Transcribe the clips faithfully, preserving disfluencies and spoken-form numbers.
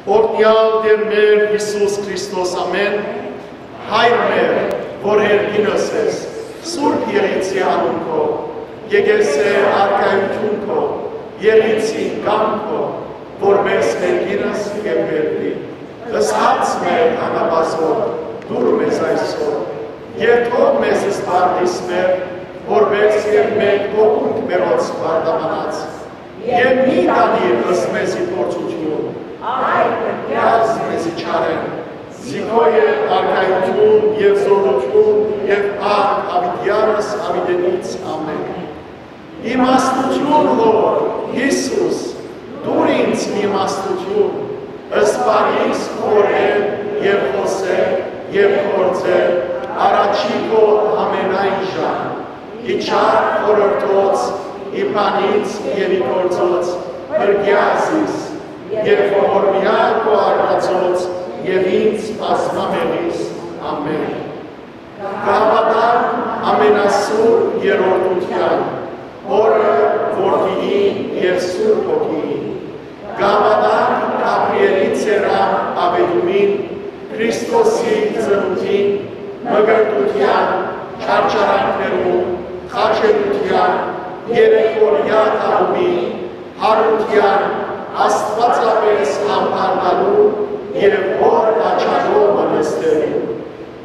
Օրհնեալ Տէր մեր Յիսուս Քրիստոս, ամէն։ Հայր մեր, որ երկինս ես, սուրբ եղիցի անուն քո, եկեղեցի արքայութիւն քո, եղիցին կամք քո, որպէս երկինս եւ երկրի։ Ըսած մեր անապազոր, դուր մեզ այսօր, եւ թող մեզ սպարտիս մեր, որպէս եւ մենք թողունք մերոց սպարտամանած, եւ մի տանիր ըստ մեզի փորձութիւն, այլ կրկնած մեզի չարէն, զի քո է արքայութիւն եւ զօրութիւն եւ փառք յաւիտեանս յաւիտենից։ Ամէն։ Իմաստութիւն հոր, Յիսուս, տուր ինձ իմաստութիւն, սպառիս խորհել եւ խօսել եւ գործել առաջի քո ամենայն ժամ, ի չար խորհրդոց, ի բանից եւ ի գործոց, փրկեա զիս, եւ ողորմեայ քո արարածոց եւ ինձ բազմամեղիս։ Ամէն։ Կհաւատանք ամենասուրբ երրորդութեան, Հօրը, Որդիին եւ Սուրբ Հոգիին։ Կհաւատանք Գաբրիէլի ցերան աւետումին, Քրիստոսի ծնունդին, մկրտութեան, չարչարանքներուն, խաչելութեան, երեքօրեայ դարումին, յարութեան, աստուածապէս ամբարնալու եւ հօր աջակողմը նստելու,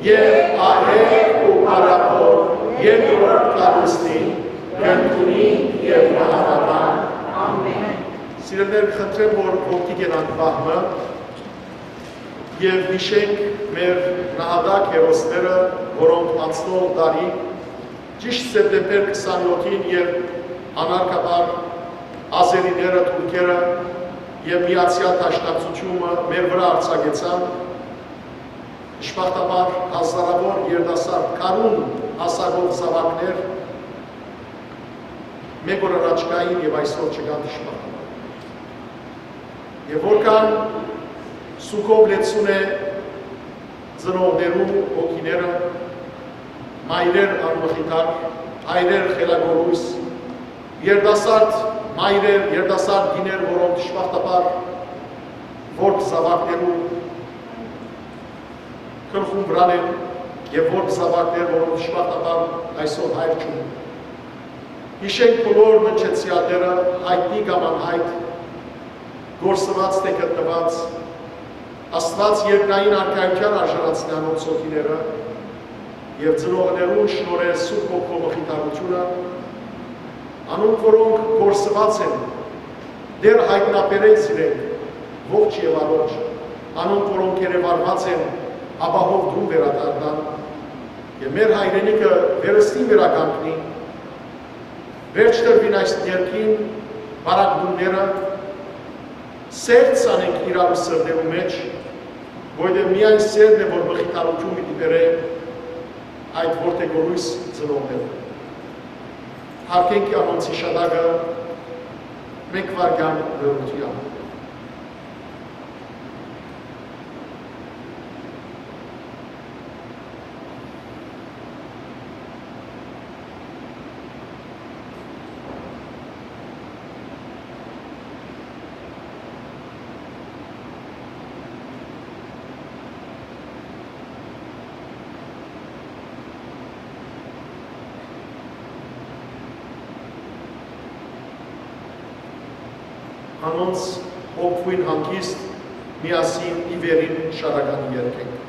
եւ ահեղ ու փառաւոր երկրորդ կառուստին կ'ընդունինք եւ կը հաւատանք։ Ամէն։ Սիրելիներ, խնդրեմ, որ ոտքի կենանք պահ մը եւ յիշենք մեր նահատակ հերոսները, որոնք անցնող տարի, ճիշտ սեպտեմբեր քսանեթին, երբ անարգաբար ազերիները, թուրքերը եւ միացեալ դաշնակցութիւնը մեր վրայ արձակեցան, դժբախտաբար հազարաւոր երիտասարդ գարուն հասակով զաւակներ մէկ օր առաջ կային եւ այսօր չկան, դժբախտաբար։ Եւ որքան սուգով լեցուն է ծնողներու հոգիները, մայրեր անմխիթար, հայրեր խելագորույս, երիտասարդ մայրեր, երիտասարդ կիներ, որոնք դժբախտաբար որբ զաւակներու գլխուն վրան են, եւ որբ զաւակներ, որոնք դժբախտաբար այսօր հայր չունին։ Յիշենք բոլոր ննջեցեալները, յայտնի կամ անյայտ, կորսուած թէ գտնուած, Աստուած երկնային արքայութեան արժանացնէ անոնց հոգիները, եւ ծնողներուն շնորհել Սուրբ Հոգու մխիթարութիւնը, անոնք, որոնք կորսուած են, Տէր յայտնաբերէ զիրենք ողջ եւ առողջ, անոնք, որոնք երեւարուած են, ապահով տուն վերադառնան, եւ մեր հայրենիքը վերստին վերականգնի, վերջ տրուին այս ներքին պարագտումները, սեր ցանենք իրարու սրտերու մէջ, որովհետեւ միայն սերն է, որ մխիթարութիւն պիտի բերէ այդ որդեգորոյս ծնողները։ Յարգենք անոնց յիշատակը մէկ վայրկեան լռութեամբ։ Անոնց հոգւոյն հանգիստ միասին ի վերին շարականը երգենք։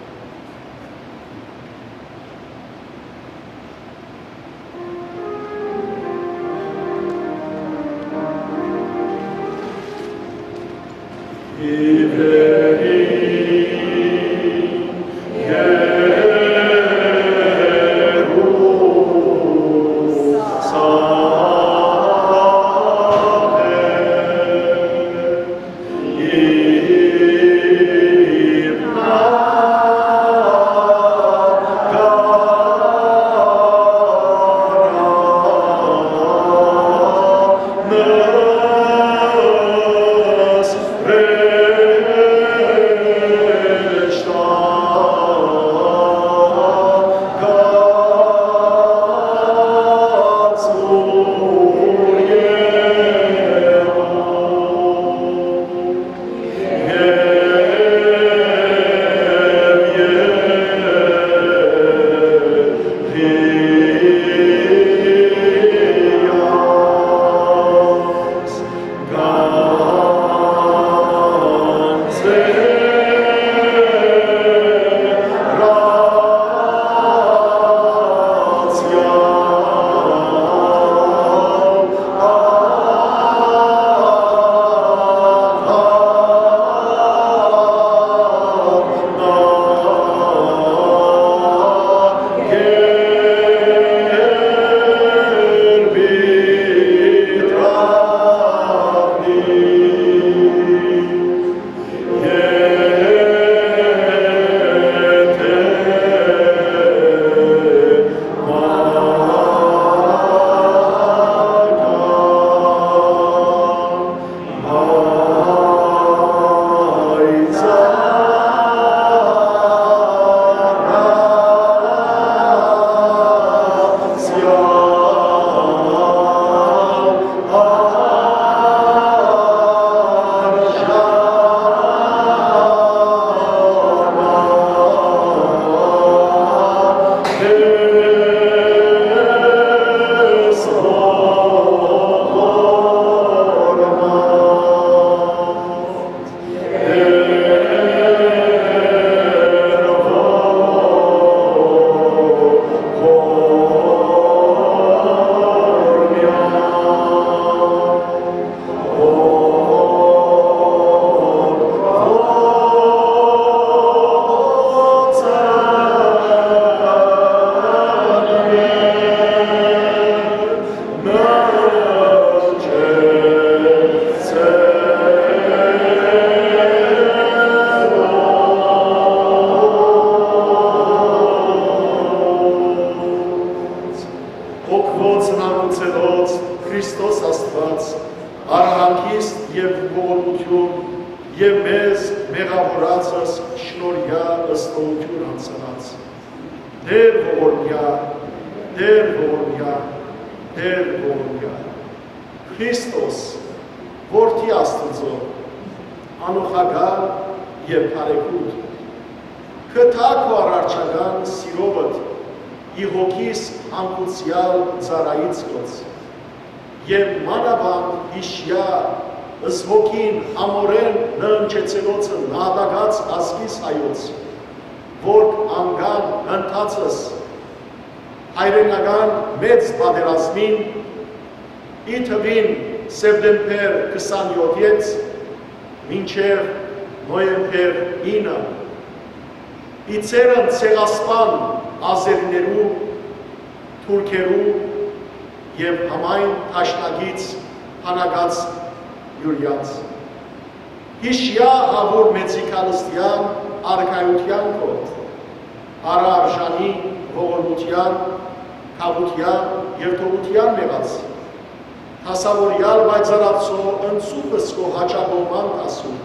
Եւ մեզ մեղաւորածս շնորհեայ ըստողութիւն անցանած։ Տէր ողորմեայ, Տէր ողորմեայ, Տէր ողորմեայ։ Քրիստոս, Որդի Աստուծոյ, անօղակալ եւ բարեգութ, գտայ քու արարչական սիրովդ, ի հոգիս հանգուցեալ ծառայից գոց, եւ մանաւանդ յիշեայ, ըս հոգին համօրէն ննջեցելոցը նահատակաց ազգիս հայոց, որ անկան ընթացս հայրենական մեծ պատերազմին, ի թուին սեպտեմբեր քսանեօթ մինչեւ նոյեմբեր ինը, ի ծերն ցեղասպան ազերիներու, թուրքերու եւ համայն դաշնակից բանակաց յուրեանց։ Յիշեայ Հաւուր Մեծի քալստեան արքայութեան քո, արարժանի ողորմութեան, քաւութեան եւ թողութեան մեղաց, դասաւորեալ պայծառացող ընծուփս քո յաճակողման դասուն։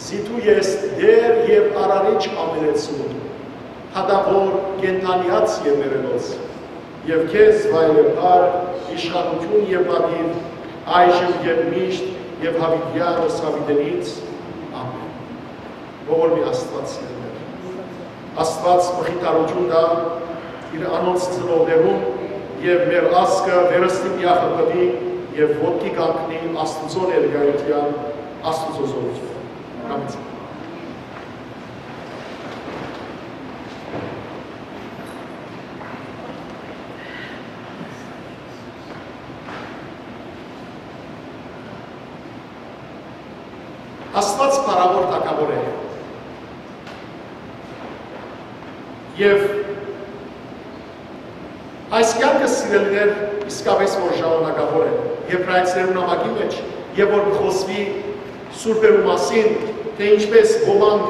Զի դու ես Տէր եւ Արարիչ ամենեցուն, հատաւոր կենդանեաց եւ մեռելոց, եւ քեզ վայելեբար իշխանութիւն եւ պատիւ, այժմ եւ միշտ եւ յաւիտեան ըս յաւիտենից։ Ամէն։ Ողորմի Աստուած սիրելիներ, Աստուած մխիթարութիւն տայ իր անոնց ծնողներուն եւ մեր ազգը վերստին միախմբուի եւ ոտքի կանգնի Աստուծոյ ներկայութեան, Աստուծոյ զօրութեան։ Ամէն։ Աստուած փառաւոր թագաւոր է։ Եւ այս կեանքը, սիրելիներ, իսկապէս որ ժամանակաւոր է Եբրայեցիներուն նամակի մէջ, եւ որ կը խօսուի սուրբերու մասին, թէ ինչպէս ոմանք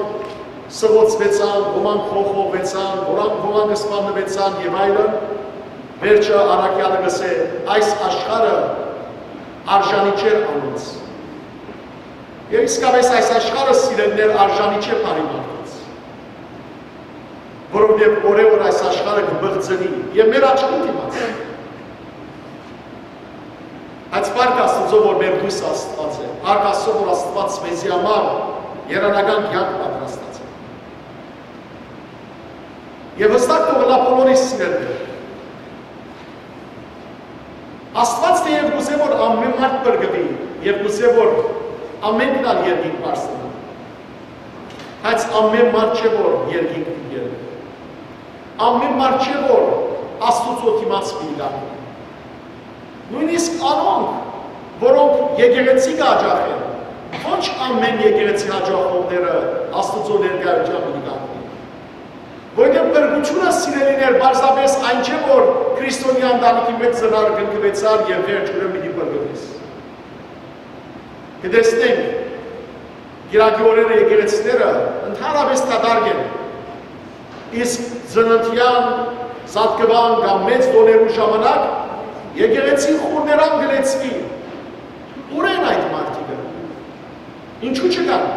սղոցուեցան, ոմանք խոխողուեցան, ոմանք, ոմանք սպաննուեցան եւ այլն, վերջը առաքեալը կ'ըսէ. «Այս աշխարհը արժանի չէր անոնց»։ Եւ իսկապէս այս աշխարհը, սիրելիներ, արժանի չէ բարի մարդոց, որովհետեւ օրէ օր այս աշխարհը կը բղծնի եւ մեր աչքին դիմաց։ Բայց փառք Աստուծոյ, որ մեր լոյս Աստուած է, փառք Աստուծոյ, որ Աստուած մեզի համար երանական կեանք պատրաստած է։ Եւ հստակ թող ըլլայ բոլորիս, սիրելիներ, Աստուած թէեւ կ'ուզէ, որ ամէն մարդ փրկուի, եւ կ'ուզէ, որ ամէնքն ալ երկինք բարձրանան, բայց ամէն մարդ չէ, որ երկինք պիտի ելլի։ Ամէն մարդ չէ, որ Աստուծոյ դիմաց պիտի գայ։ Նոյնիսկ անոնք, որոնք եկեղեցի կ'աջախեն, ոչ ամէն եկեղեցի յաճախողները Աստուծոյ ներկայութեան պիտի գան։ Որովհետեւ փրկութիւնը, սիրելիներ, պարզապէս այն չէ, որ քրիստոնեայ ընտանիքի մէջ ծնար, կնքուեցար եւ վերջուրէն պիտի փրկուես։ Կը տեսնենք, կիրակի օրերը եկեղեցիները ընդհանրապէս դատարկ են, իսկ ծննդեան, զատկուան կամ մեծ տոներու ժամանակ եկեղեցին խուռներան կը լեցուի։ Ո՞ւր են այդ մարդիկը։ Ինչու՞ չկան։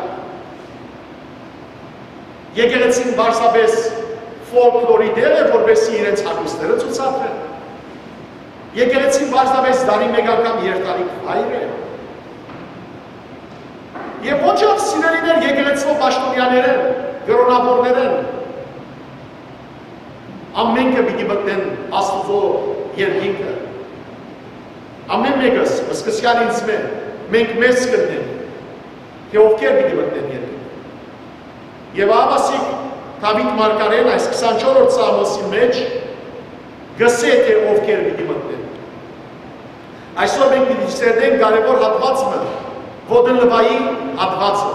Եկեղեցին պարզապէս ֆոլկլորի տեղ է, որպեսզի իրենց հագուստները ցուցադրեն։ Եկեղեցին պարզապէս տարի մէկ անգամ երթալիք վայր է։ Եւ ոչ ալ, սիրելիներ, եկեղեցւոյ պաշտօնեաներէն, կրօնաբորներէն, ամէնքը պիտի մտնեն Աստուծոյ երկինքը։ Ամէն մէկս, սկսեալ ինձմէ, մենք մեզ կ'ընենք, թէ ովքեր պիտի մտնեն երկինքը։ Եւ ահա ասիկ Դաւիթ մարգարէն այս քսանչորրորդ Սաղմոսի մէջ կ'ըսէ, թէ ովքեր պիտի մտնեն։ Այսօր մենք պիտի սերտենք կարեւոր հատուած մը, ոտը լվայի հատուածը։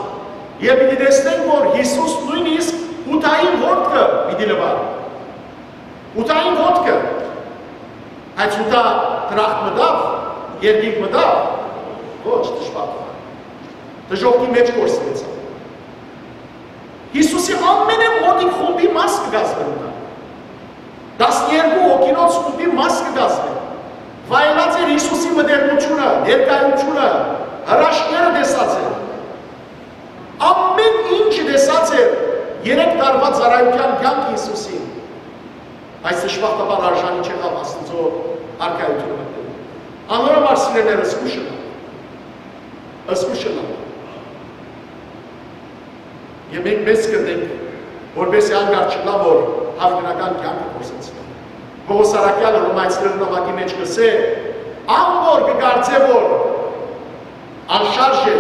Եւ պիտի տեսնենք, որ Յիսուս նոյնիսկ Յուդային ոտքը պիտի լվար։ Յուդային ոտքը։ Բայց Յուդա դրախտ մտա՞վ, երկինք մտա՞վ։ Ոչ, դժբախտ։ Դժոխքի մէջ կորսուեցաւ։ Յիսուսի ամենամօտիկ խումբի մաս կը կազմէր Յուդա։ Տասներկու հոգինոց խումբի մաս կը կազմէր։ Վայելած էր Յիսուսի մտերմութիւնը, ներկայութիւնը, հրաշքները տեսած էր։ Երեք տարուայ ծառայութեան կեանքը Յիսուսին, բայց դժբախտաբար արժանի չեղաւ Աստուծոյ արքայութիւն մտնելու։ Անոր համար, սիրելիներ, զգուշ ըլլաք, զգուշ ըլլաք։ Եւ մենք մեզ կրնենք, որպեսզի անկարծ չըլլայ, որ հաւիտենական կեանքը կորսնցնենք։ Պողոս առաքեալը Հռոմայեցիներուն նամակի մէջ կ'ըսէ. «Ան որ կը կարծէ, որ անշարժ է,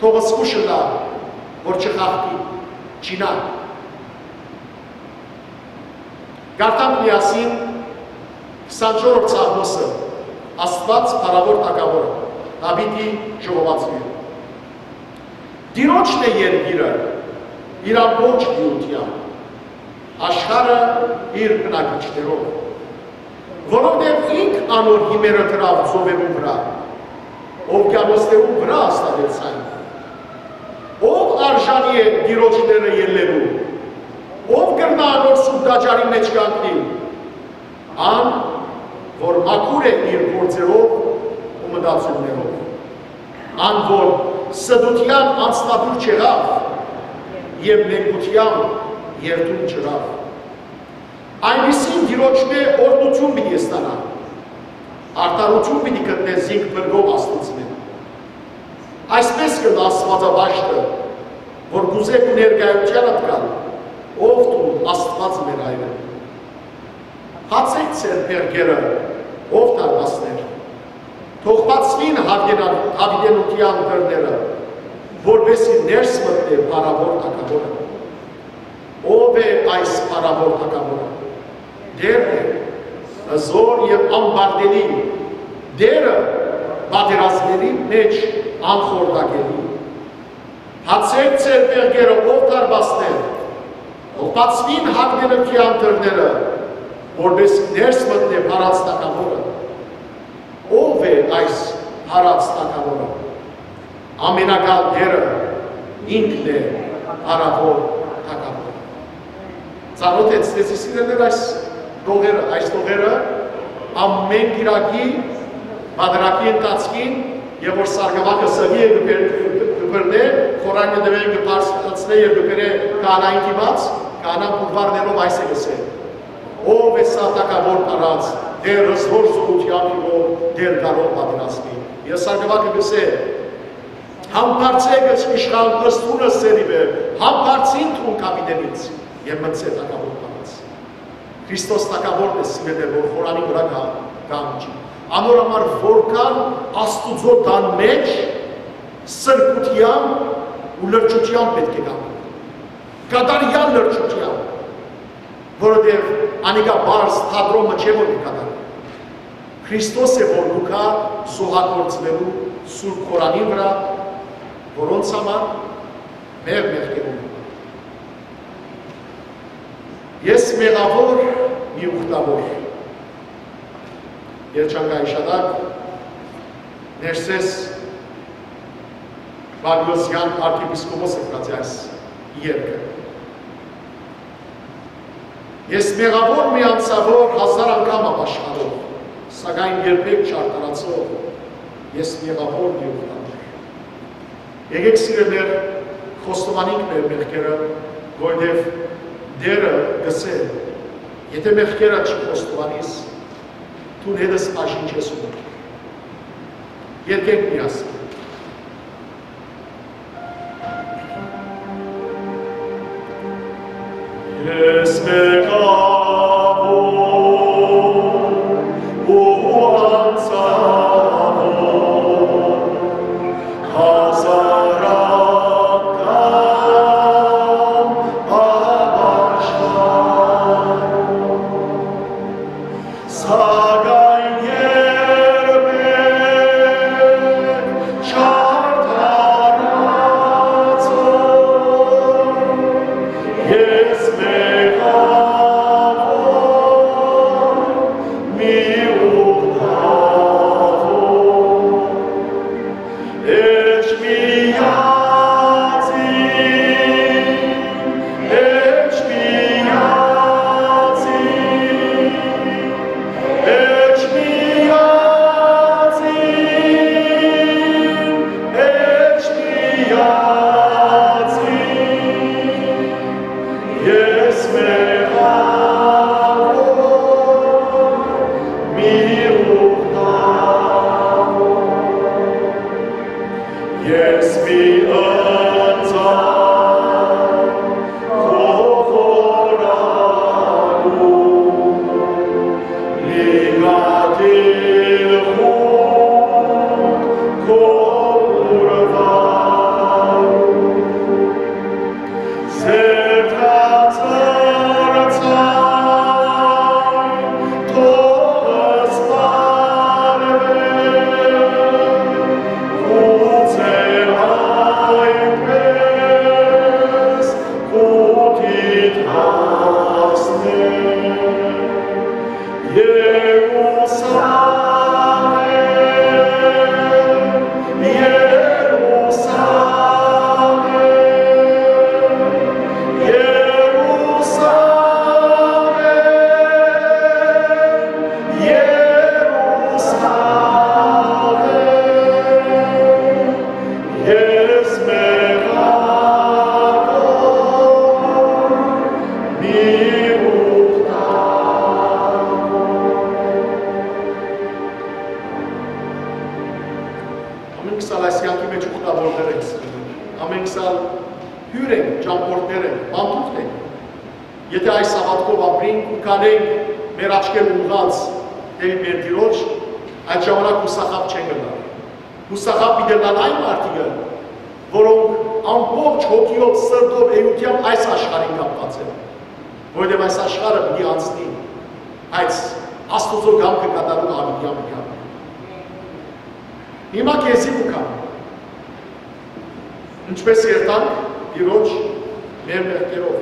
թող զգուշ ըլլայ, որ չխախտի, չինայ»։ Կարդանք միասին քսանչորսերորդ Սաղմոսը, Աստուած փառաւոր թագաւորը, Դաւիթի ժողովածոյը։ Տիրոջն է երկիրը իր ամբողջ լիութեամբ, աշխարհը իր բնակիչներով, որովհետեւ ինք անոր հիմերը դրաւ ծովերուն վրայ, օվկիանոսներուն վրայ հաստատեց այն։ Ո՞վ արժանի է Տիրոջ լեռը ելլելու, ո՞վ կրնայ անոր սուրբ տաճարին մէջ կանգնիլ։ Ան, որ մաքուր է իր գործերով ու մտածումներով, ան, որ ստութեան անձնատուր չեղաւ եւ մենկութեան երդում չըրաւ։ Այնպիսին Տիրոջմէ օրհնութիւն պիտի ստանայ, արդարութիւն պիտի գտնէ զինք փրկող Աստուծմէ։ Այսպէս կ'ըլլայ Աստուածապաշտը, որ կ'ուզէ քու ներկայութեանդ գալ, ով դուն, Աստուած մեր Հայրը։ Բացէք ձեր փեղկերը, ով դարպասներ, թող բացուին հաւիտենա-, հաւիտենութեան դռները, որպէսզի ներս մտնէ փառաւոր թագաւորը։ Ո՞վ է այս փառաւոր թագաւորը։ Տէրն է, հզոր եւ անպարտելի, Տէրը, պատերազմների մէջ անխորտակելի։ Բացէք ձեր փեղկերը, ով դարպասներ, թող բացուին հաւիտենութեան դռները, որպէս ներս մտնէ փառաց թագաւորը։ Ո՞վ է այս փառաց թագաւորը։ Ամենակալ Տէրը ինքն է փառաւոր թագաւորը։ Ծանօթ եք, սիրելիներ, այս տողերը, այս տողերը, ամէն կիրակի, պատարագի ընթացքին, եւ որ սարկաւակը սըլի է կը բեր-, կը բռնէ, խորանին տուէն կը բարձրացնէ եւ կը բերէ քահանային դիմաց, քահանան կուրվարներով այս է կ'ըսէ. «Ո՞վ է սա թագաւոր փառաց, Տէր հզոր զօրութեան, Տէր կարող պատերազմի»։ Եւ սարկաւակը կ'ըսէ. «Համբարձէ գ-, իշխան, ըստ ուրը սերիվը, համբարձին դուն կապիտենից եւ մնցէ թագաւոր փառաց»։ Քրիստոս թագաւորն է, սիրելիներ, որ խորանի վրայ կա-, կամջի։ Անոր համար որքան Աստուծոյ տան մէջ սրբութեամբ ու լրջութեամբ պէտք է կանգնի, կատարեալ լրջութեամբ, որովհետեւ անիկա պարզ թատրոնը չէ, որ կը կատարի։ Քրիստոս է, որ կու գայ զոհագործուելու սուրբ խորանի վրայ, որոնց համար մեր մեղքերուն։ Ես մեղաւոր, մի ուխտաւոր։ Երջանկայ իշատակ, Ներսես Պալիոսեան արքեպիսկոպոսը գրած է այս երկը։ Ես մեղաւոր, մի անցաւոր, հազար անգամ ապաշխարող, սակայն երբեք չարդարացող, ես մեղաւոր, մի ուխտաւոր։ Եկեք, սիրելիներ, խոստովանենք մեր մեղքերը, որովհետեւ Տէրը կ'ըսէ. «Եթէ մեղքերդ չխոստովանիս, դուն հետս բաժին չես ունենար»։ Երգենք միասին։ Ես մեղաւոր ու անցաւոր, հազար անգամ ապաշխարող, սակայն երբեք չարդարացող, ես մեղաւոր հիւր ենք, ճամբորդներ ենք, պանդուխտ ենք։ Եթէ այս հաւատքով ապրենք ու քալենք մեր աչքերը ուղղած դէպի մեր Տիրոջ, այդ ժամանակ յուսախաբ չենք ըլլայ։ Յուսախաբ պիտի ըլլան այն մարդիկը, որոնք ամբողջ հոգիով, սրտով, էութեամբ այս աշխարհին կապուած են, որովհետեւ այս աշխարհը պիտի անցնի, բայց Աստուծոյ կամքը կատարող յաւիտեան պիտի ապրի։ Հիմա քեզի կու գամ, ինչպէս երթանք Տիրոջ մեր մեղքերով։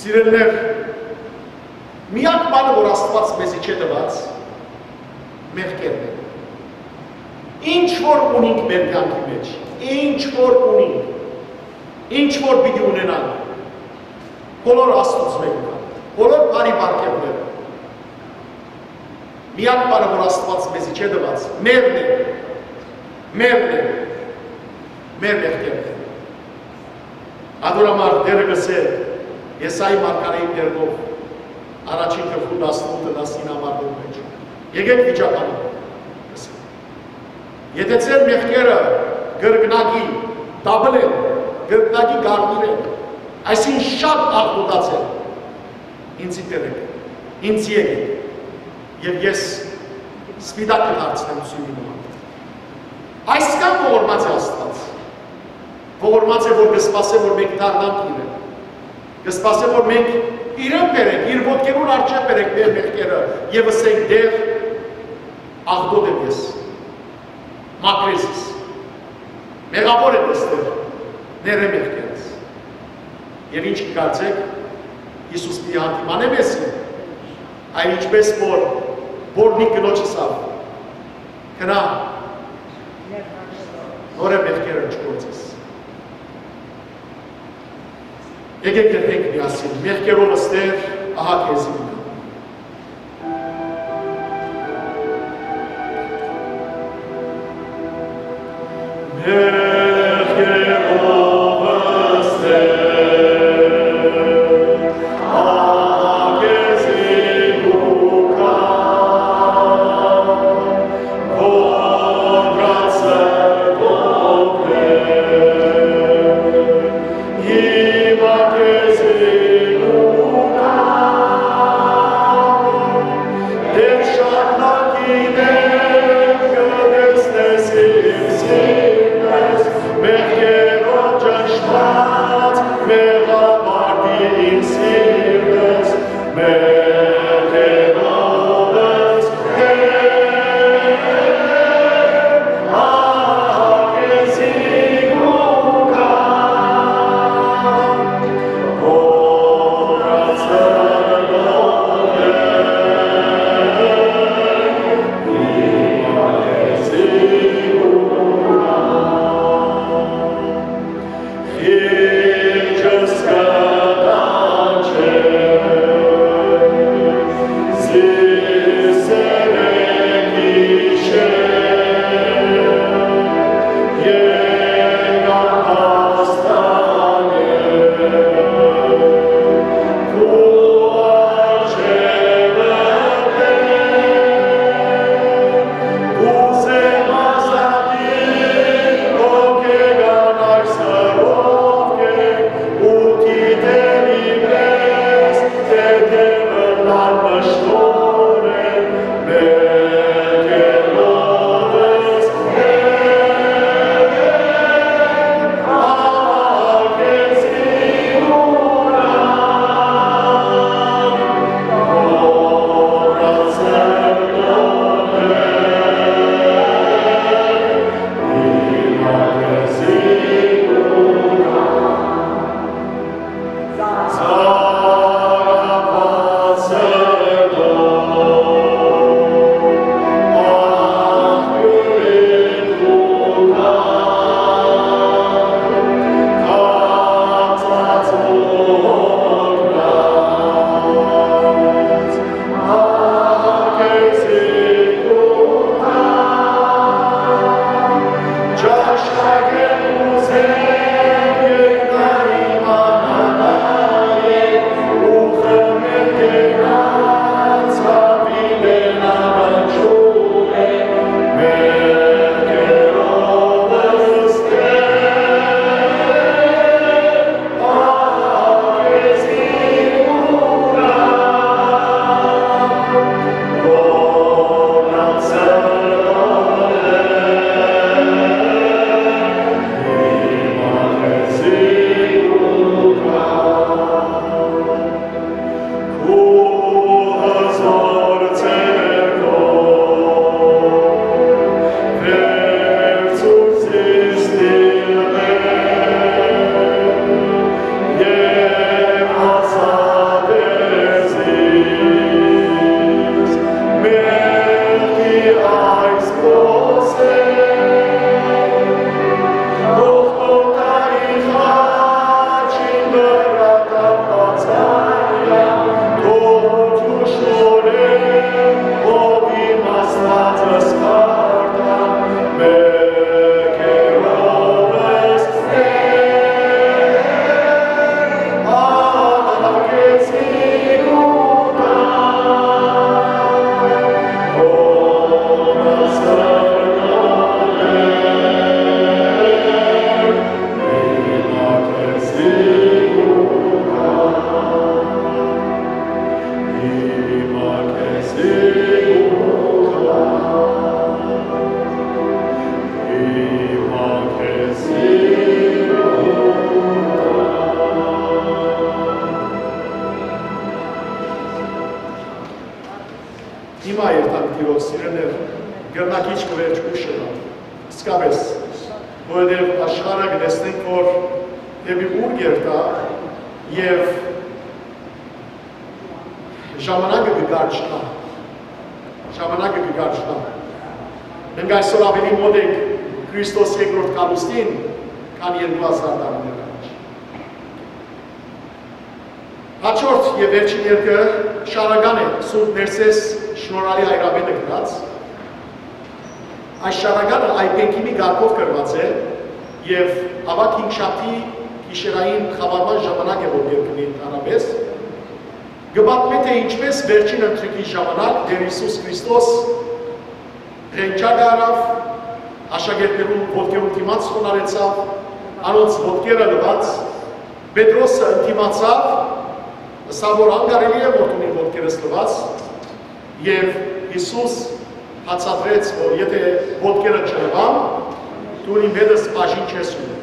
Սիրելիներ, միակ բանը, որ Աստուած մեզի չէ տուած, մեղքերն են։ Ինչ որ ունինք մեր կյանքի մեջ, ինչ որ ունինք, ինչ որ պիտի ունենանք, բոլոր Աստուծմէ կը գան, բոլոր բարի պարգեւները։ Միակ բանը, որ Աստուած մեզի չէ տուած, մերն է, մերն է, մեր մեղքերն են։ Ատոր համար Տէրը կ'ըսէ Եսայի մարգարէին դերնով, առաջին գլխու տասնութ, տասնինը համարներու մէջ. «Եկէք վիճաբանենք», կ'ըսէ։ «Եթէ ձեր մեղքերը կրկնակի double են, կրկնակի կարմիր են, այսինքն շատ աղտոտած են, ինձի բերէք, ինձի եկէք, եւ ես սպիտակ կը դարձնեմ ձիւնի նման»։ Այսքան ողորմած է Աստուած, ողորմած է, որ կը սպասէ, որ մենք դառնանք իրեն, կը սպասէ, որ մենք իրեն բերենք, իր ոտքերուն առջեւ բերենք մեր մեղքերը եւ ըսենք. «Տէր, աղտոտ եմ ես, մաքրէ զիս, մեղաւոր եմ ես, Տէր, ներէ մեղքերս»։ Եւ ինչ կը կարծէք, Յիսուս պիտի հանդիմանէ մեզի, այլ ինչպէս որ պոռնիկ կնոջ ըսաւ. «Գնա, նորէ մեղքերը չգործես»։ Եկէք երթանք միասին. «Մեղքերովս, Տէր, ահա քեզի կու գամ»։ Սիրելիներ, կրնակ ինչ մը վերջ ուշ ըլլայ։ Իսկապէս, որովհետեւ աշխարհը կը տեսնենք, որ դէպի ուր կ'երթայ, եւ ժամանակը կը կարճնայ։ Ժամանակը կը կարճնայ։ Մենք այսօր աւելի մօտ ենք Քրիստոս երկրորդ գալուստին, քան երկու հազար տարիներ առաջ։ Հաջորդ եւ վերջին երկը շարական է, Սուրբ Ներսէս շնորհալի հայրապետը գրած։ Այս շարականը այբենքիմի կարգով գրված է եւ, ավագ հինգշաբթի գիշերային խաւարման ժամանակ է, որ կերկնի ընդհանրապես, կը պատմէ, թե ինչպէս վերջին ընթրիքի ժամանակ Տէր Յիսուս Քրիստոս ղենջակը առաւ, աշակերտներուն ոտքերուն դիմաց խոնարհեցաւ, անոնց ոտքերը լուաց, Պետրոսը ընդդիմացաւ, ըսաւ, որ անկարելի է, որ դուն իմ ոտքերս լուաս, եւ Յիսուս բացատրեց, որ եթէ ոտքերը չլուան, դուն իմ հետս բաժին չես ունենայ։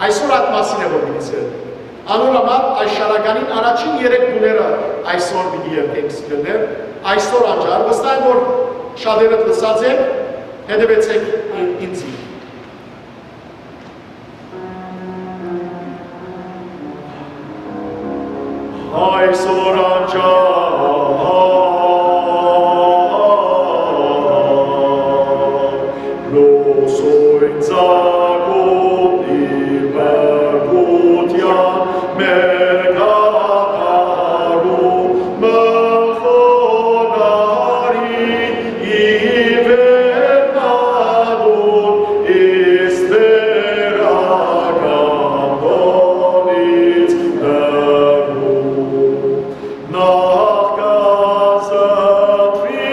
Այսօր այդ մասին է, որ պիտի սերվի։ Անոր համար այս շարականին առաջին երեք տուները այսօր պիտի երթենք, սիրելիներ, այսօր անջար, վստահ եմ, որ շատերդ լսած եք, հետեւեցեք ին-, ինձի։ Այսօր անջան լուսոյն ծագում ի բարկութեան մեր կատարումը խոնարհի ի վերնատուն, իսկ վերական տոնից հեռու։ Նախ կը զտուի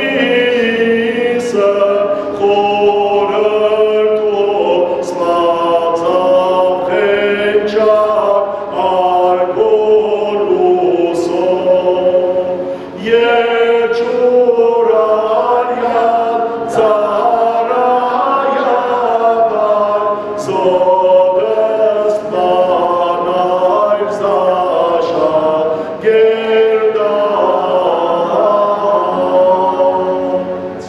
սը խորհրդոց, բացաւ ղենջակ արգոր լուսով, եւ ջուրայեան ծառայաբար զօտս բանայր զաշակերտաց։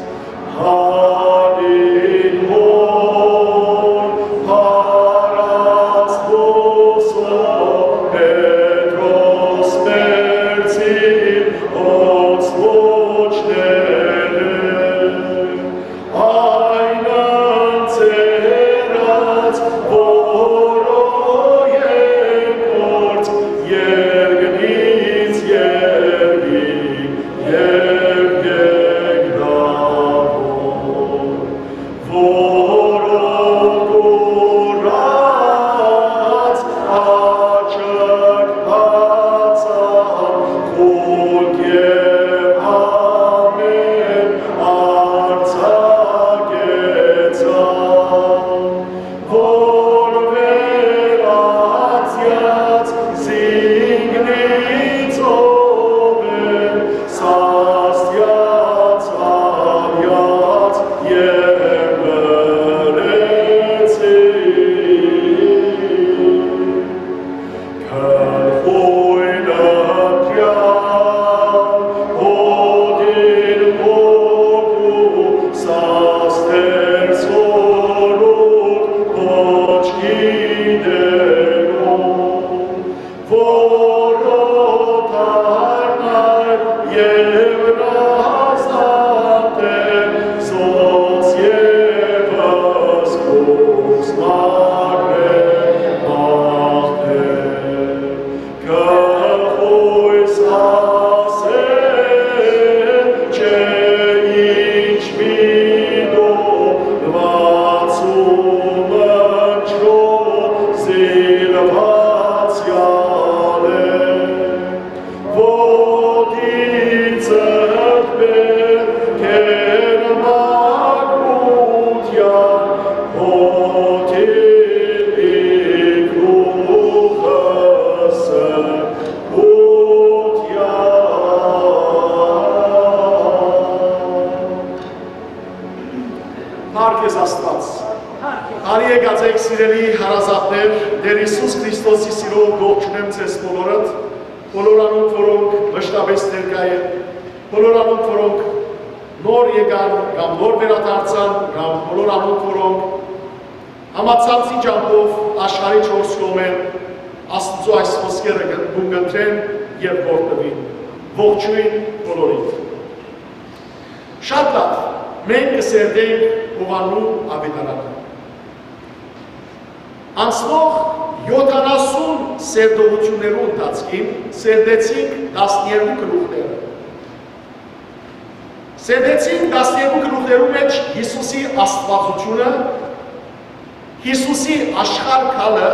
Հալին հոն փառաց լուսով Պետրոս մերձին օծուչները, այն ընձեռաց, որոյ երկորդ երկնից երկի եւ երկրաւոր, որով կուրած աչք բացան, խուլ եւ ամէն արձակեցան, որ վերածեաց զինգնի ծովեր, սաստեաց աւյաց եւ լռեցին։ Գլխոյն ընտրեալ, հօտին հոգու սաստեր սորուկ կոչ գիտելու, որ օտարն այր եւ հաստատէ զոս եւս կուս մաքրէ, մաղթէ։ Գլխոյս ասել չէ, ինչ միտում լուացումը չոր զինուածեալ է, ոտիցդ պէտք էր մաքրութեան, հօտի գլուխս Փառք ես Աստուած։ Բարի եկած եք, սիրելի հարազատներ, Տէր Յիսուս Քրիստոսի սիրով կողջունեմ ձեզ բոլորդ, բոլոր անոնք, որոնք մշտապես ներկայ են, բոլոր անոնք, որոնք Նոր եկան կամ նոր վերադարձան կամ բոլոր անոնք, որոնք համացանցի ճամբով աշխարհի չորս կողմեր Աստուծոյ այս խոսքերը կը կունկնդրեն եւ որդպին։ Ողջոյն բոլորիդ։ Շատ լաւ, մենք կը սերտենք Յովհաննու աւետարանը։ Անցնող յոթանասուն սերտողութիւններու ընթացքին սերտեցինք տասներկու գլուխները։ Սերտեցինք տասներկու գլուխներու մէջ Յիսուսի աստուածութիւնը, Յիսուսի աշխարհ գալը,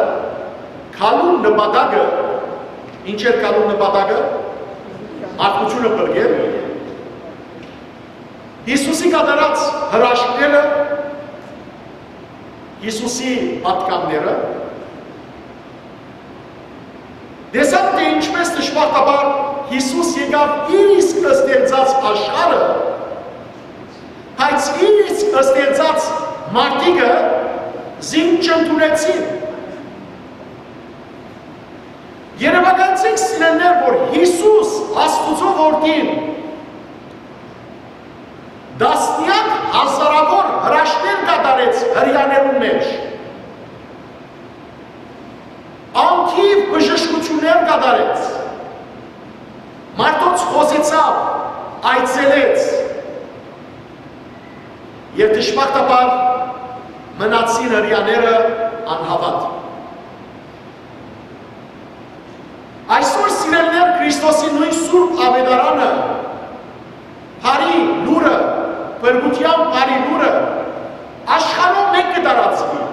գալուն նպատակը, ինչ էր գալուն նպատակը, մարդկութիւնը փրկել, Յիսուսի կատարած հրաշքները, Յիսուսի պատգամները, տեսանք, թէ ինչպէս դժբախտաբար Յիսուս եկաւ իր իսկ ստեղծած աշխարհը, բայց իր իսկ ստեղծած մարդիկը զինք չընդունեցին։ Երեւակայեցինք, սիրելիներ, որ Յիսուս, Աստուծոյ Որդին, տասնեակ հազարաւոր հրաշքներ կատարեց հրեաներուն մէջ, անթիւ բժշկութիւններ կատարեց, մարդոց խօսեցաւ, այցելեց, եւ դժբախտաբար մնացին հրեաները անհաւատ։ Այսօր, սիրելիներ, Քրիստոսի նոյն սուրբ աւետարանը, բարի լուրը, փրկութեան բարի լուրը աշխարհով մէկ կը տարածուի։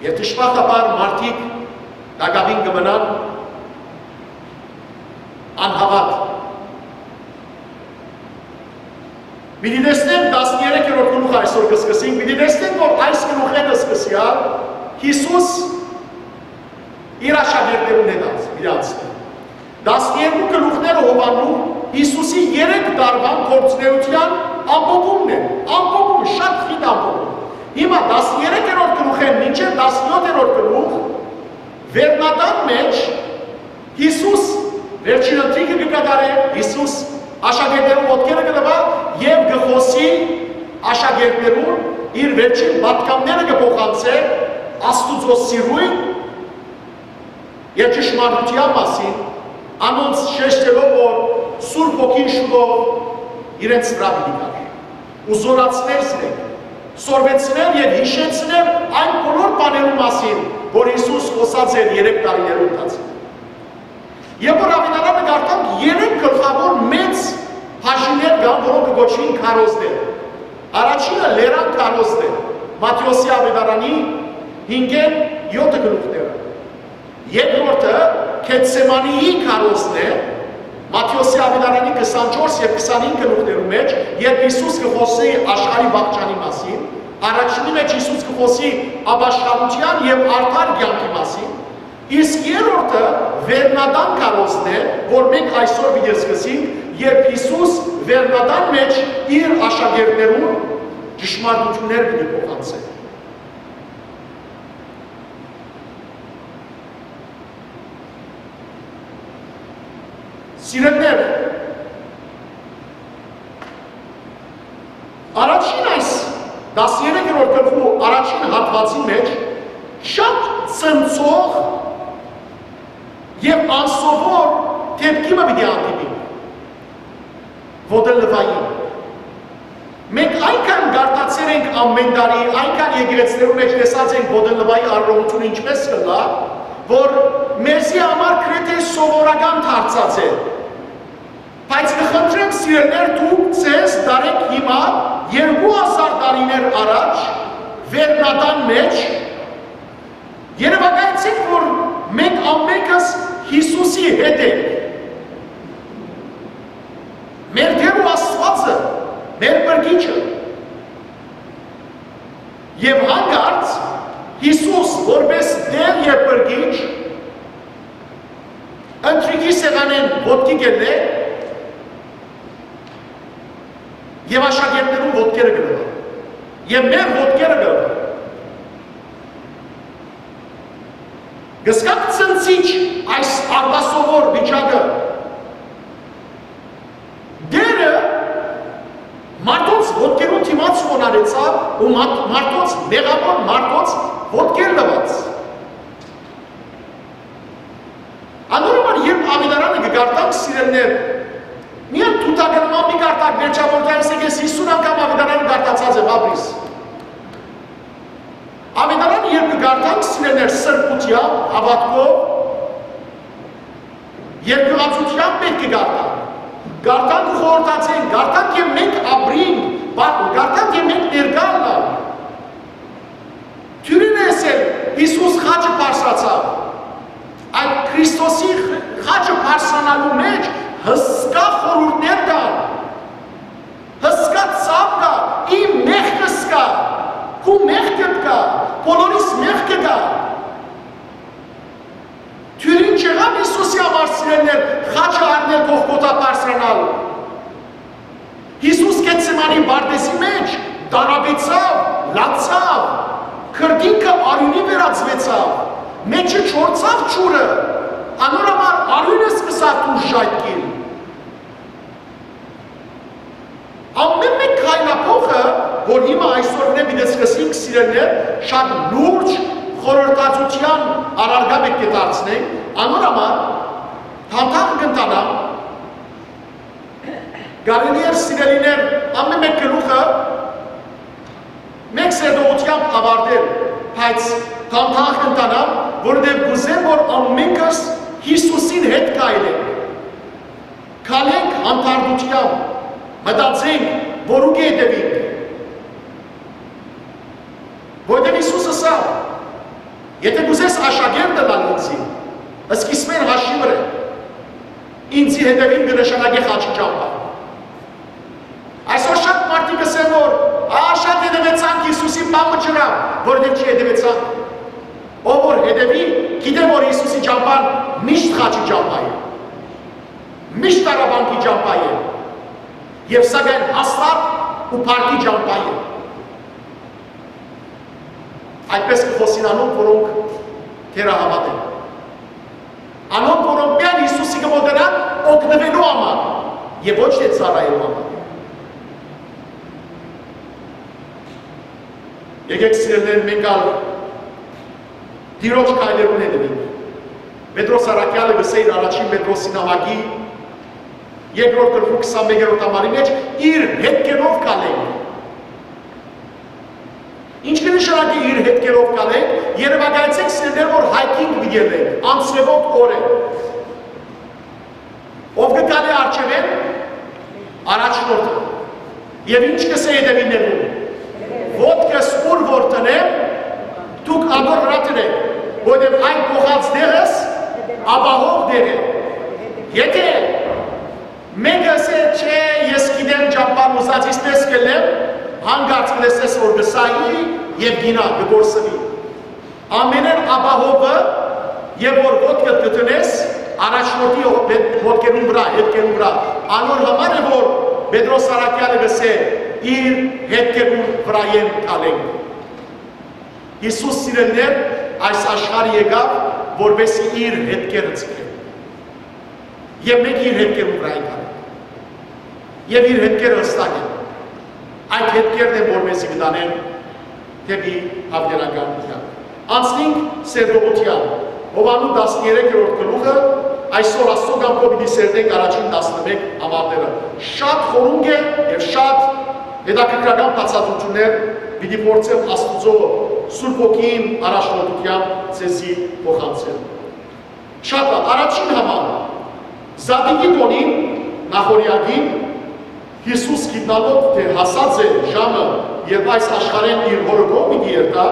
Եւ դժբախտաբար մարդիկ տակաւին կը մնան անհաւատ։ Պիտի տեսնենք, տասներեքերորդ գլուխը այսօր կը սկսենք, պիտի տեսնենք, որ այս գլուխէն սկսեալ Յիսուս իր աշակերտներուն հետ անց-, պիտի անցնի։ Տասներկու գլուխները Յովհաննու Յիսուսի երեք տարուան գործունեութեան ամփոփումն է, ամփոփում, շատ խիտ ամփոփում։ Հիմա տասներեքերորդ գլուխէն մինչեւ տասնեթերորդ գլուխ, վերնատան մէջ Յիսուս վերջին ընթրիքը կը կատարէ, Յիսուս աշակերտներուն ոտքերը կը լուայ եւ կը խօսի աշակերտներուն, իր վերջին պատգամները կը փոխանցէ Աստուծոյ սիրոյն եւ ճշմարտութեան մասին, անոնց շեշտելով, որ Սուրբ Հոգին շուտով իրենց վրայ պիտի գայ ու զօրացներ զինք, սորվեցներ եւ յիշեցներ այն բոլոր բաներուն մասին, որ Յիսուս խօսած էր երեք տարիներու ընթացքին։ Երբ որ աւետարանը կարդանք, երեք գլխաւոր մեծ բաժիններ կան, որոնք կը կոչուին քարոզներ։ Առաջինը լերան քարոզն է, Մատթէոսի աւետարանի հինգէն եօթը գլուխները։ Երկրորդը Գեթսեմանիի քարոզն է, Մատթէոսի աւետարանի քսանչորս եւ քսանհինգ գլուխներու մէջ, երբ Յիսուս կը խօսի աշխարհի վախճանի մասին, առաջինի մէջ Յիսուս կը խօսի ապաշխարութեան եւ արդար կեանքի մասին, իսկ երրորդը վերնատան քարոզն է, որ մենք այսօր պիտի սկսենք, երբ Յիսուս վերնատան մէջ իր աշակերտներուն ճշմարտութիւններ պիտի փոխանցէ։ Սիրելիներ, առաջին այս տասներեքերորդ գլխու առաջին հատուածին մէջ շատ ցնցող եւ անսովոր դէպքի մը պիտի հանդիպի։ Ոտելվային։ Մենք այնքան կարդացեր ենք ամէն տարի, այնքան եկեղեցիներու մէջ տեսած ենք Ոտելվայի արարողութիւնը ինչպէս կ'ըլլայ, որ մեզի համար գրեթէ սովորական դարձած է։ Բայց կը խնդրեմ, սիրելիներ, դուք ձեզ դարէք հիմա երկու հազար տարիներ առաջ վերնատան մէջ, երեւակայեցէք, որ մենք ամենքս Յիսուսի հետ ենք։ Մեր Տեր ու Աստուածը, մեր Փրկիչը։ Եւ հանկարծ Յիսուս, որպես Տեր եւ Փրկիչ, ընթրիքի սեղանէն ոտքի կ'ելլէ եւ աշակերտներուն ոտքերը կը լուայ։ Եւ մեր ոտքերը կը լուայ։ Կ'զգաք ցնցիչ այս արտասովոր վիճակը։ Տերը յարեցաւ ու մարդ-, մարդոց, մեղաւոր մարդոց ոտքեր լուաց։ Անոր համար, երբ Աւետարանը կը կարդանք, սիրելիներ, միայն թութակը նման մի կարդաք, վերջավորութեան, ասենք, ես յիսուն անգամ Աւետարանը կարդացած եմ, ապրիս։ Աւետարանը երբ կը կարդանք, սիրելիներ, սրբութեամբ, հաւատքով, երկյուղածութեամբ պէտք է կարդանք։ Կարդանք ու խորհրդացենք, կարդանք եւ մենք ապրինք, բա-, կարդանք եւ մենք ներկայ ըլլանք։ Դիւրին էս էլ Յիսուս խաչը բարձրացաւ։ Այդ Քրիստոսի խ-, խաչը բարձրանալու մէջ հսկայ խորհուրդներ կան, հսկայ ցաւ կայ, իմ մեղքս կայ, քու մեղքդ կայ, բոլորիս մեղքը կայ։ Դիւրին չեղաւ Յիսուսի համար, սիրելիներ, խաչը առնել, Գողգոթա բարձրանալ։ Յիսուս Գեթսեմանի պարտէզի մէջ տարապեցաւ, լացաւ, քրտինքը արիւնի վերածուեցաւ, մէջը չորցաւ ջուրը, անոր համար արիւնը սկսաւ դուրս ժայթքիլ։ Ամէն մէկ քայլափոխը, որ հիմա այսօր պիտի սկսենք, սիրելիներ, շատ լուրջ խորհրդածութեան առարկայ պէտք է դարձնենք, անոր համար դանդաղ կ'ընթանամ, կարելի էր, սիրելիներ, ամէն մէկ գլուխը մէկ սերտողութեամբ աւարտել, բայց դանդաղ կ'ընթանամ, որովհետեւ կ'ուզեմ, որ ամէնքս Յիսուսին հետ քայլենք, քայլենք հանդարտութեամբ, մտածենք, որու կը հետեւենք։ Որովհետեւ Յիսուս ըսաւ. «Եթէ կ'ուզես աշակերտ ըլլալ ինծի, սկիզբէն հաշի վրէ, ինծի հետեւին կը նշանակէ խաչի ճամբայ»։ Այսօր շատ մարդիկ կ'ըսեն, որ «Ա, շատ հետեւեցանք Յիսուսին, բան մը չըրաւ», որովհետեւ չի հետեւեցանք։ Ով որ հետեւի, գիտէ, որ Յիսուսի ճամբան միշտ խաչի ճամբայ է, միշտ տառապանքի ճամբայ է, եւ սակայն հաստատ ու փառքի ճամբայ է։ Այդպես կը խօսին անոնք, որոնք թերահաւատ են։ Անոնք, որոնք միայն Յիսուսի կը մօտենան օգնուելու համար եւ ոչ թէ ծառայելու համար։ Եկեք, սիրելիներ, մենք ալ Տիրոջ քայլերուն հետեւենք։ Պետրոս առաքեալը կ'ըսէ իր առաջին Պետրոսի նամակի երկրորդ գլխու քսանմեկերորդ համարի մէջ. «Իր հետքերով քալենք»։ Ինչ կը նշանակէ «իր հետքերով քալենք»։ Երեւակայեցէք, սիրելիներ, որ hiking պիտի ելլենք, անձրեւոտ օր է։ Ով կը քալէ առջեւէն? Առաջնորդը։ Եւ ինչ կ'ըսէ հետեւիններուն. «Ոտքս ուր որ դնեմ, դուք ատոր վրայ դնէք, որովհետեւ այդ փոխած տեղս ապահով տեղ է»։ Եթէ մէկը ըսէ. «Չէ, ես գիտեմ ճամբան, ուզածիս պէս կ'ելլեմ», հանկարծ կը տեսնես, որ կը սայի եւ գինայ, կը կորսուի։ Ամենէն ապահովը, եւ որ ոտքդ կը դնես առաջնորդի յո-, հետ-, ոտքերուն վրայ, հետքերուն վրայ, անոր համար է, որ Պետրոս առաքեալը կ'ըսէ. «Իր հետքերուն վրայէն քալենք»։ Յիսուս, սիրելիներ, այս աշխարհ եկաւ, որպեսզի իր հետքերը ձգէ։ Եւ մենք իր հետքերուն վրայ ենք անում։ Եւ իր հետքերը հստակ են։ Այդ հետքերն են, որ մեզի կը տանեն դէպի յաւիտենական կեանք։ Անցնենք սերտողութեան։ Յովհաննէ տասներեքերորդ գլուխը, այսօր Աստուծոյ կամքով պիտի սերտենք առաջին տասնմէկ համարները։ Շատ խորունկ է եւ շատ հետաքրքրական բացատրություններ պիտի փորձեմ Աստուծոյ Սուրբ Հոգին առաջնորդութեամբ ձեզի փոխանցել։ Շատ լաւ, առաջին համար, Զատիկի տօնին, նախօրեակին, Յիսուս գիտնալով թէ հասած է ժամը, երբ այս աշխարհէն իր հօրը կողմ պիտի երթայ,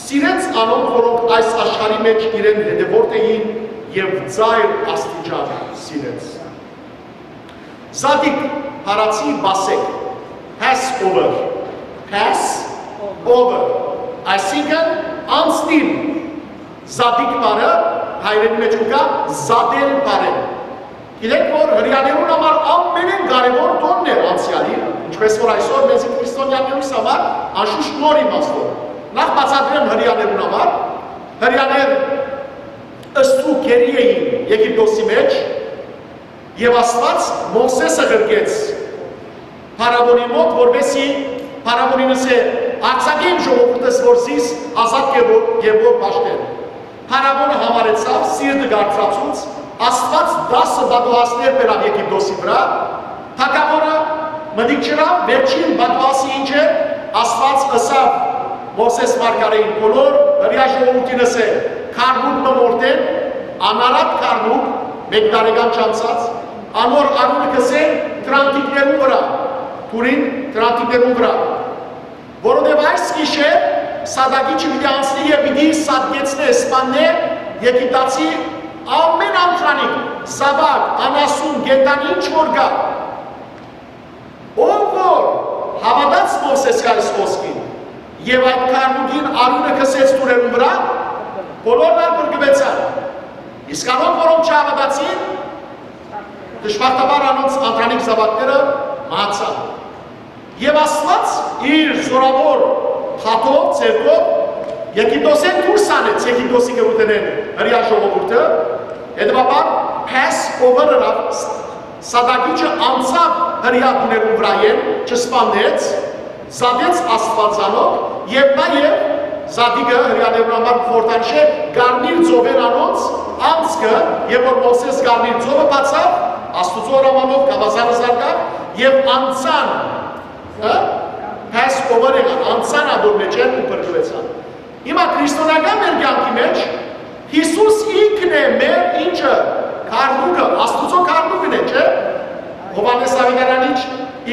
սիրեց անոնք, որոնք այս աշխարհի մէջ իրեն հետեւորդ էին, եւ ծայր աստիճան սիրեց։ Զատիկ, փառացի Պասեկ, Passover, Passover, այսինքն անցնիլ, Զատիկ բառը հայերէնի մէջ կայ զատել բառէն։ Գիտեք, որ հրեաներուն համար ամենէն կարեւոր տօնն էր անցեալին, ինչպես որ այսօր մեզի քրիստոնեաներուս համար անշուշտ նոր իմաստով։ Նախ բացատրեմ հրեաներուն համար, հրեաներ ըստ ու գերի էին Եգիպտոսի մէջ, եւ Աստուած Մովսէսը ղրկեց փարաւոնի մօտ, որպեսզի Փարաւոնին ըսէ. «Արձակէ իմ ժողովուրդս, որ զիս ազատ կերպով, կերպով պաշտեն»։ Փարաւոնը յամարեցաւ, սիրտը կարծացուց, Աստուած տասը պատուհասներ բերաւ Եգիպտոսի վրայ, թագաւորը մտիկ չըրաւ, վերջին պատուհասը ինչ է, Աստուած ըսաւ Մովսէս մարգարէին, բոլոր հրեայ ժողովուրդին ըսէ. «Գառնուկ մը մորթէն, անարատ գառնուկ, մէկ տարեկան չանցած, անոր արիւնը գցէ դրանտիկներուն վրայ, դուռին դրանտիկներուն վրայ, որովհետեւ այս գիշեր սատակիչը պիտի անցնէ եւ պիտի սատկեցնէ, սպաննէ Եգիպտացի ամէն անդրանիկ, զաւակ, անասուն, կենդանի, ինչ որ կայ»։ Ով որ հաւատաց Մովսէսի այս խօսքին եւ այդ գառնուկին արիւնը գցեց դուռերուն վրայ, բոլորն ալ փրկուեցան։ Իսկ անոնք, որոնք չհաւատացին, դժբախտաբար անոնց անդրանիկ զաւակները մահացան։ Եւ Աստուած իր զօրաւոր դատով, ձեռքով Եգիպտոսէն դուրս անեց Եգիպտոսի գերութենէն հրեայ ժողովուրդը, հետեւաբար Փասովեր ըրաւ, սատակիչը անցաւ հրեայ տուներուն վրայէն, չսպաննեց, զատեց Աստուածանով եւ նաեւ զատիկը հրեաներուն համար խորհրդանշ է կարմիր ծովէն անոնց անցքը, եւ որ Մովսէս կարմիր ծովը բացաւ, Աստուծոյ հրամանով գաւազանը զարկաւ եւ անցան, հա, Փասովեր եղան, անցան ատոր մէջէն ու փրկուեցան։ Հիմա քրիստոնեական մեր կեանքի մէջ Յիսուս ինքն է մեր ինչը, գառնուկը, Աստուծոյ գառնուկն է, չէ՞։ Յովհաննէս Աւետարանիչ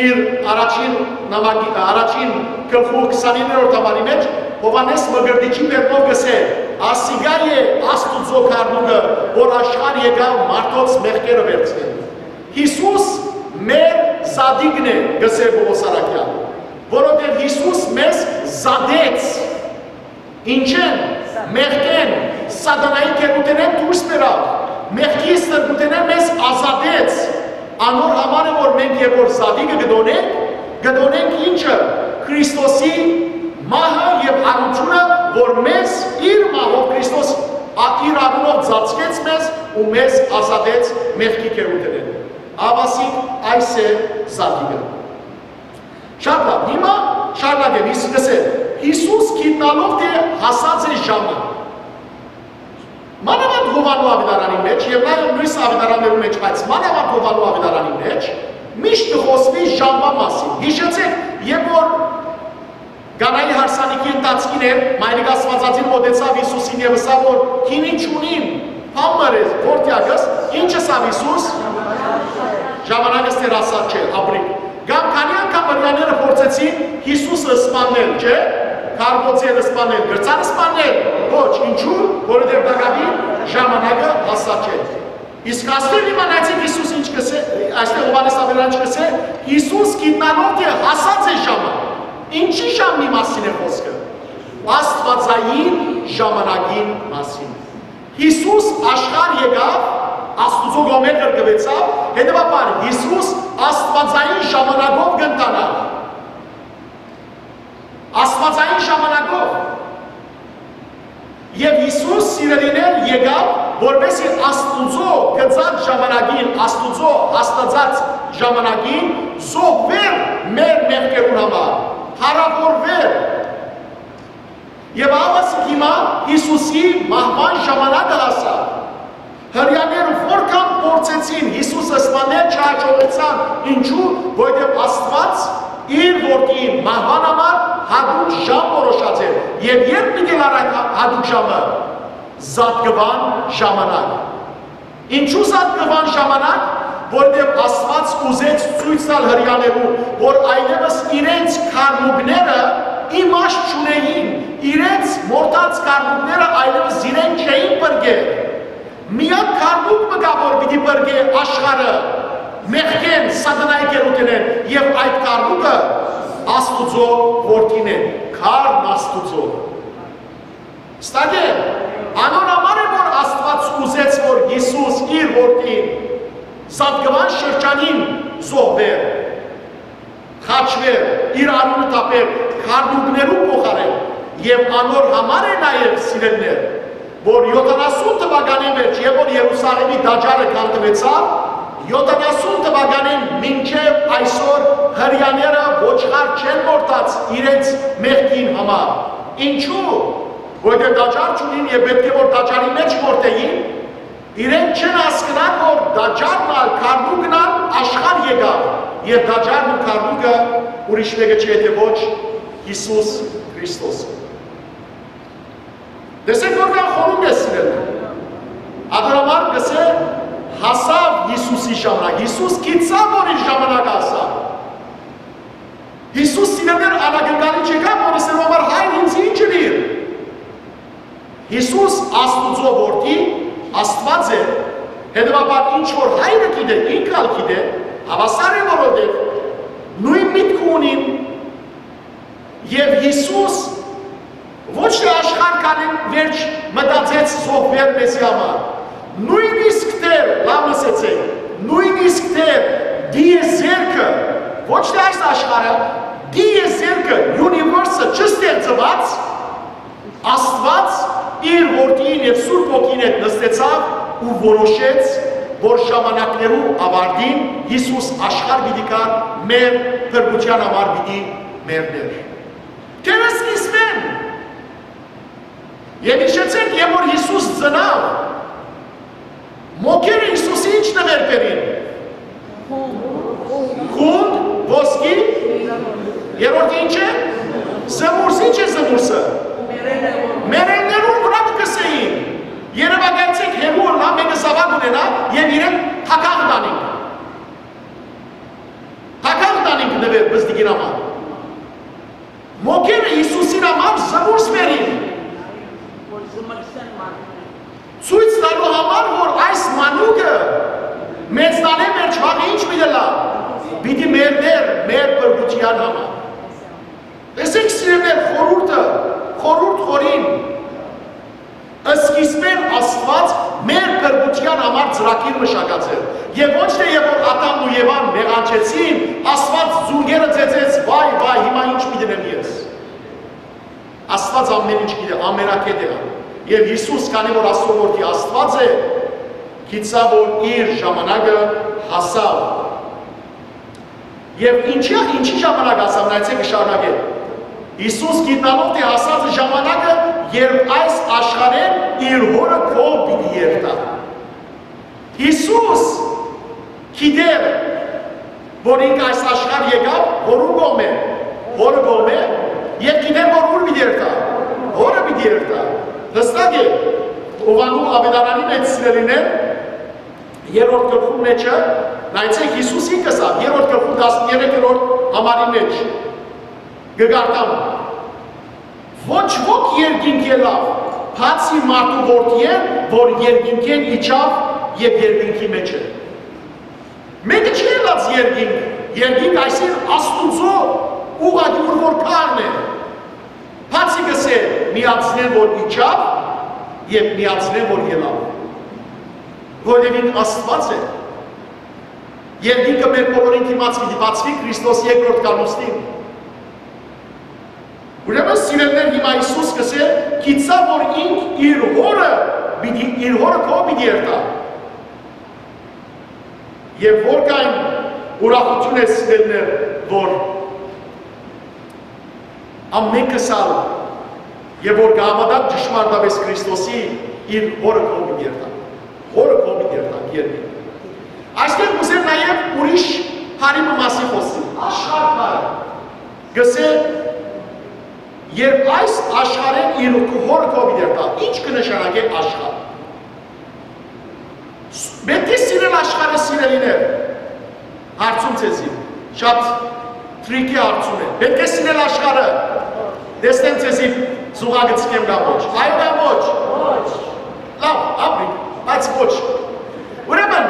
իր առաջին նամակի, առաջին գլխու քսանիններորդ համարի մէջ Յովհաննէս Մկրտիչի բերնով կ'ըսէ. «Ասիկա է Աստուծոյ գառնուկը, որ աշխարհ եկաւ մարդոց մեղքերը վերցնելու»։ Յիսուս մեր զատիկն է, կ'ըսէ Պօղոս Առաքեալ, որովհետեւ Յիսուս մեզ զատեց։ Ինչէն, մեղքէն, սատանայի գերութենէն դուրս բերաւ, մեղքի ստրկութենէն մեզ ազատեց։ Անոր համար է, որ մենք երբ որ զատիկը կը տոնենք, կը տոնենք ինչը, Քրիստոսի մահը եւ յարութիւնը, որ մեզ իր մահով Քրիստոս ա-, իր անունով ծածկեց մեզ ու մեզ ազատեց մեղքի գերութենէն։ Ահա այս է զատիկը։ Շատ լաւ, հիմա շարունակեմ, իսկ լսել, Յիսուս գիտնալով թէ հասած է ժամը։ Մանաւանդ Յովհաննու աւետարանին մէջ եւ նաեւ միւս աւետարաններուն մէջ, բայց մանաւանդ Յովհաննու աւետարանին մէջ միշտ կը խօսուի ժամվան մասին։ Յիշեցէք, երբ որ Կանայի հարսանիքի ընթացքին էր, Մայրիկ Աստուածածին մօտեցաւ Յիսուսին եւ ըսաւ որ՝ «Քինի չունիմ, բան մը ըրես, որդեակս», ինչ ըսաւ Յիսուս։ «Ժամանակս դեռ հասած չէ, ապրիք»։ Կամ քանի՞ անգամ հրեաները փորձեցին Յիսուսը սպաննել, չէ՞։ Քարբոցեր սպաննել, կրցան սպաննել։ Ոչ, ինչու՞, որովհետեւ տակաւին ժամանակը հասած չէ։ Իսկ աստեղ իմանայեցիք Յիսուս ինչ կ'ըսէ, այստեղ Յովհաննէս Աւետարանիչը կ'ըսէ, Յիսուս գիտնալով թէ հասած է ժամը։ Ինչի՞ ժամի մասին է խօսքը։ Աստուածային ժամանակին մասին։ Յիսուս աշխարհ եկաւ, Աստուծոյ կողմէ ղրկուեցաւ, հետեւաբար Յիսուս աստուածային ժամանակով կ'ընթանայ։ Աստուածային ժամանակով։ Եւ Յիսուս, սիրելիներ, եկաւ, որպեսզի Աստուծոյ գծած ժամանակին, Աստուծոյ հաստատած ժամանակին զոհուէր մեր մեղքերուն համար, փառաւորուէր։ Եւ ահա հիմա Յիսուսի մահուան ժամանակը հասաւ։ Հրեաները որքան փորձեցին Յիսուսը սպանել, չհաջողեցան։ Ինչու՞, որովհետեւ Աստուած իր որդին մահուան համար յատուկ ժամ որոշած էր։ Եւ ե՞րբ պիտի ըլլար այդ յատուկ ժամը։ Զատկուան ժամանակ։ Ինչու զատկուան ժամանակ, որովհետեւ Աստուած ուզեց ցոյց տալ հրեաներուն, որ այլեւս իրենց գառնուկները իմաստ չունէին, իրենց մորթած գառնուկները այլեւս իրեն չէին պրկեր։ Միակ գառնուկ մը կայ, որ պիտի պրկէ աշխարհը մեղքէն, սատանայի գերութենէն, եւ այդ գառնուկը Աստուծոյ որդին է, գառն Աստուծոյ։ Ստակե, անոր համար է, որ Աստուած ուզեց, որ Յիսուս իր որդին զատկուան շրջանին զոհուէր, խաչուէր, իր արիւնը թափէր գառնուկներու փոխարէն, եւ անոր համար է նաեւ, սիրելիներ, որ յոթանասուն թուականին մէջ, երբ որ Երուսաղէմի տաճարը քանդուեցաւ, Եօթանասուն թուականէն մինչեւ այսօր Հրեաները ոչխար չեն մորթած իրենց մեղքին համար։ Ինչու՞։ Որտեղ տաճար չունին եւ պէտք է որ տաճարի մէջ մորթէին, իրենք չեն հասկնար որ տաճարն ալ քարնուկն ալ աշխարհ եկաւ, եւ տաճարն ու քարնուկը ուրիշ մէկը չէ, թէ ոչ Յիսուս Քրիստոսը։ Տեսեք որ կան խորհուրդ է սիրել։ Ատոր համար կսե հասաւ Յիսուսի ժամանակ։ Յիսուս գիտցաւ որ իր ժամանակ հասաւ։ Յիսուս սիրելներ անակնկալի չեկա որ ասել համար հայր ինձ ինչ ըլիր։ Յիսուս Աստուծոյ որդի, Աստուած է, հետեւաբար ինչ որ հայրը գիտէ, ինք ալ գիտէ, հաւասար է որովհետեւ նոյն միտքը ունին։ Եւ Յիսուս ոչ թէ աշխարհ քանին վերջ մտածեց զոհուիլ մեզի համար։ Նոյնիսկ դեռ, լաւ լսեցէք, նոյնիսկ դեռ դիեզերքը, ոչ թէ այս աշխարհը, դիեզերքը, universe-ը չստեղծուած, Աստուած իր որդին եւ Սուրբ Հոգին հետ նստեցաւ ու որոշեց, որ ժամանակներու աւարտին Յիսուս աշխարհ պիտի գար մեր փրկութեան համար պիտի մեռներ։ Դեռ սկիզբէն, եւ հիշեցէք, երբ որ Յիսուս ծնաւ, մոգերը Յիսուսի ինչ նուէր բերին։ Խունդ, ոսկի, երրորդը ինչ է։ Զմուրս, ինչ է զմուրսը։ Մեռելներուն վրայ կը կսեին։ Երեւակայեցեք, հեռու ըլլայ, մէկը զաւակ ունենայ եւ իրեն թագաղ տանին։ Թագաղ տանին նուէր բզդիկին համար։ Մոգերը Յիսուսին համար զմուրս բերին, որ զմրսեն մարդուն, ցոյց տալու համար որ այս մանուկը մեծնալէ վերջ վաղը ինչ պիտի ըլլայ։ Պիտի մեռներ մեր փրկութեան համար։ Տեսեք սիրելիներ, խորհուրդը, խորհուրդ խորին։ Սկիզբէն Աստուած մեր փրկութեան համար ծրագիր մշակած էր։ Եւ ոչ թէ երբ որ Ադամն ու Եվան մեղանչեցին, Աստուած զունգերը ծեծեց, վայ, վայ, հիմա ինչ պիտի դնեմ ես։ Աստուած ամեն ինչ գիտէ, ամենակետ է ան։ Եւ Յիսուս, քանի որ Աստուծոյ որդի Աստուած է, գիտցաւ որ իր ժամանակը հասաւ։ Եւ ինչի, ինչի ժամանակ հասաւ, նայեցէք, կը շարունակէ։ Յիսուս գիտնալով թէ հասած է ժամանակը, երբ այս աշխարհէն իր հօրը քով պիտի երթայ։ Յիսուս գիտէր, որ ինք այս աշխարհ եկաւ, որու կողմէ, հօրը կողմէ, եւ գիտէր, որ ուր պիտի երթայ, հօրը պիտի երթայ։ Յստակ է, Յովհաննէս աւետարանի մէջ սիրելիներ, երրորդ գլխուն մէջը, նայեցէք, Յիսուս ինք ըսաւ, երրորդ գլխուն տասներկերորդ համարի մէջ, կը կարդամ. «Ոչ ոք երկինք ելաւ, բացի մարդու որդիէն, որ երկինքէն իջաւ եւ երկինքի մէջ է»։ Մէկը չի ելած երկինք, երկինք այսինքն Աստուծոյ ուղղակի ուր որ քարն է, բացի կսէ միածնեն որ իջաւ եւ միածնեն որ ելաւ, որովհետեւ ինք Աստուած է։ Երկինքը մեր բոլորին դիմաց պիտի բացուի Քրիստոս երկրորդ գալուստին։ Ուրեմն սիրելիներ, հիմա Յիսուս կսէ, գիտցաւ որ ինք իր հօրը պիտի, իր հօրը քով պիտի երթայ։ Եւ որքան ուրախութիւն է սիրելիներ, որ ամենքս ալ, եւ որ կհաւատան ճշմարտապէս Քրիստոսի, իր հօրը քով պիտի երթան։ Հօրը քով պիտի երթան երկրի։ Այստեղ կուզեմ նաեւ ուրիշ բանի մը մասին խոսել։ Աշխարհ բառը։ Կսէ, երբ այս աշխարհէն իր հօրը քով պիտի երթա, ինչ կը նշանակէ աշխարհ։ Պէտք է սիրել աշխարհը, սիրելիներ։ Հարցում ձեզի, շատ tricky հարցում է։ Պէտք է սիրել աշխարհը։ Տեսնեմ ձեզի զուգակցկեմ կամ ոչ։ Այո կամ ոչ։ Լաւ, ապրի, բայց ոչ։ Ուրեմն,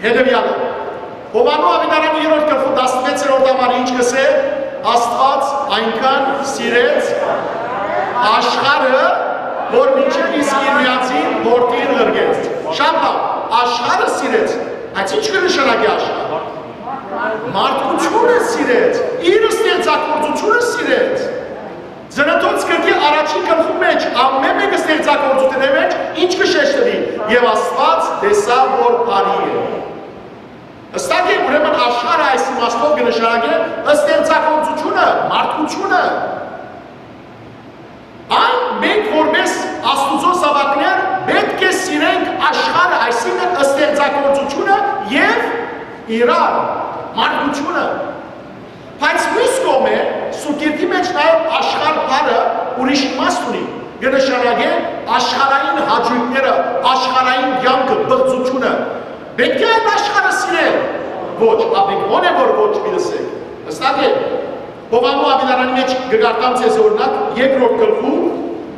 հետեւյալը։ Յովհաննէս աւետարանի երրորդ գլխու տասնվեցերորդ համար ինչ կսէ։ Աստուած այնքան սիրեց աշխարհը, որ մինչեւ իսկ իր միածին որդին ղրկեց։ Շատ լաւ, աշխարհը սիրեց, բայց ինչ կը նշանակի աշխարհ։ Մարդկությունը սիրեց, իր ստեղծագործությունը սիրեց։ Ծննդոց գրքի առաջին գլխու մէջ, ամեն մէկը ստեղծագործութիւնի մէջ ինչ կը շեշտուի։ Եւ Աստուած տեսաւ որ բարի է։ Հստակ է, ուրեմն աշխարհը այս իմաստով կը նշանակէ ստեղծագործությունը, մարդկությունը։ Այն մենք որպես Աստուծոյ զաւակներ պէտք է սիրենք աշխարհը, այսինքն ստեղծագործությունը եւ իրար, մարդկությունը։ Բայց միւս կողմէ, Սուրբ Գիրքի մէջ նաեւ աշխարհ բառը ուրիշ իմաստ ունի, կը նշանակէ աշխարհային հաճոյքները, աշխարհային կեանքը, պղծությունը։ Պէտք է այդ աշխարհը սիրել։ Ոչ, ապիկոն է, որ ոչ, մի լսեք։ Հստակ է։ Յովհաննէս աւետարանի մէջ կը կարդամ ձեզ օրինակ, երկրորդ գլխու,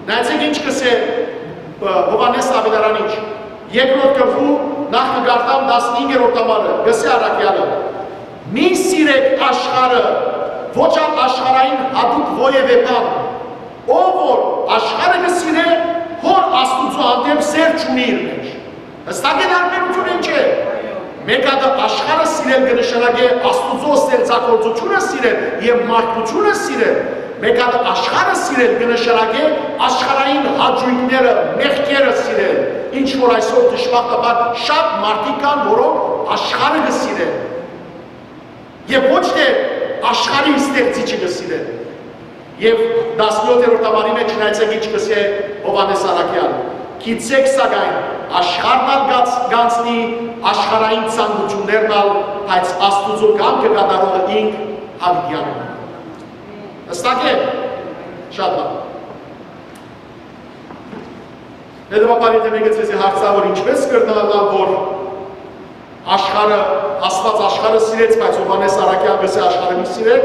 նայեցէք ինչ կ'ըսէ, ը, Յովհաննէս աւետարանիչ։ Երկրորդ գլխու, նախ կը կարդամ տասնհինգերորդ համարը, կ'ըսէ առաքեալը. «Մի սիրեք աշխարհը, ոչ ալ աշխարհային յատուկ որեւէ բան։ Ով որ աշխարհը կը սիրէ, Հօր Աստուծոյ հանդէպ սէր չունի իր մէջ»։ Հստակ է, տարբերութիւնը ինչ է։ Մէկ հատը աշխարհը սիրել կը նշանակէ Աստուծոյ ստեղծագործությունը սիրել եւ մարդկությունը սիրել։ Մէկ հատը աշխարհը սիրել կը նշանակէ աշխարհային հաճոյքները, մեղքերը սիրել, ինչ որ այսօր դժբախտաբար շատ մարդիկ կան, որոնք աշխարհը կը սիրեն եւ ոչ թէ աշխարհի ստեղծիչը կը սիրեն։ Եւ տասնյոթերորդ համարի մէջ նայեցէք ինչ կ'ըսէ Յովհաննէս առաքեալ. «Գիտցէք սակայն, աշխարհն ալ կաց-, կ'անցնի, աշխարհային ցանկութիւններն ալ, բայց Աստուծոյ կամքը կատարողը ինք յաւիտեան է»։ Հստակ է։ Շատ լավ։ Հետեւաբար, եթէ մէկը ձեզի հարցայ, որ ինչպէս կրնայ ըլլալ, որ աշխարհը, Աստուած աշխարհը սիրեց, բայց Յովհաննէս առաքեալ կ'ըսէ աշխարհը մի սիրէք,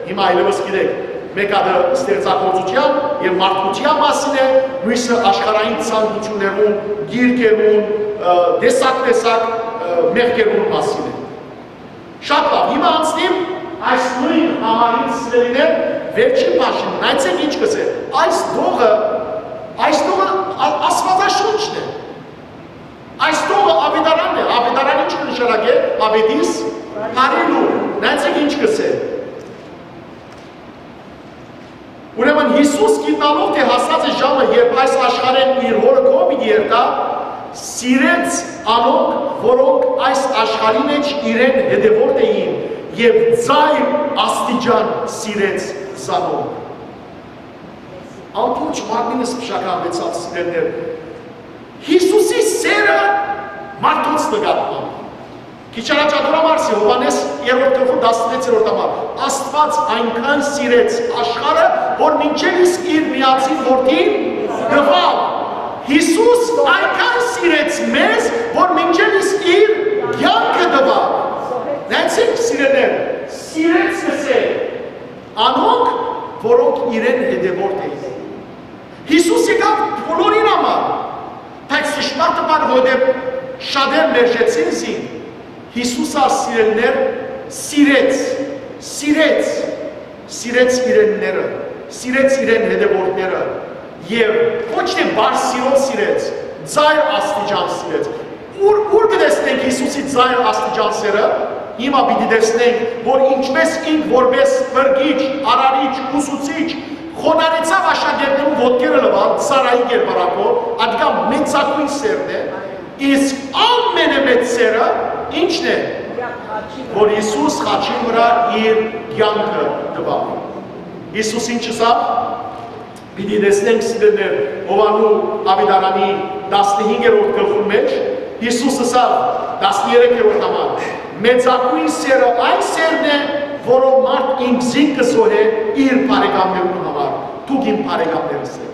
հիմա այլեւս գիտէք, մէկ հատը ստեղծագործութեան եւ մարդկութեան մասին է, միւսը աշխարհային ցանկութիւններուն, գիրքերուն, ը, տեսակ-տեսակ, ը, մեղքերուն մասին է։ Շատ լաւ, հիմա անցնիմ այս նոյն համարին, սիրելիներ, վերջին բաժինը, նայեցէք ինչ կ'ըսէ։ Այս տողը, այս տողը ա-, Աստուածաշունչն է։ Այս տողը Աւետարանն է, Աւետարան ինչ կը նշանակէ, Աւետիս բարի լուր, նայեցէք ինչ կ'ըսէ։ Ուրեմն Յիսուս գիտնալով թէ հասած է ժամը, երբ այս աշխարհէն իր Հօրը քով պիտի երթայ, սիրեց անոնք, որոնք այս աշխարհի մէջ իրեն հետեւորդ էին, եւ ծայր աստիճան սիրեց զանոնք։ Ամբողջ մարմինս փշաքանուեցաւ, սիրելիներ։ Յիսուսի սերը մարդոց նկատմամբ։ Քիչ առաջ ատորամարսի Յովհաննէս երրորդ գլխու տասնվեցերորդ համար. «Աստուած այնքան սիրեց աշխարհը, որ մինչեւ իսկ իր միածին որդին տուաւ»։ Յիսուս այնքան սիրեց մեզ, որ մինչեւ իսկ իր կեանքը տուաւ։ Նայեցեք, սիրելիներ, սիրեց կ'ըսէ անոնք, որոնք իրեն հետեւորդ էին։ Յիսուս եկաւ բոլորին համար, բայց ճշմարտը բան, որտեղ շատեր մերժեցին զինք, Յիսուս ալ, սիրելիներ, սիրեց, սիրեց, սիրեց իրենները, սիրեց իրեն հետևորդները, եւ ոչ թէ բարձրով սիրեց, ծայր աստիճան սիրեց։ Ուր, ուր կը տեսնենք Յիսուսի ծայր աստիճան սերը։ Հիմա պիտի տեսնենք, որ ինչպես ինք որպես փրկիչ, արարիչ, ուսուցիչ, խոնարհեցաւ աշակերտներուն ոտքերը լուալ, ծառայի կերպարանքով, ատկա մեծագոյն սերն է, իսկ ամենամեծ սերը ի՞նչն է, որ Յիսուս խաչին վրայ իր կեանքը տուաւ։ Յիսուս ինչ ըսաւ։ Պիտի տեսնենք, սիրելիներ, Յովհաննու Աւետարանի տասնհինգերորդ գլխուն մէջ, Յիսուս ըսաւ, տասներեքերորդ համար. «Մեծագոյն սերը այն սերն է, որով մարդ ինքզինքը զոհէ իր բարեկամներուն համար։ Դուք իմ բարեկամներս էք»։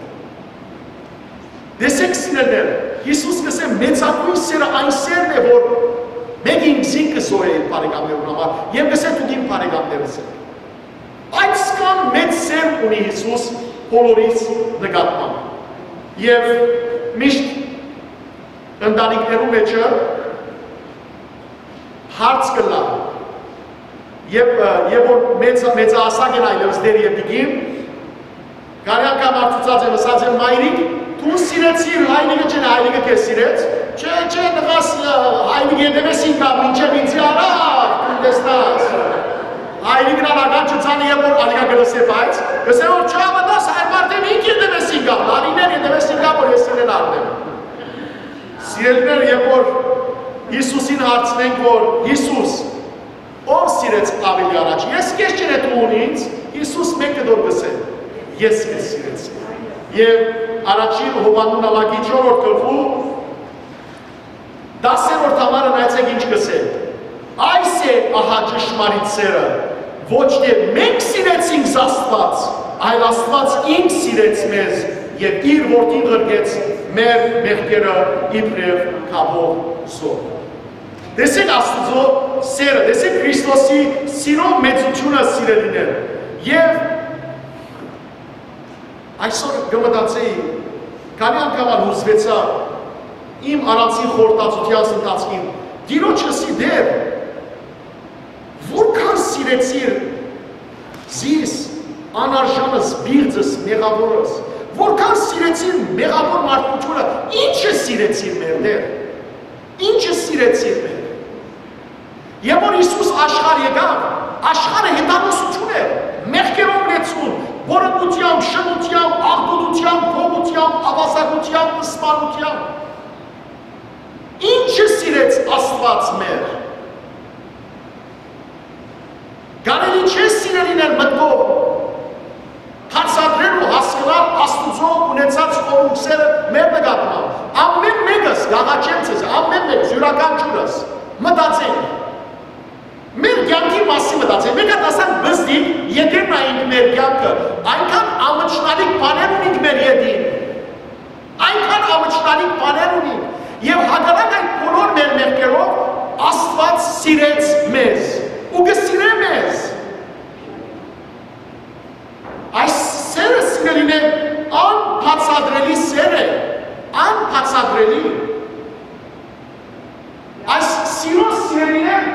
Տեսեք, սիրելիներ, Յիսուս կ'ըսէ, մեծագոյն սերը այն սերն է, որ մէկ ինքզինքը զոհէ իր բարեկամներուն համար, եւ կ'ըսէ, դուք իմ բարեկամներս էք։ Այսքան մեծ սեր ունի Յիսուս բոլորիս նկատմամբ։ Եւ միշտ ընտանիքներու մէջը հարց կ'ըլլայ, եւ, ը, եւ որ մեծ, մեծահասակ են այլեւս դեր եւ տիկին, կարեան կամ արտուցած են, ըսած են. «Մայրիկ, դու սիրեցիր հայրիկը, չէ՞, հայրիկը քեզ սիրեց»։ «Չէ, չէ, տղաս, ը, հայրիկը ետեւէս ինկան, մինչեւ ինձի առաւ, դու տեսնաս»։ Հայրիկն ալ ակա չծանը, երբ որ ալիքա կը լսէ, բայց կ'ըսէ որ չհաւատաս, հայր մարդեմ ինք ետեւէս ինկան, տարիներ ետեւէս ինկան, որ ես իրեն առնեմ։ Սիրելիներ, երբ որ Յիսուսին հարցնենք, որ Յիսուս, Ո՞վ սիրեց աւելի առաջ, ես քեզ, չէ՞ դուն ինձ։ Յիսուս մէկ կտոր կ'ըսէ. «Ես քեզ սիրեցի»։ Եւ առաջին Յովհաննէն նամակի չորրորդ գլխու տասերորդ համարը նայեցէք ինչ կ'ըսէ. «Այս է ահա ճշմարիտ սերը, ոչ թէ մենք սիրեցինք Աստուած, այլ Աստուած ինք սիրեց մեզ եւ իր Որդին ղրկեց մեր մեղքերը իբրեւ կապող զոհ»։ Տեսեք Աստուծոյ սերը, տեսեք Քրիստոսի սիրո մեծութիւնը, սիրելիներ։ Եւ այսօր կը մտածէի, քանի՞ անգամ ալ յուսուեցայ իմ առանձին խորհրդածութեանս ընթացքին, Տիրոջ ըսի. «Տէր, որքան սիրեցիր զիս, անարժանս, բիղձս, մեղաւորս, որքան սիրեցիր մեղաւոր մարդկութիւնը, ի՞նչը սիրեցիր մեր Տէր, ի՞նչը սիրեցիր մեր»։ Եւ որ Յիսուս աշխարհ եկաւ, աշխարհը հեթանոսութիւն էր, մեղքերով լեցուն, պոռնկութեամբ, շնութեամբ, աղտոտութեամբ, գողութեամբ, աւազակութեամբ, սպանութեամբ։ Ի՞նչը սիրեց Աստուած մեր։ Կարելի՞ չէ, սիրելիներ, մտքով բացատրել ու հասկնալ Աստուծոյ ունեցած խորհուրդները մեր նկատմամբ։ Ամէն մէկս, կ'աղաչեմ ձեզ, ամէն մէկս, իւրաքանչիւրս, մտածենք։ Մեր կեանքի մասին մտածենք։ Մենք ատասան բզդիկ ետերն ենք մեր կեանքը, այնքան ամչնալիք բաներ ունենք մեր ետին, այնքան ամչնալիք բաներ ունենք, եւ հակառակ այդ բոլոր մեր մեղքերով Աստուած սիրեց մեզ ու կը սիրէ մեզ։ Այս սերը, սիրելիներ, անբացատրելի սեր է, անբացատրելի։ Այս սիրո, սիրելիներ,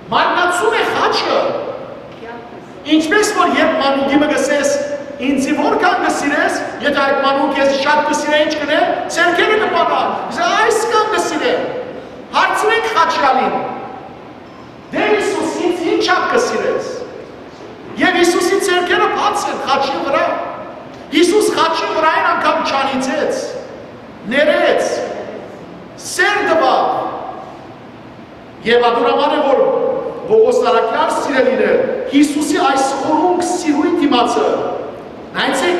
մարմնացում է խաչը։ Ինչպես որ երբ մանուկի մը կ'ըսես. «Ինձի որքան կը սիրես», եթէ այդ մանուկը քեզի շատ կը սիրէ, ինչ կ'ընէ, ձեռքերը կը պարան, կ'ըսէ. «Այսքան կը սիրեմ»։ Հարցնենք խաչեալին. «Տէր Յիսուս, ինձ ինչա՞դ կը սիրես»։ Եւ Յիսուսի ձեռքերը բաց են խաչի վրայ։ Յիսուս խաչի վրայէն անգամ չանիծեց, ներեց, սեր տուաւ։ Եւ ատոր համար է, որ Պողոս առաքեալ, սիրելիներ, Յիսուսի այս խորունկ սիրոյն դիմացը, նայեցեք,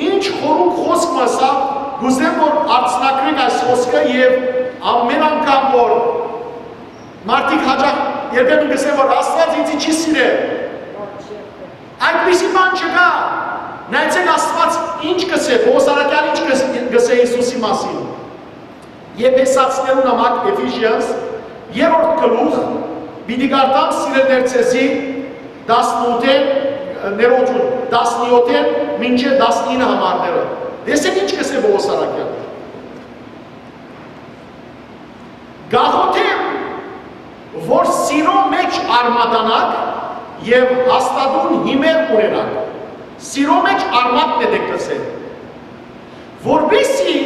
ինչ խորունկ խօսք մը սա, կ'ուզեմ, որ արցնակրենք այս խօսքը եւ ամէն անգամ, որ մարդիկ հաճախ երբեմն կ'ըսեն, որ Աստուած ինձի չի սիրեր, այդպիսի բան չկայ։ Նայեցեք, Աստուած ինչ կ'ըսէ, Պողոս առաքեալ ինչ կ'ըս-, կ'ըսէ Յիսուսի մասին։ Եփեսացիներուն նամակ, Ephesians, երրորդ գլուխ, պիտի կարդամ, սիրելիներ, ձեզի տասնութ, ներողություն, տասնյոթ մինչեւ տասնինը համարները։ Տեսեք ինչ կ'ըսէ Պողոս առաքեալ. «Կ'աղօթեմ, որ սիրո մեջ արմատանաք եւ հաստատուն հիմեր ունենաք, սիրո մեջ արմատն է դեգ կ'ըսէ, որպեսզի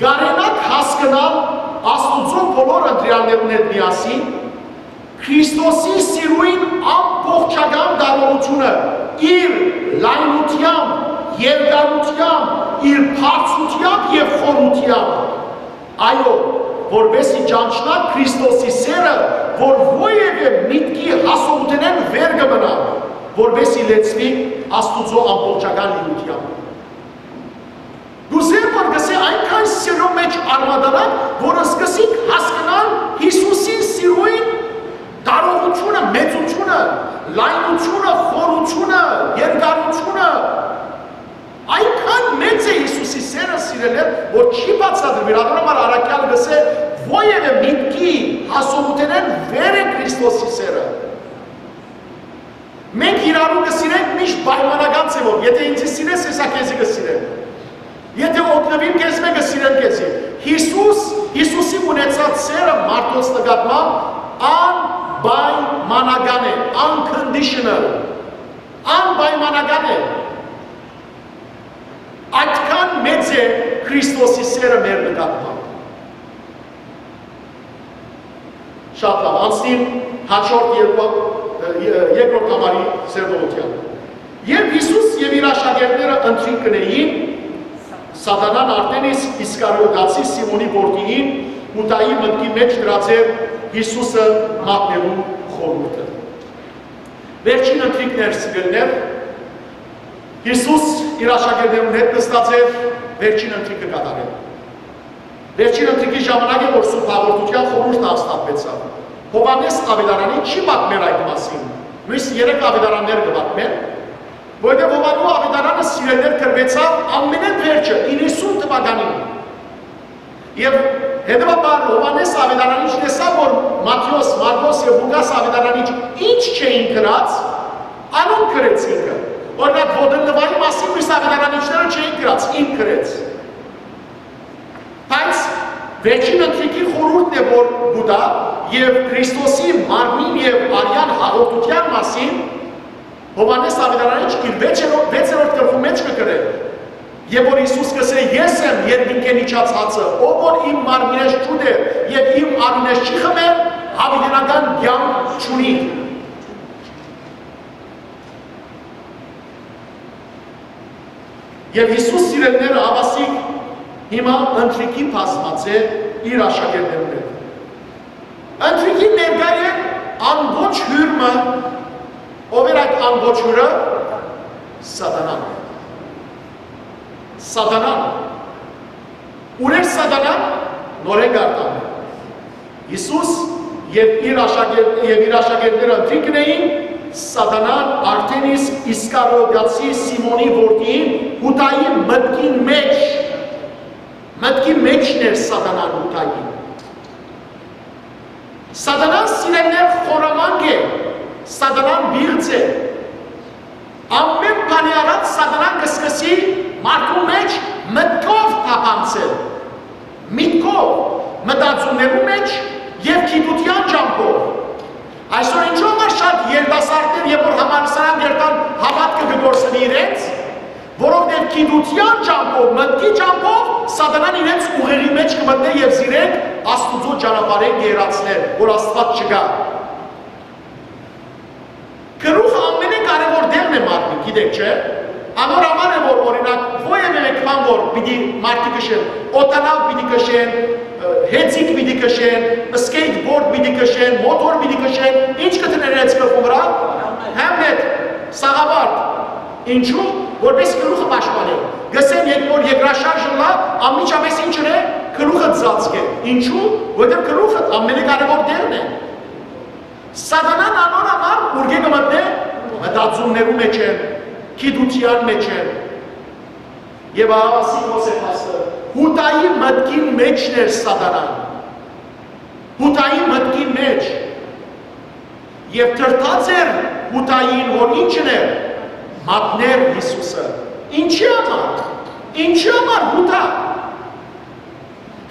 կարենաք հասկնալ Աստուծոյ բոլոր ընտրեալներուն հետ միասին Քրիստոսի սիրոյն ամբողջական տարողութիւնը, իր լայնութեամբ, երկարութեամբ, իր բարձրութեամբ եւ խորութեամբ։ Այո, որպեսզի ճանչնաք Քրիստոսի սերը, որ որեւէ միտքի հասողութենէն վեր կը մնայ, որպեսզի լեցուի Աստուծոյ ամբողջական լիութեամբ»։ Կ'ուզեմ, որ կ'ըսէ, այնքան սիրո մեջ արմատանաք, որ սկսենք հասկնալ Յիսուսին սիրոյն տարողութիւնը, մեծութիւնը, լայնութիւնը, խորութիւնը, երկարութիւնը։ Այնքան մեծ է Յիսուսի սերը, սիրելիներ, որ չի բացատրուիր։ Ատոր համար առաքեալը կ'ըսէ, որեւէ միտքի հասողութենէն վեր է Քրիստոսի սերը։ Մենք իրարու կը սիրենք միշտ պայմանական ձևով. «Եթէ ինձի սիրես, ես ա քեզի կը սիրեմ։ Եթէ օգնուիմ քեզմէ, կը սիրեմ քեզի»։ Յիսուս, Յիսուսի ունեցած սերը մարդոց նկատմամբ անպայմանական է, unconditional, անպայմանական է։ Այդքան մեծ է Քրիստոսի սերը մեր նկատմամբ։ Շատ լավ, անցնիմ հաջորդ երկու, ը, ե-, երկրորդ համարի սերտողութեան։ Երբ Յիսուս եւ իր աշակերտները ընթրիք կ'ընէին, Սատանան արդէն իսկ Իսկարիոտացի Սիմոնի որդիին Յուդայի մտքի մեջ դրած էր Յիսուսը մատնելու խորհուրդը։ Վերջին ընթրիքն էր, սիրելիներ, Յիսուս իր աշակերտներուն հետ նստած էր վերջին ընթրիքը կատարել։ Վերջին ընթրիքի ժամանակ է, որ Սուրբ Հաղորդութեան խորհուրդը հաստատուեցաւ։ Յովհաննէս Աւետարանի չի պատմեր այդ մասին, միւս երեք աւետարաններ կը պատմեն, որովհետեւ Յովհաննու Աւետարանը, սիրելիներ, գրուեցաւ ամենէն վերջը, իննսուն թուականին։ Եւ հետեւաբար Յովհաննէս Աւետարանիչ տեսաւ, որ Մատթէոս, Մարկոս եւ Ղուկաս Աւետարանիչ ինչ չէին գրած, անոնք գրեց ինքը։ Օրինակ, Ոտնլուայի մասին միւս աւետարանիչները չէին գրած, ինք գրեց։ Բայց վերջին ընթրիքի խորհուրդն է, որ կու տայ, եւ Քրիստոսի մարմնին եւ արեան հաղորդութեան մասին Յովհաննէս Աւետարանիչ իր վեցերորդ, վեցերորդ գլխու մէջ կը գրէ, եւ որ Յիսուս կ'ըսէ. «Ես եմ երկնքէն իջած հացը, ով որ իմ մարմինէս չուտէ եւ իմ արիւնէս չի խմէ, յաւիտենական կեանք չունի»։ Եւ Յիսուս, սիրելիները, հաւասիկ հիմա ընթրիքի բազմած է իր աշակերտներուն հետ։ Ընթրիքի ներկայ է անոչ հիւր մը, ով էր այդ անոչ հիւրը։ Սատանան։ Սատանան։ Ո՞ւր էր Սատանան, նորէն կ'արտանեմ։ Յիսուս եւ իր աշակերտ-, եւ իր աշակերտները ընթրիքն էին, Սատանան արդէն իսկ Իսկարիովտացի Սիմոնի որդին Յուդայի մտքին մէջ, մտքի մէջն էր Սատանան Յուդային։ Սատանան, սիրելիներ, խորամանկ է, Սատանան պիղծ է։ Ամէն բանի առաջ Սատանան կը սկսի մարդու մէջ մտքով թափանցել, միտքով, մտածումներու մէջ եւ գիտութեան ճամբով։ Այսօր ինչու համար շատ երիտասարդներ, երբ որ համալսարան կ'երթան, հաւատքը կը կորսնի իրենց, որովհետեւ գիտութեան ճամբով, մտքի ճամբով Սատանան իրենց ուղեղի մէջ կը մտնէ եւ զիրենք Աստուծոյ ճանապարհէն կը հեռացնէ, որ Աստուած չկայ։ Գլուխը ամենակարեւոր տեղն է մարդին, գիտեք, չէ՞։ Անոր համար է, որ, օրինակ, որեւէ մէկ բան, որ պիտի մարդիկ քշեն, օդանաւ պիտի քշեն, ը, հեծիկ պիտի քշեն, skateboard պիտի քշեն, մոթոր պիտի քշեն, ինչ կը դնեն իրենց գլխուն վրայ։ Հեմլետ, սաղավարտ։ Ինչու՞, որպէս գլուխը պաշտպանեն։ Կ'ըսեն, երբ որ երկրաշարժ ըլլայ, անմիջապէս ինչ ընէ, գլուխը ծածկէ։ Ինչու՞, որովհետեւ գլուխը ամենակարեւոր տեղն է։ Սատանան անոր համար ուրկէ կը մտնէ մտածումներու մէջ են, գիտութեան մէջ են։ Եւ ահա ասի Յովհաննէս Յուսը, Յուդայի մտքին մէջն էր Սատանան։ Յուդայի մտքին մէջ։ Եւ դրդած էր Յուդային, որ ինչ ընէր, մատնէր Յիսուսը։ Ինչի՞ համար։ Ինչի՞ համար Յուդա։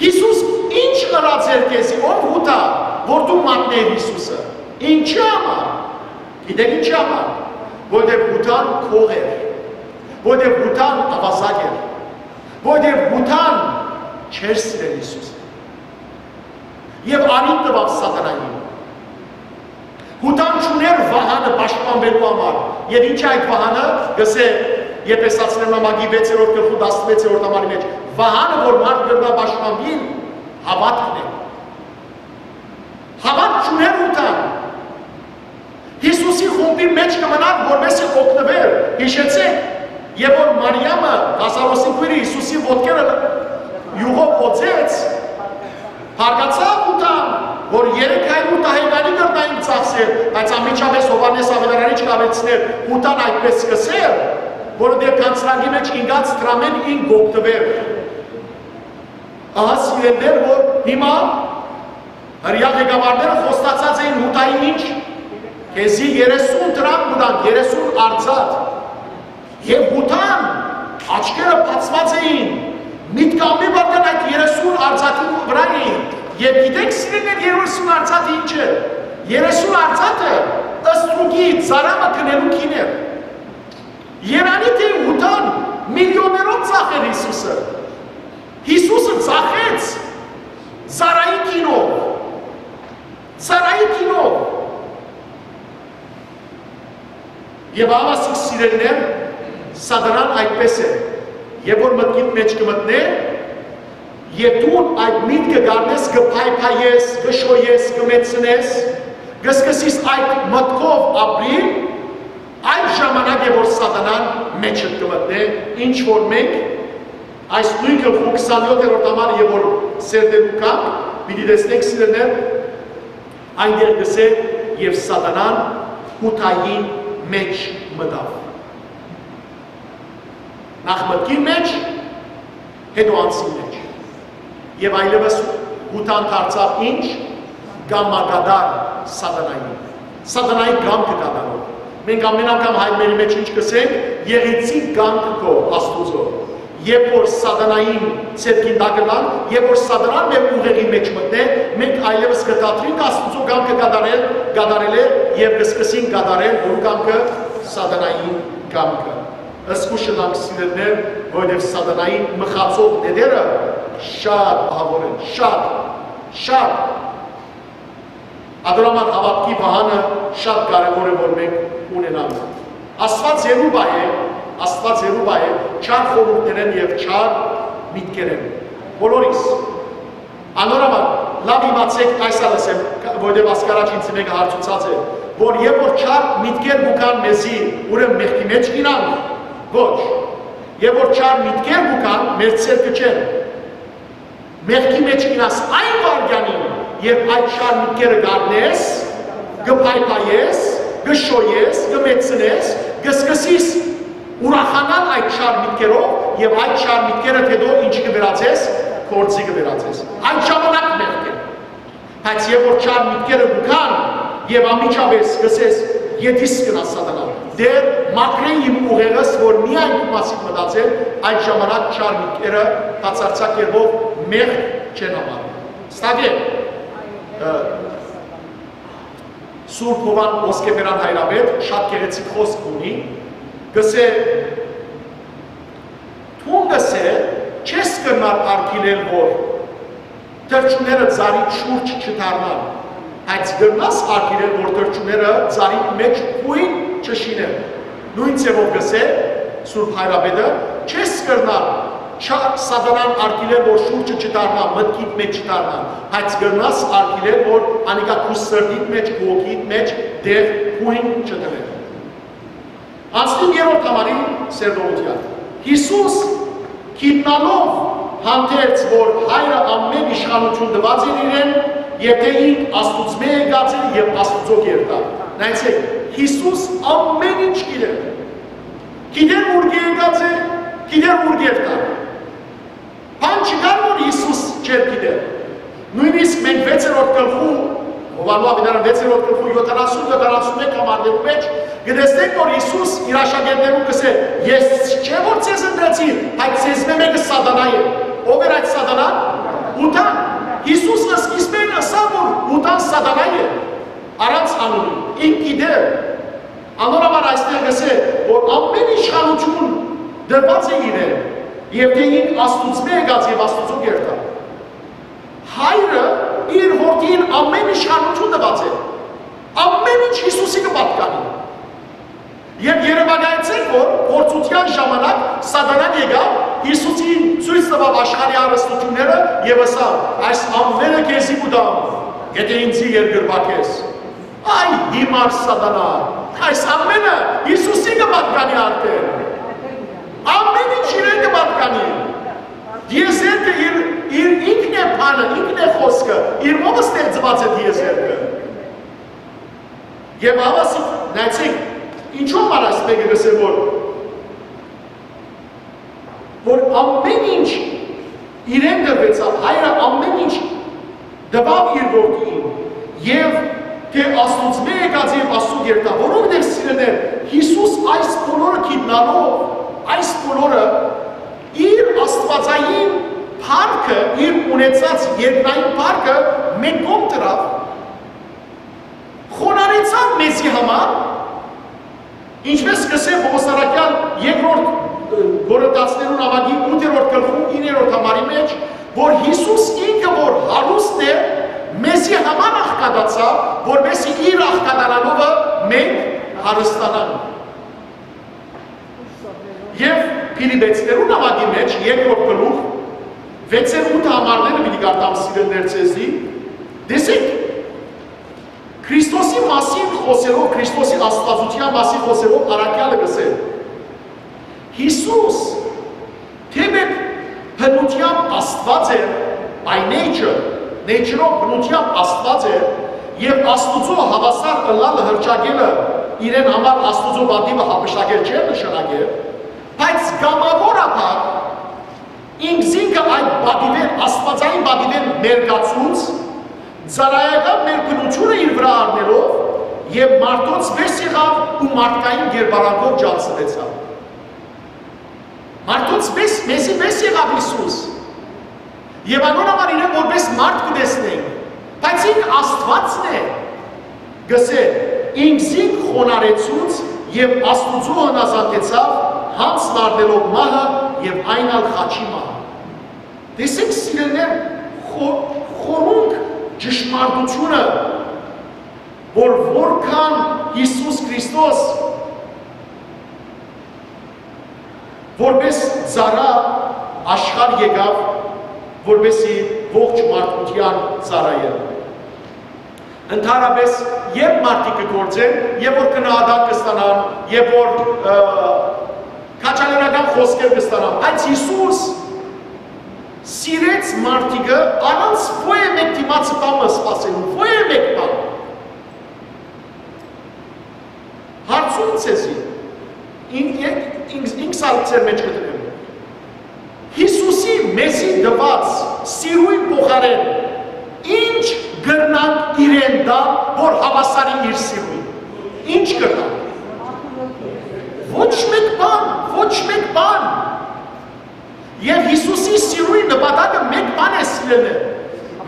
Յիսուս ինչ ըրած էր քեզի, ով Յուդա, որ դու մատնէիր Յիսուսը։ Ինչի՞ համար։ Գիտեք ինչի՞ համար։ Որտեւ Յուդան գող էր, որտեւ Յուդան աւազակ էր, որտեւ Յուդան չէր սիրել Յիսուսը։ Եւ անիտ տուաւ Սատանային։ Յուդան չունէր վահանը պաշտպանուելու համար։ Եւ ինչ է այդ վահանը, կ'ըսէ Եփեսացիներուն նամակի վեցերորդ գլխու տասնվեցերորդ համարի մէջ, վահանը, որ մարդ կրնայ պաշտպանուիլ, հաւատքն է։ Հաւատք չունէր Յուդան։ Յիսուսի խումբի մէջ կը մնար, որպէս զի օգնուէր, յիշեցէք, երբ որ Մարիամը, Ղազարոսի քոյրը, Յիսուսի ոտքերը իւղով օծեց, հարգացաւ Յուդան, որ երեք հարիւր դահեկանի կրնային ծախսել, բայց անմիջապէս Յովհաննէս Աւետարանիչ կ'ավելցնէր, Յուդան այդպէս սկսեր, որովհետեւ գանձնակի մէջ ինկած դրամէն ինք կ'օգնուէր։ Ահա, սիրելիներ, որ հիմա հրեայ ղեկավարները խոստացած էին Յուդային ինչ, քեզի երեսուն դրամ կու տանք, երեսուն արծաթ։ Եւ Յուդան աչքերը բացուած էին, միտքը ամէն վայրկեան այդ երեսուն արծաթի վրայ էին։ Եւ գիտեք, սիրելիներ, երեսուն արծաթը ինչ է։ Երեսուն արծաթը ստրուկի ծարամը գնելու գին էր։ Երանի թէ Յուդան միլիոններով ծախեր Յիսուսը։ Յիսուսը ծախեց ծարայի գինով։ Ծարայի գինով։ Եւ ահա, սիրելիներ, Սատանան այդպէս է, երբ որ մտքիդ մէջ կը մտնէ, եւ դուն այդ միտքը կ'առնես, կը փայփայես, կը շոյես, կը մեծցնես, կը սկսես այդ մտքով ապրիլ, այդ ժամանակ է որ Սատանան մեջդ կը մտնէ, ինչ որ մենք այս նոյն գլխու քսանեօթերորդ համար եւ որ սերտելու կանգ, պիտի տեսնենք, սիրելիներ, այնտեղ կսէ, «Եւ Սատանան Յուդային մէջ մտաւ»։ Նախ մտքին մէջ, հետո անձին մէջ։ Եւ այլեւս Յուդան դարձաւ ինչ, կամակատար Սատանային։ Սատանայի կամքը կատարող։ Մենք ամեն անգամ հայրմերի մէջ ինչ կսենք, «Եղիցի կամքը քո, Աստուծոյ»։ Երբ որ Սատանային ձեռքին տակ ըլլանք, երբ որ Սատանան մեր ուղեղի մէջ մտնէ, մենք այլեւս կը դադրինք Աստուծոյ կամքը կատարել, կատարելէ եւ կսկսենք կատարել ո՞ր կամքը, Սատանային կամքը։ Զգուշ ըլլանք, սիրելիներ, որովհետեւ Սատանային մխացող նետերը շատ ահաւոր են, շատ, շատ։ Ադորամար հաւատքի վահանը շատ կարեւոր է որ մենք ունենանք։ Աստուած երու պահ է, Աստուած երու պահ է չար խորհուրդներէն եւ չար միտքերէն։ Բոլորիս, անոր համար լաւ իմացէք, այս ալ ասեմ, որովհետեւ ասկարաջ ինձ մէկը հարցուցած է, որ երբ որ չար միտքեր կու գան մեզի, ուրեմն մեղքի մէջ կ'ինանք, ոչ։ Երբ որ չար միտքեր կու գան, մեր ձեռքը չեն։ Մեղքի մէջ կ'ինաս այն վայրկեանին, երբ այդ չար միտքերը կ'առնես, կը փայփայես, կը շոյես, կը մեծցնես, կը սկսես ուրախանալ այդ չար միտքերով եւ այդ չար միտքերդ հետո ինչի կը վերածես, գործի կը վերածես։ Այդ ժամանակ մեղք է։ Բայց երբ որ չար միտքերը կու գան եւ անմիջապէս կ'ըսես, «Ետիս կ'նաս, Սատանա, Տէր, մաքրէ իմ ուղեղս, որ միայն քու մասին մտածեմ», այդ ժամանակ չար միտքերը բացարձակ կերպով մեղք չեն համարում։ Ստակե, ը, Սուրբ Յովհան Ոսկեբերան հայրապետ շատ գեղեցիկ խօսք ունի, կ'ըսէ, դուն կ'ըսէ, չես կրնար արգիլել, որ թռչունները ծառի շուրջ չդառնան, բայց կրնաս արգիլել, որ թռչունները ծառի մէջ բոյն չշինեն։ Նոյն ձեւով կ'ըսէ Սուրբ Հայրապետը, չես կրնար չա-, Սատանան արգիլել, որ շուրջը չդառնա, մտքիդ մէջ չդառնա, բայց կրնաս արգիլել, որ անիկա քու սրտիդ մէջ, քու հոգիդ մէջ տեղ բոյն չդնէ։ Անցնիմ երրորդ համարին սերտողութեան։ Յիսուս գիտնալով հանդերձ, որ Հայրը ամէն իշխանութիւն տուած էր իրեն, եւ թէ ինք Աստուծմէ եկած է եւ Աստուծոյ կ'երթայ։ Նայեցէք, Յիսուս ամէն ինչ գիտէր։ Գիտէր ուրկէ եկած է, գիտէր ուրկէ կ'երթայ։ Բան չկար, որ Յիսուս չէր գիտեր։ Նոյնիսկ մենք վեցերորդ գլխու, Յովհաննէ աւետարան վեցերորդ գլխու յոթանասուն, յոթանասուն մէկ համարներու մէջ կը տեսնենք, որ Յիսուս իր աշակերտներուն կ'ըսէ. «Ես չէ՞ որ ձեզ ընտրեցի, բայց ձեզմէ մէկը Սատանայ է»։ Ո՞վ էր այդ Սատանան։ Յուդան։ Յիսուս սկիզբէն ըսաւ, որ Յուդան Սատանայ է, առանց անունի։ Ինք գիտեր։ Անոր համար այստեղ կ'ըսէ, որ ամէն իշխանութիւն տրուած է իրեն, եւ թէ ինք Աստուծմէ եկած եւ Աստուծոյ կ'երթայ։ Հայրը իր որդին ամէն իշխանութիւն տուած է։ Ամէն ինչ Յիսուսի կը պատկանի։ Եւ երեւակայեցէք, որ փորձութեան ժամանակ Սատանան եկաւ, Յիսուսին ցոյց տուաւ աշխարհի հարստութիւնները եւ ըսաւ. «Այս ամէնը քեզի կու տամ, եթէ ինծի երկրպագես»։ Այ հիմար Սատանա, այս ամէնը Յիսուսի կը պատկանի արդեն։ Ամէն ինչ իրեն կը պատկանի։ Դիեզերքը իր, իր ինքն է բանը, ինքն է խօսքը, իր մովը ստեղծուած է դիեզերքը։ Եւ հավասիկ, նայեցեք, ինչու համար այս մէկը կ'ըսէ, որ, որ ամէն ինչ իրեն տրուեցաւ, Հայրը ամէն ինչ տուաւ իր որդիին, եւ թէ Աստուծմէ եկած եւ Աստուծոյ կ'երթայ, որովհետեւ, սիրելիներ, Յիսուս այս բոլորը գիտնալով, այս բոլորը իր աստուածային փառքը, իր ունեցած երկնային փառքը մէկ կողմ դրաւ, խոնարհեցաւ մեզի համար, ինչպես կ'ըսէ Պողոս առաքեալ երկրորդ, ը, Կորինթացիներուն աւագի ութերորդ գլխու իններորդ համարի մէջ, որ Յիսուս ինքը որ հարուստ է, մեզի համար աղքատացաւ, որպեսզի իր աղքատանալովը մենք հարստանանք։ Եւ Փիլիպեցիներուն աւագի մէջ երկրորդ գլուխ, վեցեր ութ համարները պիտի կարդամ, սիրելիներ, ձեզի, տեսեք, Քրիստոսի մասին խօսելով, Քրիստոսի աստվածութեան մասին խօսելով առաքեալը կ'ըսէ. Յիսուս թէեւ բնութեամբ Աստուած էր, by nature, nature-ով բնութեամբ Աստուած էր, եւ Աստուծոյ հաւասար ըլլալը, հռչակելը, իրեն համար Աստուծոյ պատիւը յափշտակել չէր նշանակեր, բայց կամաւորաբար ինքզինքը այդ պատիւէն, աստուածային պատիւէն մերկացուց, ծառայական մեր բնութիւնը իր վրայ առնելով եւ մարդոց վեր եղաւ ու մարդկային կերպարանքով ճանչցուեցաւ։ Մարդոց վեր, մեզի վեր եղաւ Յիսուս։ Եւ անոր համար իրեն որպես մարդ կը տեսնենք, բայց ինք Աստուածն է, կ'ըսէ, ինքզինք խոնարհեցուց եւ Աստուծոյ հնազանդեցաւ, յանձն առնելով մահը եւ այն ալ խաչի մահը։ Տեսեք, սիրելիներ, խո-, խորունկ ճշմարտութիւնը, որ որքան Յիսուս Քրիստոս որպես ծառայ աշխարհ եկաւ, որպեսզի ողջ մարդկութեան ծառայէ։ Ընդհանրապէս, երբ մարդիկ կը գործեն, եւ որ գնահատակ կը ստանան, եւ որ, ը, քաջալերական խօսքեր կը ստանան, բայց Յիսուս սիրեց մարդիկը առանց ոեւէ մէկ դիմացի բան մը սպասելու, ոեւէ մէկ բան։ Հարցում ձեզի, ին-, ին-, ինքս, ինքս ալ ձեր մէջ կը դնեմ։ Յիսուսի մեզի տուած սիրոյն փոխարէն ի՞նչ կրնանք իրեն տալ, որ հաւասարի իր սիրոյն։ Ի՞նչ կրնանք։ Ոչ մէկ բան, ոչ մէկ բան։ Եւ Յիսուսի սիրոյի նպատակը մէկ բան է, սիրելիներ.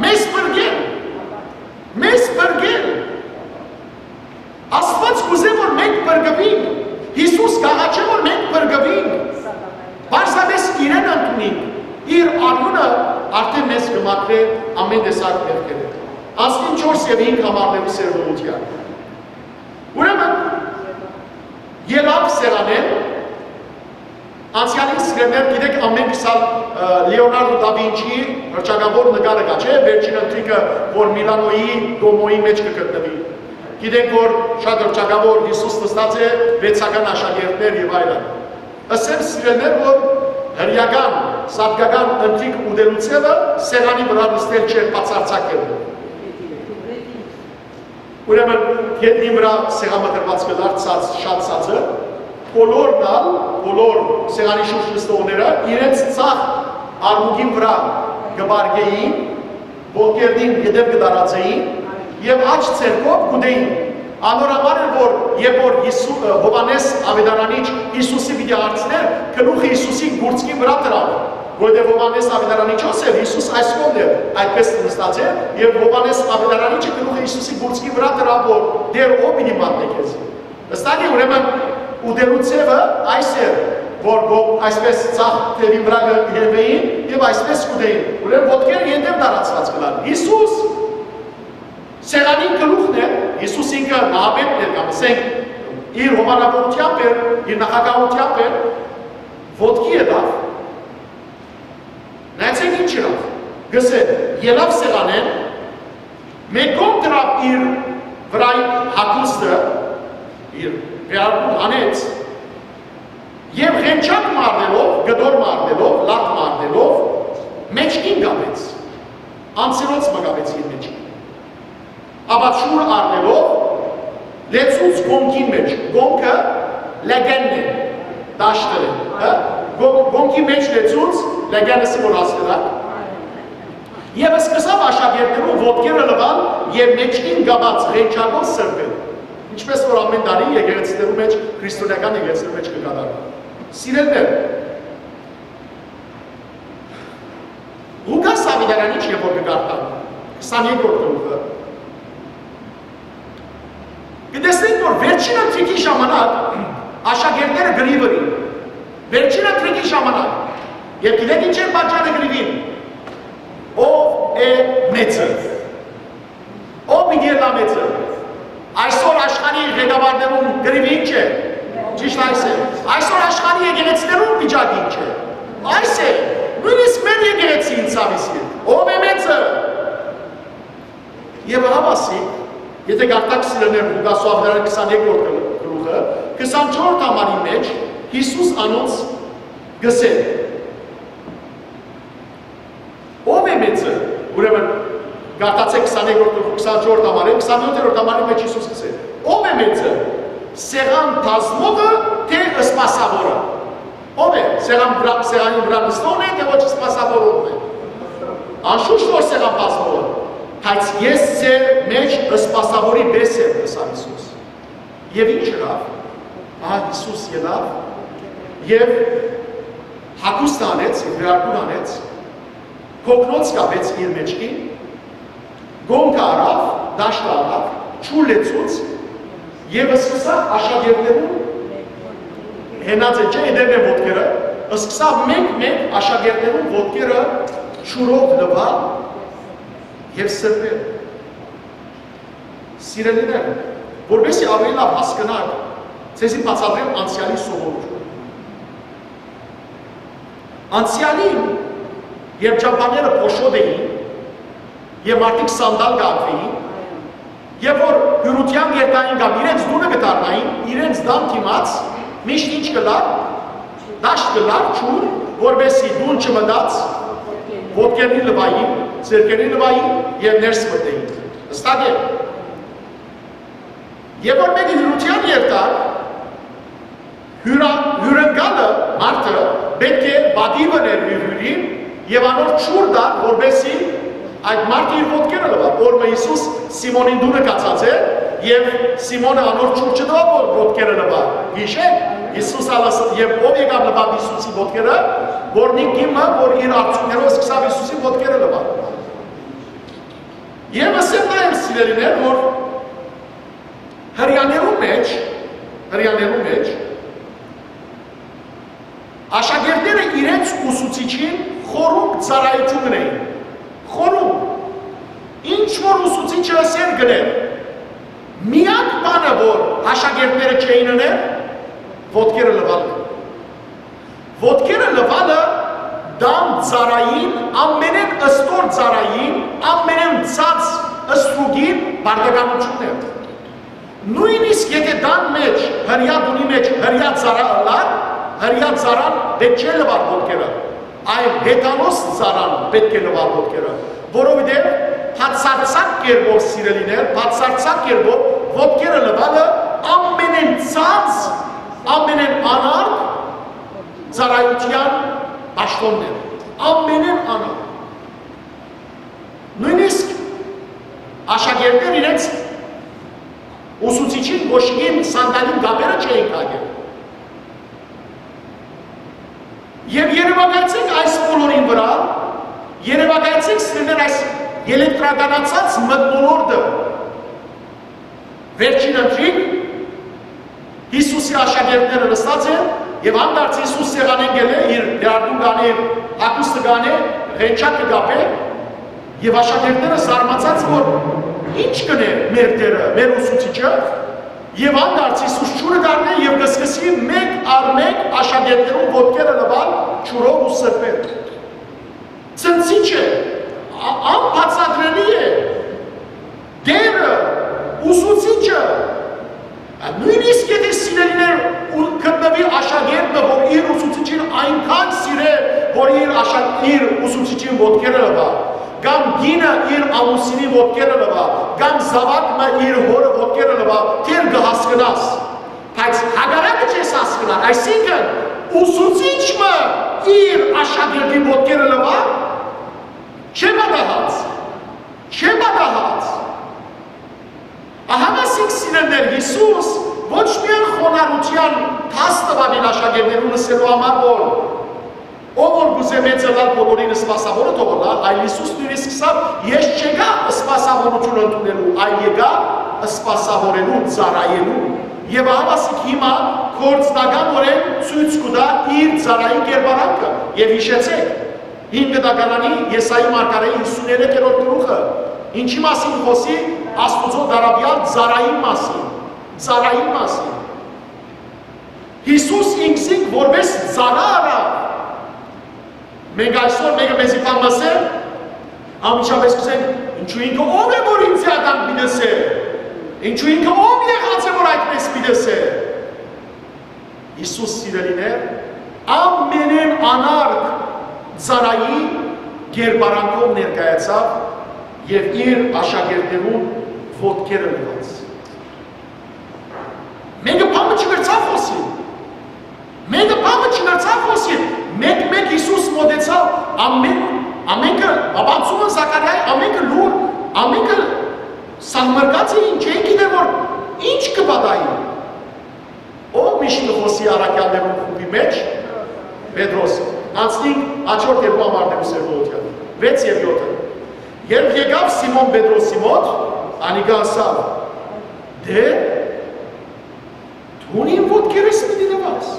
մեզ փրկել, մեզ փրկել։ Աստուած կ'ուզէ, որ մենք փրկուինք, Յիսուս կ'աղաչէ, որ մենք փրկուինք, պարզապէս իրեն ընդունինք, իր արիւնը արդէն մեզ կը մաքրէ ամէն տեսակ մեղքերէ։ Անցնին չորս եւ հինգ համարներու սերտողութեան։ Ուրեմն, ելաւ սեղանէն, անցեալին, սիրելիներ, գիտեք, ամէնքս ալ, ը, Լեոնարդո դա Վինչիի հռչակաւոր նկարը կայ, չէ՞, վերջին ընթրիքը, որ Միլանոյի Դոմոյի մէջ կը գտնուի։ Գիտենք, որ շատ հռչակաւոր Յիսուս նստած է, վեցական աշակերտներ եւ այլն։ Ըսեմ, սիրելիներ, որ հրեական, սատկական ընթրիք ուտելու ձեւը սեղանի վրայ նստել չէր, բացարձակ էր։ Ուրեմն գետնին վրայ սեղանը դրուած կը դարձած շատ ցածը, բոլորն ալ, բոլոր սեղանի շուրջ նստողները իրենց ձախ արմունկին վրայ կը պառկէին, ոտքերնին ետեւ կը տարածէին եւ աջ ձեռքով կ'ուտէին։ Անոր համար էր, որ երբ որ Յիսու-, Յովհաննէս Աւետարանիչ Յիսուսի պիտի հարցնէր, գլուխը Յիսուսին կուրծքին վրայ դրաւ, որովհետեւ Յովհաննէս Աւետարանիչը ըսէր, Յիսուս այս կողմն էր, այդպես նստած էր, եւ Յովհաննէս Աւետարանիչը գլուխը Յիսուսի կուրծքին վրայ դրաւ, որ Տէր, ո՞վ պիտի մատնէ քեզի։ Վստահ է, ուրեմն, ուտելու ձևը այս էր, որ գո-, այսպես ձախ թևին վրայ կը հենվէին եւ այսպես կ'ուտէին, ուրեմն ոտքերը ետեւ տարածուած կ'ըլլան։ Յիսուս սեղանին գլուխն էր, Յիսուս ինքը նահապետն էր, կամ ասենք, իր հովանավորութեամբ էր, իր նախագահութեամբ էր, ոտքի ելաւ, նայեցեք ինչ ըրաւ, կ'ըսէ, ելաւ սեղանէն, մէկ կողմ դրաւ իր վրայ հագուստը, իր վերարկուն հանեց, եւ ղենչակ մը առնելով, կտոր մը առնելով, լակ մը առնելով, մէջքին կապեց, անցերոց մը կապեց իր մէջքին։ Ապա ջուր առնելով, լեցուց կոնքին մէջ, կոնքը լեգենն է, դաշտը է, հա? Կո-, կոնքի մէջ լեցուց, լեգենը սի որ ասելա, եւ սկսաւ աշակերտներուն ոտքերը լուալ եւ մէջքին կապած ղենչակով սրբել, ինչպես որ ամէն տարի եկեղեցիներու մէջ, քրիստոնեական եկեղեցիներու մէջ կը կատարէ։ Սիրելիներ, Ղուկաս Աւետարանիչ երբ որ կը կարդան, քսաներկրորդ գլուխը, կը տեսնենք, որ վերջին ընթրիքի ժամանակ աշակերտները կռիւոր էին։ Վերջին ընթրիքի ժամանակ։ Եւ գիտեք ինչ էր պատճառը կռիւին։ Ո՞վ է մեծը։ Ո՞վ պիտի ըլլայ մեծը։ Այսօր աշխարհի ղեկավարներուն կռիւը ի՞նչ է։ Ճիշտ այս է։ Այսօր աշխարհի եկեղեցիներուն վիճակը ի՞նչ է։ Այս է։ Նոյնիսկ մեր եկեղեցին ցաւի սիրտ։ Ո՞վ է մեծը։ Եւ ահա, ասի, Եթէ կարդաք, սիրելիներ, Ղուկասու աւետարանի քսանեքորդ գլուխը, քսանչորսերորդ համարի մէջ Յիսուս անոնց կ'ըսէ. «Ո՞վ է մեծը»։ Ուրեմն, կարդացէք քսանեքորդ, քսանչորսերորդ համարը, քսանյոթերորդ համարի մէջ Յիսուս կ'ըսէ. «Ո՞վ է մեծը, սեղան բազմողը, թէ սպասաւորը»։ Ո՞վ է, սեղան վրայ, սեղանին վրայ նստողն է, թէ ոչ սպասաւորողն է։ Անշուշտ որ սեղան բազմողը, բայց ես ձեր մէջ սպասաւորի պէս եմ, ըսաւ Յիսուս։ Եւ ի՞նչ ըրաւ։ Ահա Յիսուս ելաւ եւ հագուստը անեց, եւ վերարկուն անեց, կոկնոց կապեց իր մէջքին, կոնքը առաւ, դաշտը առաւ, ջուր լեցուց եւ սկսաւ աշակերտներուն, հենած է, չէ, դերն է ոտքերը, սկսաւ մէկ-մէկ աշակերտներուն ոտքերը ջուրով լուալ եւ սրբել։ Սիրելիներ, որպեսզի ավելի լաւ հասկնաք, ձեզի բացատրեմ անցեալի սովորությունը։ Անցեալին, երբ ճամբաները փոշոտ էին եւ մարդիկ սանդալ կ'ատուին, եւ որ հիւրութեան կ'երթային կամ իրենց տունը կը դառնային, իրենց տան դիմաց միշտ ինչ կ'ըլլար, դաշտ կ'ըլլար, ջուր, որպեսզի տուն չմտած, ոտքերնի լուային, ձեռքերնի լուային եւ ներս մտնեին։ Հստակ է։ Եւ որ մէկը հիւրութեան երթար, հիւրա-, հիւրընկալը, մարդը, պէտք է պատիւ ընէր իր հիւրին եւ անոր ջուր տար, որպեսզի այդ մարդը իր ոտքերը լուայ։ Օրը Յիսուս Սիմոնին տունը գացած է եւ Սիմոնը անոր ջուր չտուաւ, որ ոտքերը լուայ։ Յիշե՞ք, Յիսուս ալ ասաւ, եւ ով եկաւ լուաւ Յիսուսի ոտքերը, որ նիկիմը, որ իր արցունքներով սկսաւ Յիսուսի ոտքերը լուայ։ Եւ ասեմ նաեւ, սիրելիներ, որ Հրեաներուն մէջ, հրեաներուն մէջ, աշակերտները իրենց ուսուցիչին խորունկ ծառայութիւն կ'ընէին։ Խորունկ։ Ինչ որ ուսուցիչը ըսէր, կ'ընէր։ Միակ բանը, որ աշակերտները չէին ըներ, ոտքերը լուալ էր։ Ոտքերը լուալը տան ծառային, ամենէն ստոր ծառային, ամենէն ցած ստրուկին պարտականութիւնն է։ Նոյնիսկ եթէ տան մէջ, հրեայ տունի մէջ հրեայ ծառայ ըլլար, հրեայ ծառան պէտք չէ լուար ոտքերը, այլ հեթանոս ծառան պէտք է լուար ոտքերը, որովհետեւ բացարձակ կերպով, սիրելիներ, բացարձակ կերպով ոտքերը լուալը ամենէն ցած, ամենէն անարգ ծառայութեան պաշտօնն էր, ամենէն անարգ։ Նոյնիսկ աշակերտներ իրենց ուսուցիչին, կոշիկին, սանդալին կապերը չէին կակեր։ Եւ երեւակայեցեք այս բոլորին վրայ, երեւակայեցեք, սիրելիներ, այս ելեկտրականացած մթնոլորտը, վերջին ընթրիք, Յիսուսի աշակերտները նստած են, եւ հանդերձ Յիսուս սեղանին գելէ, իր դեարդուն կ'անէ, իր հագուստը կ'անէ, ղենչակ կը կապէ, եւ աշակերտները զարմացած, որ ի՞նչ կ'ընէ մեր Տէրը, մեր ուսուցիչը, եւ հանդերձ Յիսուս ջուրը կ'առնէ եւ կը սկսի մէկ առ մէկ աշակերտներուն ոտքերը լուալ ջուրով ու սրբել։ Ցնցիչ է, ա-, անբացատրելի է։ Տէրը, ուսուցիչը, նոյնիսկ եթէ, սիրելիներ, ու գտնուի աշակերտը, որ իր ուսուցիչին այնքան սիրէ, որ իր աշա-, իր ուսուցիչին ոտքերը լուայ, կամ կինը իր ամուսինին ոտքերը լուայ, կամ զաւակը իր հօրը ոտքերը լուայ, դեռ կը հասկնաս։ Բայց հակառակը չես հասկնար, այսինքն՝ ուսուցիչ մը իր աշակերտին ոտքերը լուայ, չէ պատահած, չէ պատահած։ Ահա ասիկ, սիրելիներ, Յիսուս ոչ միայն խոնարհութեան դաս տուաւ իր աշակերտներուն, ըսելու համար, որ ով որ կ'ուզէ մեծ ըլլալ, բոլորին սպասաւորը թող ըլլայ, այլ Յիսուս նոյնիսկ ըսաւ. «Ես չեկայ սպասաւորութիւն ընդունելու, այլ եկայ սպասաւորելու, ծառայելու»։ Եւ ահա ասիկ հիմա գործնականօրէն ցոյց կու տայ իր ծառայի կերպարանքը։ Եւ յիշեցէք, հին կտակարանի Եսայի մարգարեի հիսուներեքերորդ գլուխը ինչի՞ մասին խօսի, Աստուծոյ դարաւեալ ծառային մասին, ծառային մասին։ Յիսուս ինքզինք որպէս ծառայ առաւ։ Մենք այսօր մէկը մեզի բան մսեր, անմիջապէս կ'ըսենք. «Ինչու ինքը ով է, որ ինձի ատան պիտի ըսէ»։ Ինչու ինքը ո՞վ եղած է, որ այդպես պիտի ըսէ։ Յիսուս, սիրելիներ, ամենէն անարգ ծառայի կերպարանքով ներկայացաւ եւ իր աշակերտներուն ոտքերը լուաց։ Մեկը բան մը չկրցաւ խօսիլ։ Մեկը բան մը չկրցաւ խօսիլ։ Մեկ-մեկ Յիսուս մօտեցաւ, ամեն, ամենքը, բաբանցումը Զաքարիայի, ամենքը լուռ, ամենքը սանմռկած էին, չէին գիտեր որ ինչ կը պատահի։ Ո՞վ միշտ կը խօսի առաքեալներուն խումբի մէջ։ Պետրոս։ Անցնինք հաջորդ երկու համարներու սերտողութեան։ Վեց եւ յոթը։ Երբ եկաւ Սիմոն Պետրոսի մօտ, անիկա ըսաւ. «Տէ, դուն իմ ոտքերս պիտի լուաս»։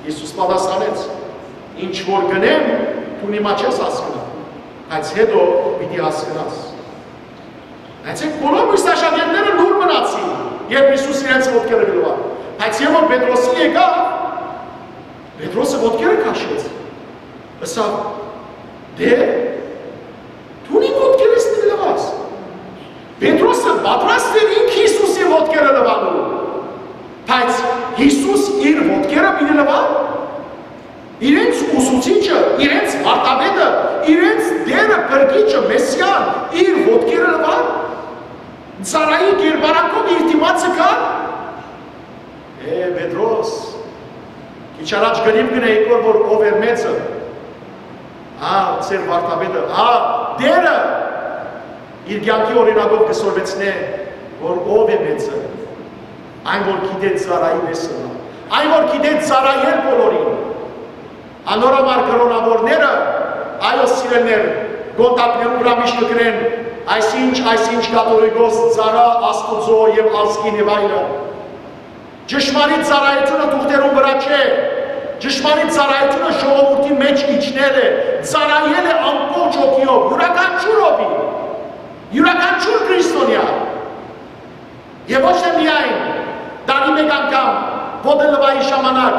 Յիսուս պատասխանեց. «Ինչ որ կ'ընեմ, դուն հիմա չես հասկնար, բայց յետոյ պիտի հասկնաս»։ Այսինքն բոլոր մյուս աշակերտները լուռ մնացին, երբ Յիսուս իրենց ոտքերը լուաց։ Բայց երբ որ Պետրոսի եկաւ, Պետրոսը ոտքերը քաշեց, ըսաւ. «Տէ, դուն իմ ոտքերս պիտի լուաս»։ Պետրոսը պատրաստ էր ինք Յիսուսի ոտքերը լուանալու, բայց Յիսուս իր ոտքերը պիտի լուա։ Իրենց ուսուցիչը, իրենց վարդապետը, իրենց Տէրը, փրկիչը, Մեսիան իր ոտքերը լուան, ծառայի կերպարանքով իր դիմացը կար։ Է, Պետրոս, քիչ առաջ կը նայ գնայ եկոր, որ ով էր մեծը։ Հա, ձեր վարդապետը, հա, Տէրը իր կեանքի օրինակով կը սորվեցնէ, որ ով է մեծը, այն որ գիտէ ծառայի պես ըլլալ, այն որ գիտէ ծառայել բոլորին։ Անոր համար կրոնաւորները, այո, սիրելիներ, կոնտակներու վրայ միշտ կը գրեն, այսինչ, այսինչ կաթողիկոս, ծառայ Աստուծոյ եւ ազգին եւ այլն։ Ճշմարիտ ծառայութիւնը թուղթերուն վրայ չէ։ Ճշմարիտ ծառայութիւնը ժողովուրդի մէջ իջնել է, ծառայել է ամբողջ հոգիով, իւրաքանչիւր հոգի, իւրաքանչիւր քրիստոնեայ։ Եւ ոչ թե միայն տարի մէկ անգամ ոտը լուայի ժամանակ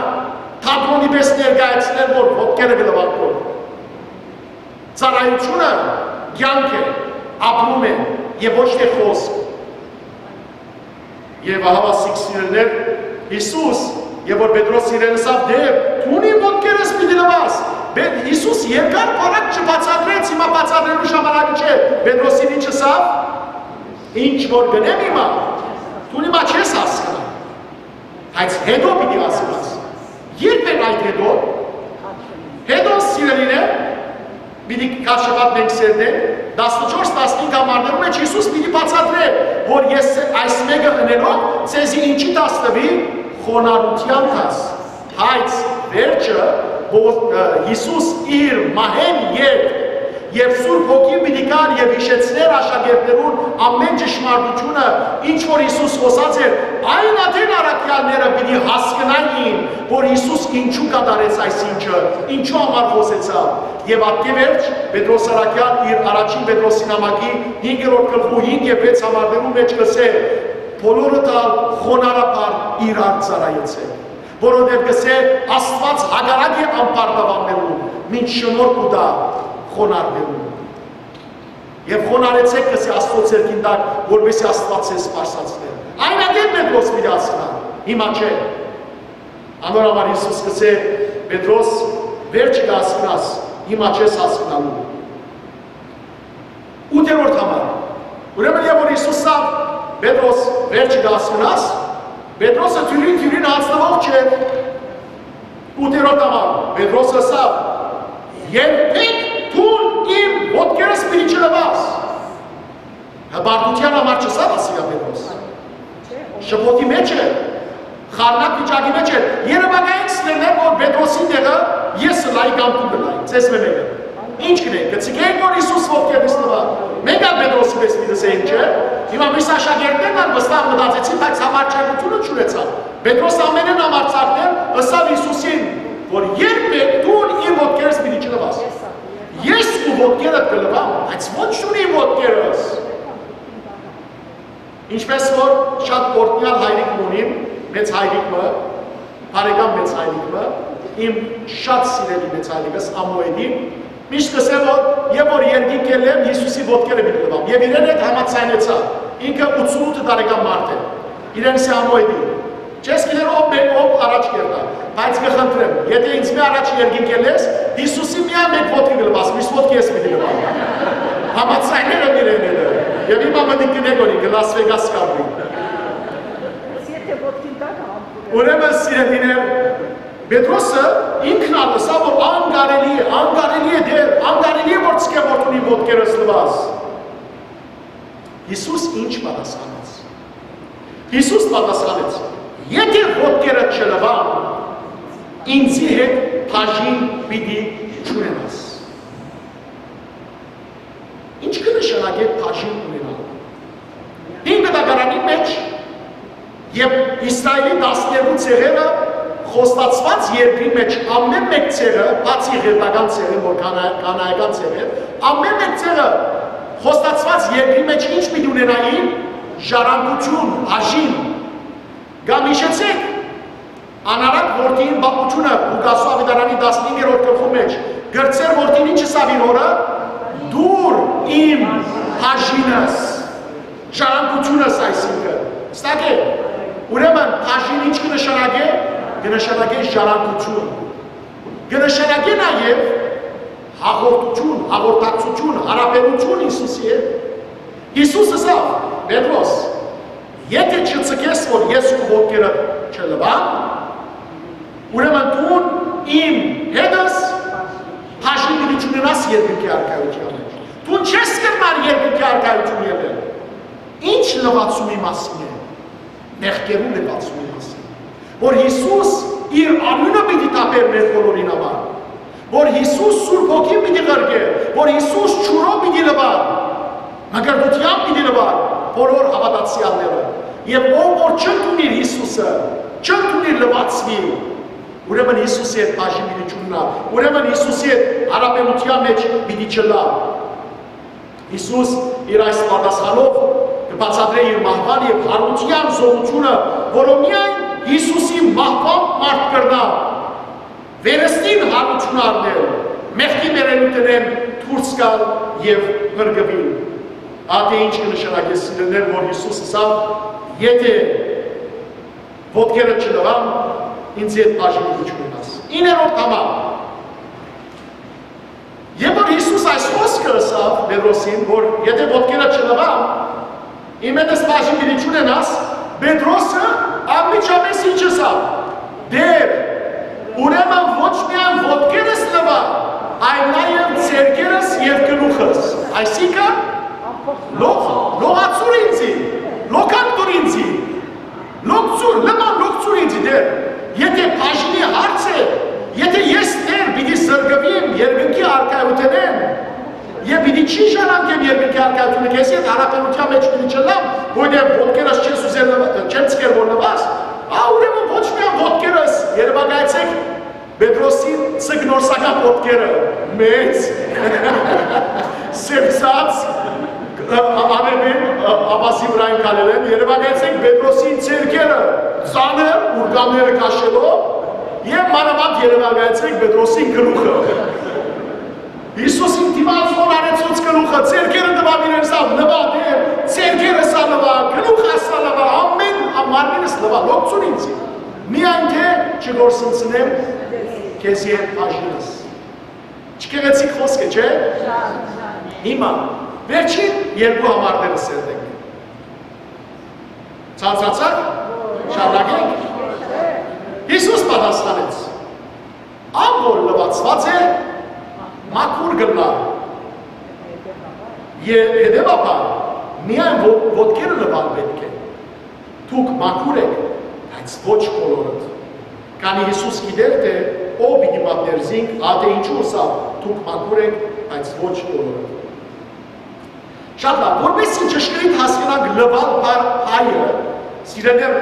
թատրոնի պես ներկայացնել, որ ոտքերը կը լուան քո։ Ծառայութիւնը կեանք է, ապրում է եւ ոչ թե խօսք։ Եւ ահա սիրելիներ, Յիսուս, եւ որ Պետրոս իրեն ըսաւ. «Տէ, դուն իմ ոտքերս պիտի լուաս»։ Պե-, Յիսուս երկար բարակ չբացատրեց, հիմա բացատրելու ժամանակը չէ։ Պետրոսին ինչ ըսաւ. «Ինչ որ կ'ընեմ հիմա, դուն հիմա չես հասկնար, բայց յետոյ պիտի հասկնաս»։ Ե՞րբ էր այդ յետոյ։ Յետոյ, սիրելիներ, պիտի քարշապատ մենք սերտենք, տասնչորս, տասնհինգ համարներու մէջ Յիսուս պիտի բացատրէ, որ ես այս մէկը ընելով ձեզի ինչի դաս տուի, խոնարհութեան դաս։ Բայց վերջը, որ, ը, Յիսուս իր մահէն ետք եւ Սուրբ Հոգին պիտի գար եւ յիշեցնէր աշակերտներուն ամէն ճշմարտութիւնը, ինչ որ Յիսուս խօսած էր, այն ատեն առաքեալները պիտի հասկնային, որ Յիսուս ինչու կատարեց այս ինչը, ինչու համար խօսեցաւ։ Եւ ատկէ վերջ, Պետրոս առաքեալ իր առաջին Պետրոսի նամակի հինգերորդ գլխու հինգ եւ վեց համարներու մէջ կ'ըսէ. «Բոլորդ ալ խոնարհաբար իրար ծառայեցէք, որովհետեւ կ'ըսէ. Աստուած հակառակ է անպարտաւաններուն, մինչ շնորհք կու տայ խոնարհներուն»։ Եւ խոնարհեցէք, կ'ըսէ, Աստուծոյ ձեռքին տակ, որպեսզի Աստուած ձեզ սպասացնէ։ Այն ատեն Պետրոս պիտի հասկնայ, հիմա չէ։ Անոր համար Յիսուս կ'ըսէ. «Պետրոս, վերջը կը հասկնաս, հիմա չես հասկնալու»։ Ութերորդ համար։ Ուրեմն, երբ որ Յիսուս ըսաւ. «Պետրոս, վերջը կը հասկնաս», Պետրոսը դիւրին-դիւրին յանձնուող չէ։ Ութերորդ համար, Պետրոսը ըսաւ. «Երբեք դուն իմ ոտքերս պիտի չլուաս»։ Հպարտութեան համար չըսաւ ասիկա Պետրոս։ Շփոթի մէջ էր, խառնակ վիճակի մէջ էր։ Երևակայեք, սիրելիներ, որ Պետրոսին տեղը ես ըլլայի կամ դուք ըլլայիք, ձեզմէ մէկը։ Ինչ կ'ընէիք, կը ձգէիք, որ Յիսուս ոտքերնիցն ըլլայ։ Մենք ալ Պետրոսի պես պիտի ըսէինք, չէ՞։ Հիմա միս աշակերտներն ալ վստահ մտածեցին, բայց համարձակութիւնը չունեցան։ Պետրոս ամենէն համարձակն էր, ըսաւ Յիսուսին, որ երբեք դուն իմ ոտքերս պիտի չլուաս։ Ես քու ոտքերդ կը լուամ, բայց ոչ դուն իմ ոտքերս։ Ինչպես որ շատ օրհնեալ հայրիկ մը ունիմ, մեծ հայրիկ մը, բարեկամ մեծ հայրիկ մը, իմ շատ սիրելի մեծ հայրիկս Ամուէլին, միշտ կ'ըսեմ, որ երբ որ երկինք ելլեմ, Յիսուսի ոտքերը պիտի լուամ։ Եւ իրեն հետ համաձայնեցա։ Ինքը ութսունութ տարեկան մարդ է։ Իրեն սի համոյտի։ Չես գիտեր ով մէ-, ով առաջ կերտայ, բայց կը խնդրեմ, եթէ ինձ մէ առաջ երկինք ելլես, Յիսուսի միայն մէկ ոտքի կը լուաս, միս ոտքի ես պիտի լուամ։ Համաձայներ եմ իրեն հետ։ Եւ հիմա մտիկ կնեք օրի, կը Լաս Վեգաս կապրի։ Ես եթե ոտքին տակ ա, Ուրեմն, սիրելիներ, Պետրոսը ինքն ալ ըսաւ, որ անկարելի է, անկարելի է Տէր, անկարելի է, որ ցկեմ որդուն իմ ոտքերս լուաս։ Յիսուս ինչ պատասխանեց։ Յիսուս պատասխանեց. «Եթէ ոտքերը չլուան, ինծի հետ բաժին պիտի չունենաս»։ Ինչ կը նշանակէ բաժին ունենալ։ Հին Կտակարանի մէջ եւ Իսրայէլի տասներկու ցեղերը խոստացուած երկրի մէջ ամէն մէկ ցեղը, բացի ղերտական ցեղը, որ կանա-, կանայական ցեղը, ամէն մէկ ցեղը խոստացուած երկրի մէջ ինչ պիտի ունենային, ժառանգութիւն, բաժին։ Կամ յիշեցէք, անառակ որդին պատմութիւնը Ղուկասու աւետարանի տասնհինգերորդ գլխու մէջ, կրցեր որդին ինչ ըսաւ իր հօրը. «Տուր իմ բաժինս, ժառանգութիւնս», այսինքն, ստակ է, ուրեմն բաժին ինչ կը նշանակէ, կը նշանակէ ժառանգութիւն, կը նշանակէ նաեւ հաղորդութիւն, հաղորդակցութիւն, յարաբերութիւն Յիսուսի հետ։ Յիսուս ըսաւ. «Պետրոս, եթէ չցկես որ ես քու ոտքերը չլուամ, ուրեմն դուն իմ հետս բաժին պիտի չունենաս երկնքի արքայութեան մէջ։ Դուն չես կրնար երկնքի արքայութիւն ելլել»։ Ինչ լուացումի մասին է, մեղքերու լուացումի մասին, որ Յիսուս իր արիւնը պիտի թափէր մեր բոլորին համար, որ Յիսուս Սուրբ Հոգին պիտի ղրկէ, որ Յիսուս ջուրով պիտի լուար, մկրտութեամբ պիտի լուար բոլոր հաւատացեալները։ Եւ ով որ չընդունիր Յիսուսը, չընդունիր լուացուիլ, ուրեմն Յիսուսի հետ բաժին պիտի չունենայ, ուրեմն Յիսուսի հետ յարաբերութեան մէջ պիտի չըլլայ։ Յիսուս իր այս պատասխանով կը բացատրէ իր մահուան եւ յարութեան զօրութիւնը, որը միայն Յիսուսի մահուան մարդ կրնայ վերստին յարութիւն առնել, մեղքի մեռելութենէն դուրս գալ եւ փրկուիլ։ Ատե ինչ կը նշանակէ, սիրելիներ, որ Յիսուս ըսաւ. «Եթէ ոտքերը չլուան, ինծի հետ բաժին պիտի չունենաս»։ Իններորդ համար, երբ որ Յիսուս այս խօսքը ըսաւ Պետրոսին, որ եթէ ոտքերը չլուան, իմ հետս բաժին պիտի չունենաս, Պետրոսը անմիջապէս ինչ ըսաւ. «Տէր, ուրեմն ոչ միայն ոտքերս լուան, այլ նաեւ ձեռքերս եւ գլուխս, այսինքն լող-, լողացուր ինծի, լոքանք տուր ինծի, լոկցուր, լման լոկցուր ինծի, Տէր, եթէ բաժինի հարց է, եթէ ես, Տէր, պիտի զրկուիմ երկնքի արքայութենէն, եւ պիտի չի ժառանգեմ երկնքի արքայութիւնը, քեզի հետ յարաբերութեան մէջ պիտի չըլլամ, որովհետեւ ոտքերս չես ուզեր լվա-, չեմ ցկեր որ լուաս, ա, ուրեմն ոչ միայն ոտքերս, երեւակայեցէք Պետրոսին, ցկնորսական ոտքերը, մեծ, սեւցած, ա-, ա-, արեւին, ա-, ավազի վրայ քալել են, երեւակայեցէք Պետրոսին ձեռքերը, ծանր, ուրկամները քաշելով, եւ մանաւանդ երեւակայեցէք Պետրոսին գլուխը»։ Յիսուսին դիմաց խոնարհեցուց գլուխը, ձեռքերը տուաւ իրեն, ըսաւ. «Լուա, Տէր, ձեռքերս ալ լուա, գլուխս ալ լուա, ամէն, ա, մարմինս լուա, լոկցուր ինձի։ Միայն թէ չկորսնցնեմ քեզի հետ բաժինս»։ Չկեղեցիկ խօսք է, չէ՞։ Հիմա, վերջին երկու համարները սերտենք։ Ցանցացա՞ք, շարունակենք։ Յիսուս պատասխանեց. «Ան որ լուացուած է, մաքուր կ'ըլլայ։ Ե-, հետեւաբար, միայն ո-, ոտքերը լուալ պէտք է։ Դուք մաքուր էք, բայց ոչ բոլորդ»։ Քանի Յիսուս գիտէր թէ ով պիտի մատնէր զինք, ատե ինչու ըսաւ. «Դուք մաքուր էք, բայց ոչ բոլորդ»։ Շատ լավ, որպեսզի ճշգրիտ հասկնանք լուալ բառ-, հայը, սիրելիներ,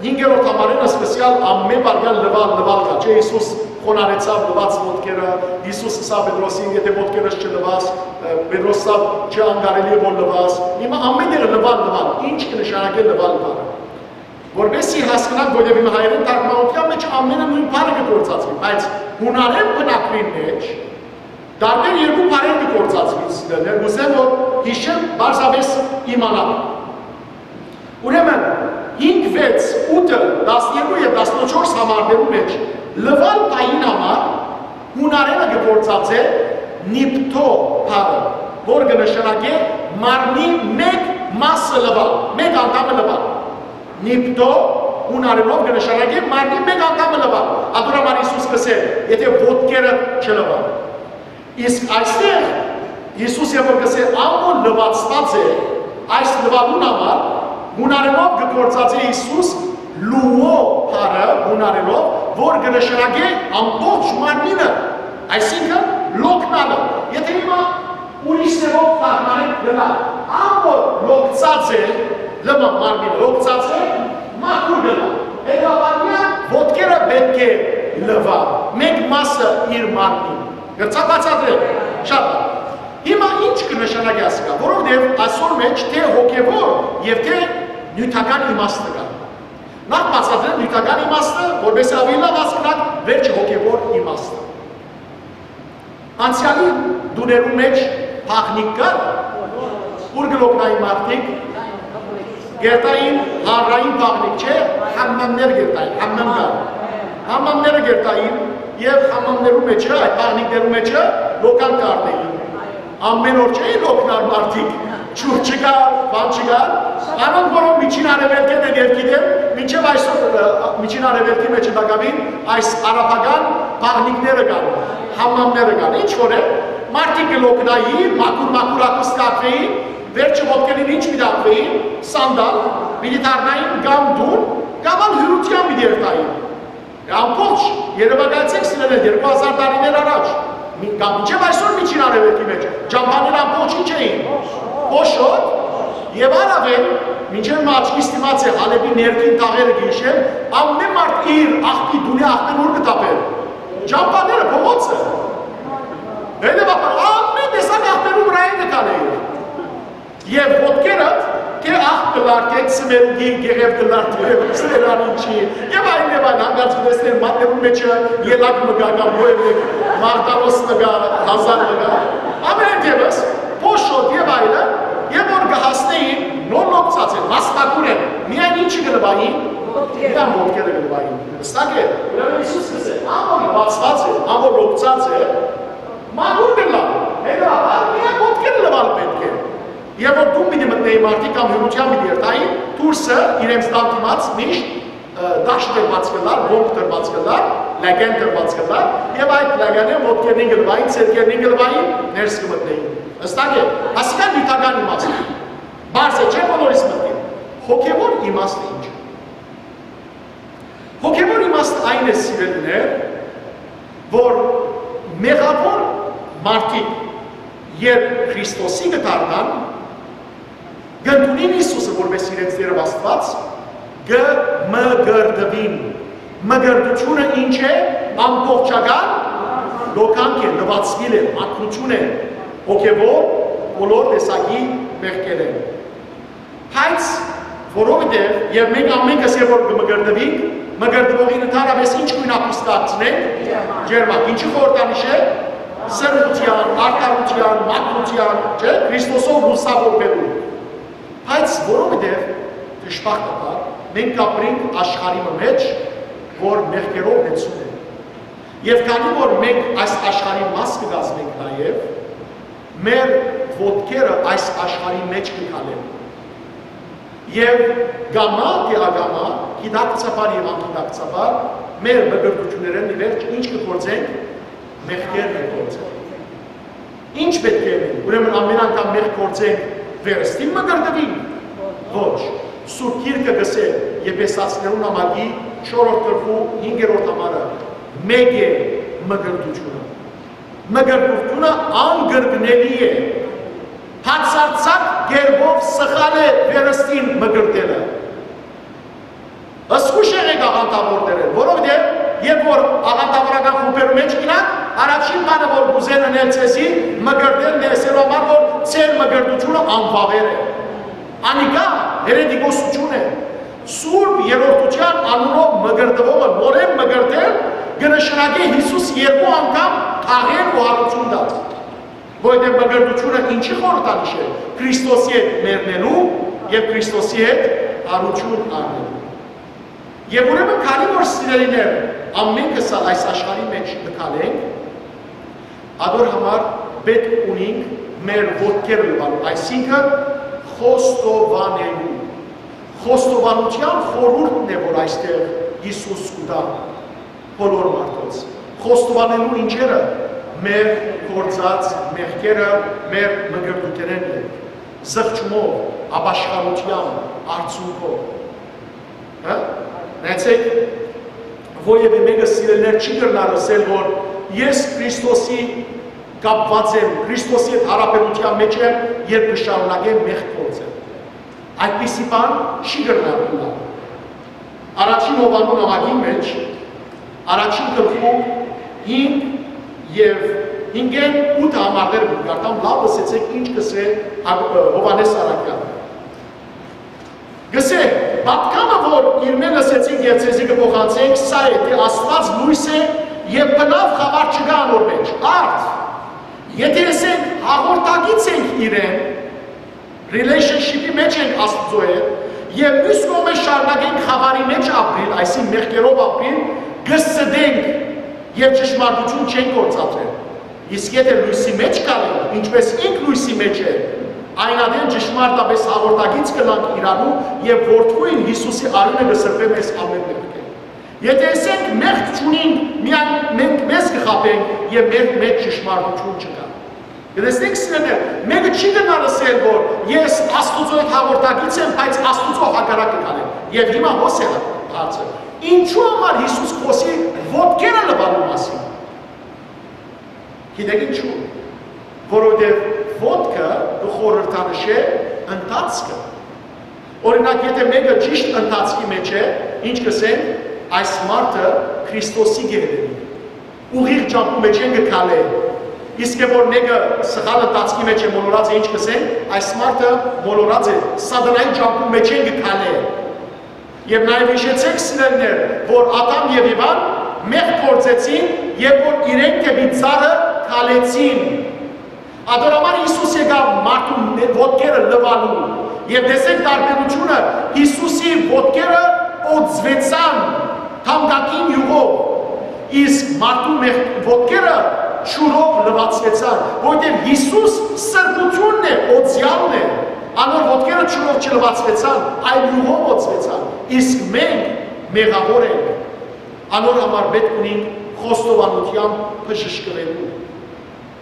հինգերորդ համարէն սկսեալ ամէն բառեան լուալ, լուալ կայ, չէ՞։ Յիսուս խոնարհեցաւ, լուաց ոտքերը, Յիսուս ըսաւ Պետրոսին. «Եթէ ոտքերս չլուաս», ը, Պետրոս ըսաւ. «Չէ, անկարելի է որ լուաս»։ Հիմա ամէն տեղ լուալ, լուալ, ինչ կը նշանակէ լուալ բառը։ Որպեսզի հասկնանք, որովհետեւ իմ հայերէն թարգմանութեան մէջ ամէնը նոյն բառը կը գործածուի, բայց յունարէն բնակուին մէջ տարբեր երկու բառեր կը գործածուին, սիրելիներ, կ'ուզեմ որ յիշեմ, պարզապէս իմանաք։ Լուալ բառին համար հունարէնը կը գործածէ նիպթո բառը, որ կը նշանակէ մարմնի մէկ մասը լուալ, մէկ անդամը լուալ։ Նիպթո հունարէնով կը նշանակէ մարմնի մէկ անդամը լուալ։ Ատոր համար Յիսուս կ'ըսէ. «Եթէ ոտքերը չլուան»։ Իսկ այստեղ Յիսուս երբ որ կ'ըսէ, ան որ լուացուած է, այս լուալուն համար հունարէնով կը գործածէ Յիսուս լուո բառը հունարէնով, որ կը նշանակէ ամբողջ մարմինը, այսինքն՝ լոկնալը։ Եթէ հիմա ուրիշ ձեւով թարգմանենք, կ'ըլլայ, ան որ լոկցած է, լմա մարմինը լոկցած է, մաքուր կ'ըլլայ։ Հետեւաբար միայն ոտքերը պէտք է լուայ, մէկ մասը իր մարմնին։ Կրցայ բացատրել շատ լավ։ Հիմա ի՞նչ կը նշանակի ասիկա, որովհետեւ այսօր մէջ թէ հոգեւոր եւ թէ նիւթական իմաստը կայ։ Նախ բացատրեմ նիւթական իմաստը, որպէս զի աւելի լաւ հասկնաք վերջը հոգեւոր իմաստը։ Անցեալի տուներուն մէջ բաղնիք կար, ուր կը լոկնային մարդիկ, կերտային հանրային բաղնիք, չէ, համամներ կերտային, համամ կար։ Համամները կերտային եւ համամներու մէջը, այդ բաղնիքներու մէջը լոկան կ'առնէին։ Ամեն օր չէ՞ լոկնար մարդիկ, ջուր չկար, բան չկար։ Անոնք, որոնք Միջին Արեւելքէն են եւ գիտեն, մինչեւ այսօր, ը, Միջին Արեւելքի մէջ տակաւին այս արաբական բաղնիքները կան, համամները կան։ Ինչ որ է, մարդիկ կը լոկնային, մաքուր-մաքուր ակուս կ'ակուին, վերջը ոտքերին ինչ պիտի ակուին, սանդալ, պիտի դառնային կամ տուն, կամ ալ հիւրութեան պիտի երթային։ Ամբողջ երեւակայեցէք սիրելիներ երկու հազար տարիներ առաջ, մի-, կամ մինչեւ այսօր Միջին Արեւելքի մէջ ճամբաները ամբողջ ինչ էին, փոշոտ, եւ առաւել, մինչեւ մը աչքիս դիմաց է Հալէպի ներքին թաղերը կը յիշեմ, ամեն մարդ իր աղբի տունի աղբերուր կը թափէր։ Ճամբաները, փողոցը։ Հետեւաբար, ամեն տեսակ աղբերու վրայ կը քալէր։ Եւ ոտքերդ, թէ աղ կ'ըլլար, թէ ծմերուկի գեղեւ կ'ըլլար, թէ ծմերան ինչի, եւ այլն, եւ այլն, հանկարծ կտեսնեն մատներուն մէջը ելակ մը կայ կամ ոյ մը, մարտարոս մը կայ, հազար մը կայ, ամենայն դեպս, փոշոտ եւ այլն, եւ որ կը հասնէին, նոր լոկցած են, մասնակուր են, միայն ինչը կը լուային, միայն ոտքերը կը լուային, հստակ է, ուրեմն Յիսուս կ'ըսէ, ան որ լուացուած է, ան որ լոկցած է, մաքուր կ'ըլլայ, հետեւաբար միայն ոտքերը լուալ պէտք է։ Եւ որ տուն պիտի մտնէին մարդիկ կամ հիւրութեան պիտի երթային, դուրսը իրենց տան դիմաց միշտ, ը, տաշ դրուած կ'ըլլար, գոնկ դրուած կ'ըլլար, լեգեն դրուած կ'ըլլար, եւ այդ լեգենէն ոտքերնին կը լուային, ձեռքերնին կը լուային, ներս կը մտնէին։ Հստակ է, ասիկա նիւթական իմաստը։ Պարզ է, չէ՞, բոլորիս մտքին։ Հոգեւոր իմաստը ի՞նչ է։ Հոգեւոր իմաստը այն է, սիրելիներ, որ մեղաւոր մարդիկ, երբ Քրիստոսի կը դառնան, կ'ընդունին Յիսուսը որպէս իրենց Տէր Աստուած, կը մկրտուին։ Մկրտութիւնը ի՞նչ է, ամբողջական լոկանք է, լուացուիլ է, մաքրութիւն է, հոգեւոր բոլոր տեսակի մեղքերէն։ Բայց որովհետեւ, եւ մենք ամենքս երբ որ կը մկրտուինք, մկրտուողին ընդհանրապես ինչ գոյն ակուս կ'ակցնենք, ջերմակ, ինչի խորհրդանիշ է, սրբութեան, արդարութեան, մաքրութեան, չէ՞, Քրիստոսով լուսաւորուելու։ Բայց որովհետեւ, դժբախտաբար, մենք կ'ապրենք աշխարհի մը մէջ, որ մեղքերով լեցուն է։ Եւ քանի որ մենք այս աշխարհի մաս կը կազմենք նաեւ, մեր ոտքերը այս աշխարհի մէջ կը քալեն։ Եւ կամայ թէ ակամայ, գիտակցաբար եւ անգիտակցաբար, մեր մկրտութիւններէն ի վերջ ինչ կը գործենք, մեղքեր կը գործենք։ Ի՞նչ պէտք է ըլլայ, ուրեմն ամեն անգամ մեղք գործենք, վերստին մկրտուի՞նք։ Ոչ։ Սուրբ Գիրքը կ'ըսէ Եփեսացիներուն նամակի չորրորդ գլխու հինգերորդ համարը. «Մէկ է մկրտութիւնը»։ Մկրտութիւնը անկրկնելի է։ Բացարձակ կերպով սխալ է վերստին մկրտելը։ Զգուշ եղէք աղանդաւորներէն, որովհետեւ երբ որ աղանդաւորական խումբերու մէջ գնաք, առաջին բանը որ կ'ուզեն ընել ձեզի, մկրտել, լեցնելու համար, որ ձեր մկրտութիւնը անվաւեր է։ Անիկա հերետիկոսութիւն է։ Սուրբ Երրորդութեան անունով մկրտուողը նորէն մկրտել կը նշանակէ Յիսուս երկու անգամ թաղել ու հարություն տալ։ Որովհետեւ մկրտութիւնը ինչի խորհրդանիշ է, Քրիստոսի հետ մեռնելու եւ Քրիստոսի հետ հարություն առնելու։ Եւ ուրեմն, քանի որ, սիրելիներ, Ամենքս ալ այս աշխարհի մէջ կը քալենք, ադոր համար պէտք ունինք մեր ոտքերը լուալ, այսինքն՝ խոստովանելու։ Խոստովանութեան խորհուրդն է, որ այստեղ Յիսուս կու տայ բոլոր մարդոց։ Խոստովանելու ինչերը՝ մեր գործած մեղքերը, մեր մկրտութենէն ետք, զղջումով, ապաշխարութեան արդիւնքով։ Հա՞։ Նայեցէք, որեւէ մէկը, սիրելիներ, չի կրնար ըսել, որ ես Քրիստոսի կապուած եմ, Քրիստոսի հետ յարաբերութեան մէջ եմ, երբ կը շարունակեմ մեղք գործել։ Այդպիսի բան չի կրնար ըլլալ։ Առաջին Յովհաննու նամակին մէջ, առաջին գլխու հինգ եւ հինգէն ութ համարները կը կարդամ, լաւ լսեցէք ինչ կ'ըսէ Հակ-, Յովհաննէս առաքեալը։ Կ'ըսէ. «Պատգամը, որ իրմէ լսեցինք եւ ձեզի կը փոխանցենք, սա է, թէ Աստուած լոյս է եւ բնաւ խաւար չկայ անոր մէջ»։ Արդ, եթէ ըսենք՝ հաղորդակից ենք իրեն, relationship-ի մէջ ենք Աստուծոյ հետ, եւ միւս կողմէ շարունակենք խաւարի մէջ ապրիլ, այսինքն՝ մեղքերով ապրիլ, կը ստենք եւ ճշմարտութիւն չենք գործադրեր։ Իսկ եթէ լոյսի մէջ քալենք, ինչպէս ինք լոյսի մէջ է, այն ատեն ճշմարտապէս հաղորդակից կ'ըլլանք իրարու, եւ Որդւոյն Յիսուսի արիւնը կը սրբէ մեզ ամէն մեղքէն։ Եթէ ըսենք՝ մեղք չունինք, միայն մենք մեզ կը խաբենք եւ մեր մէջ ճշմարտութիւն չկայ։ Կը տեսնենք, սիրելիներ, մէկը չի կրնար ըսել, որ ես Աստուծոյ հետ հաղորդակից եմ, բայց Աստուծոյ հակառակը քալեմ։ Եւ հիմա հոս է հարցը. ինչու համար Յիսուս կ'խօսի ոտքերը լուալու մասին։ Գիտեք ինչու՞։ Որովհետեւ ոտքը կը խորհրդանշէ ընթացքը։ Օրինակ, եթէ մէկը ճիշդ ընթացքի մէջ է, ինչ կ'ըսենք, այս մարդը Քրիստոսի կը հետեւի, ուղիղ ճամբու մէջէն կը քալէ։ Իսկ որ մէկը սխալ ընթացքի մէջ է, մոլորած է, ինչ կ'ըսենք, այս մարդը մոլորած է, սատանայի ճամբու մէջէն կը քալէ։ Եւ նաեւ յիշեցէք, սիրելիներ, որ Ադամ եւ Եվան մեղք գործեցին, երբ որ իրենք դէպի ծառը քալեցին։ Ադոր համար Յիսուս եկաւ մարդուն ոտքերը լուալու։ Եւ տեսեք տարբերութիւնը, Յիսուսի ոտքերը օծուեցան թամկակին յուղով, իսկ մարդուն մեղ-, ոտքերը ջուրով լուացուեցան, որովհետեւ Յիսուս սրբութիւնն է, օծեալն է, անոր ոտքերը ջուրով չլուացուեցան, այլ յուղով օծուեցան, իսկ մենք մեղաւոր ենք, անոր համար պէտք ունենք խոստովանութեամբ բժշկուելու։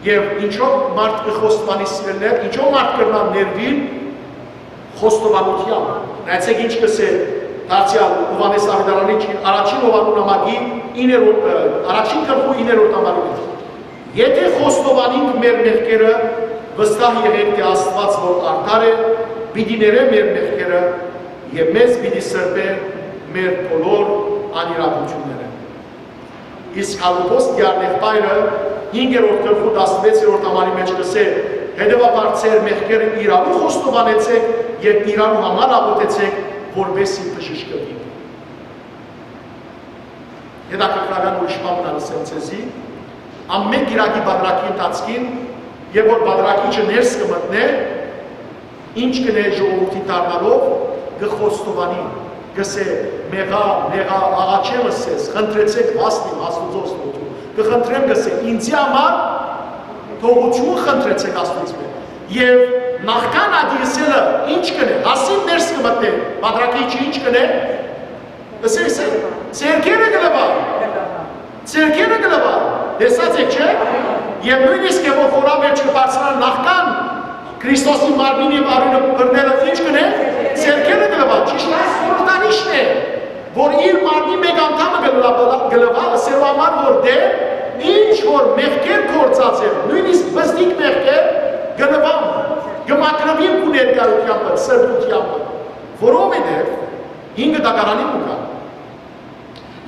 Եւ ինչով մարդ կը խոստովանի, սիրելիներ, ինչով մարդ կրնա ներուիլ խոստովանութեամբ։ Նայեցէք ինչ կ'ըսէ դարձեալ Յովհաննէս Աւետարանի, առաջին Յովհաննու նամակի իններորդ, ը, առաջին գլխու իններորդ համարի մէջ։ Եթէ խոստովանինք մեր մեղքերը, վստահ եղէք թէ Աստուած որ արդար է, պիտի ներէ մեր մեղքերը եւ մեզ պիտի սրբէ մեր բոլոր անիրաւութիւններէն։ Իսկ Հակոբոս Տիարն եղբայրը հինգերորդ գլխու տասնվեցերորդ համարի մէջ կ'ըսէ. «Հետեւաբար ձեր մեղքերը իրարու խոստովանեցէք եւ իրարու համար աղօթեցէք, որպէս զի բժշկուիք»։ Հետաքրքրական ուրիշ բան մը ալ ըսեմ ձեզի. ամէն կիրակի բادرակի ընթացքին, երբ որ բادرակիչը ներս կը մտնէ, ինչ կ'ընէ ժողովուրդի դառնալով, կը խոստովանի, կ'ըսէ. «Մեղա, մեղա, աղաչեմ ըսես, խնդրեցէք, վաստիմ Աստուծոյ ստոթու, կը խնդրեմ», կ'ըսէ, «ինձի համար թողութիւն խնդրեցէք Աստուծմէ»։ Եւ նախքան ատի ըսելը, ինչ կ'ընէ, հասին ներս կը մտնէ, բادرակիչը ինչ կ'ընէ, ըսէ, ըսէ, ձեռքերը կը լուայ, ձեռքերը կը լուայ, տեսած եք, չէ՞։ Եւ նոյնիսկ երբ որ խորան մէջ կը բարձրանայ, նախքան Քրիստոսի մարմին եւ արիւնը բռնելը, ինչ կ'ընէ, ձեռքերը կը լուայ, ճիշդ այս խորհրդանիշն է, որ իր մարմնի մէկ անդամը կը լուայ, կը լուայ, ըսելու համար, որ դեռ ինչ որ մեղքեր գործած է, նոյնիսկ բզդիկ մեղքեր, կը լուան, կը մաքրուին քու ներկայութեամբը, սրբութեամբը, որովհետեւ հինգը դագարանի մը կայ։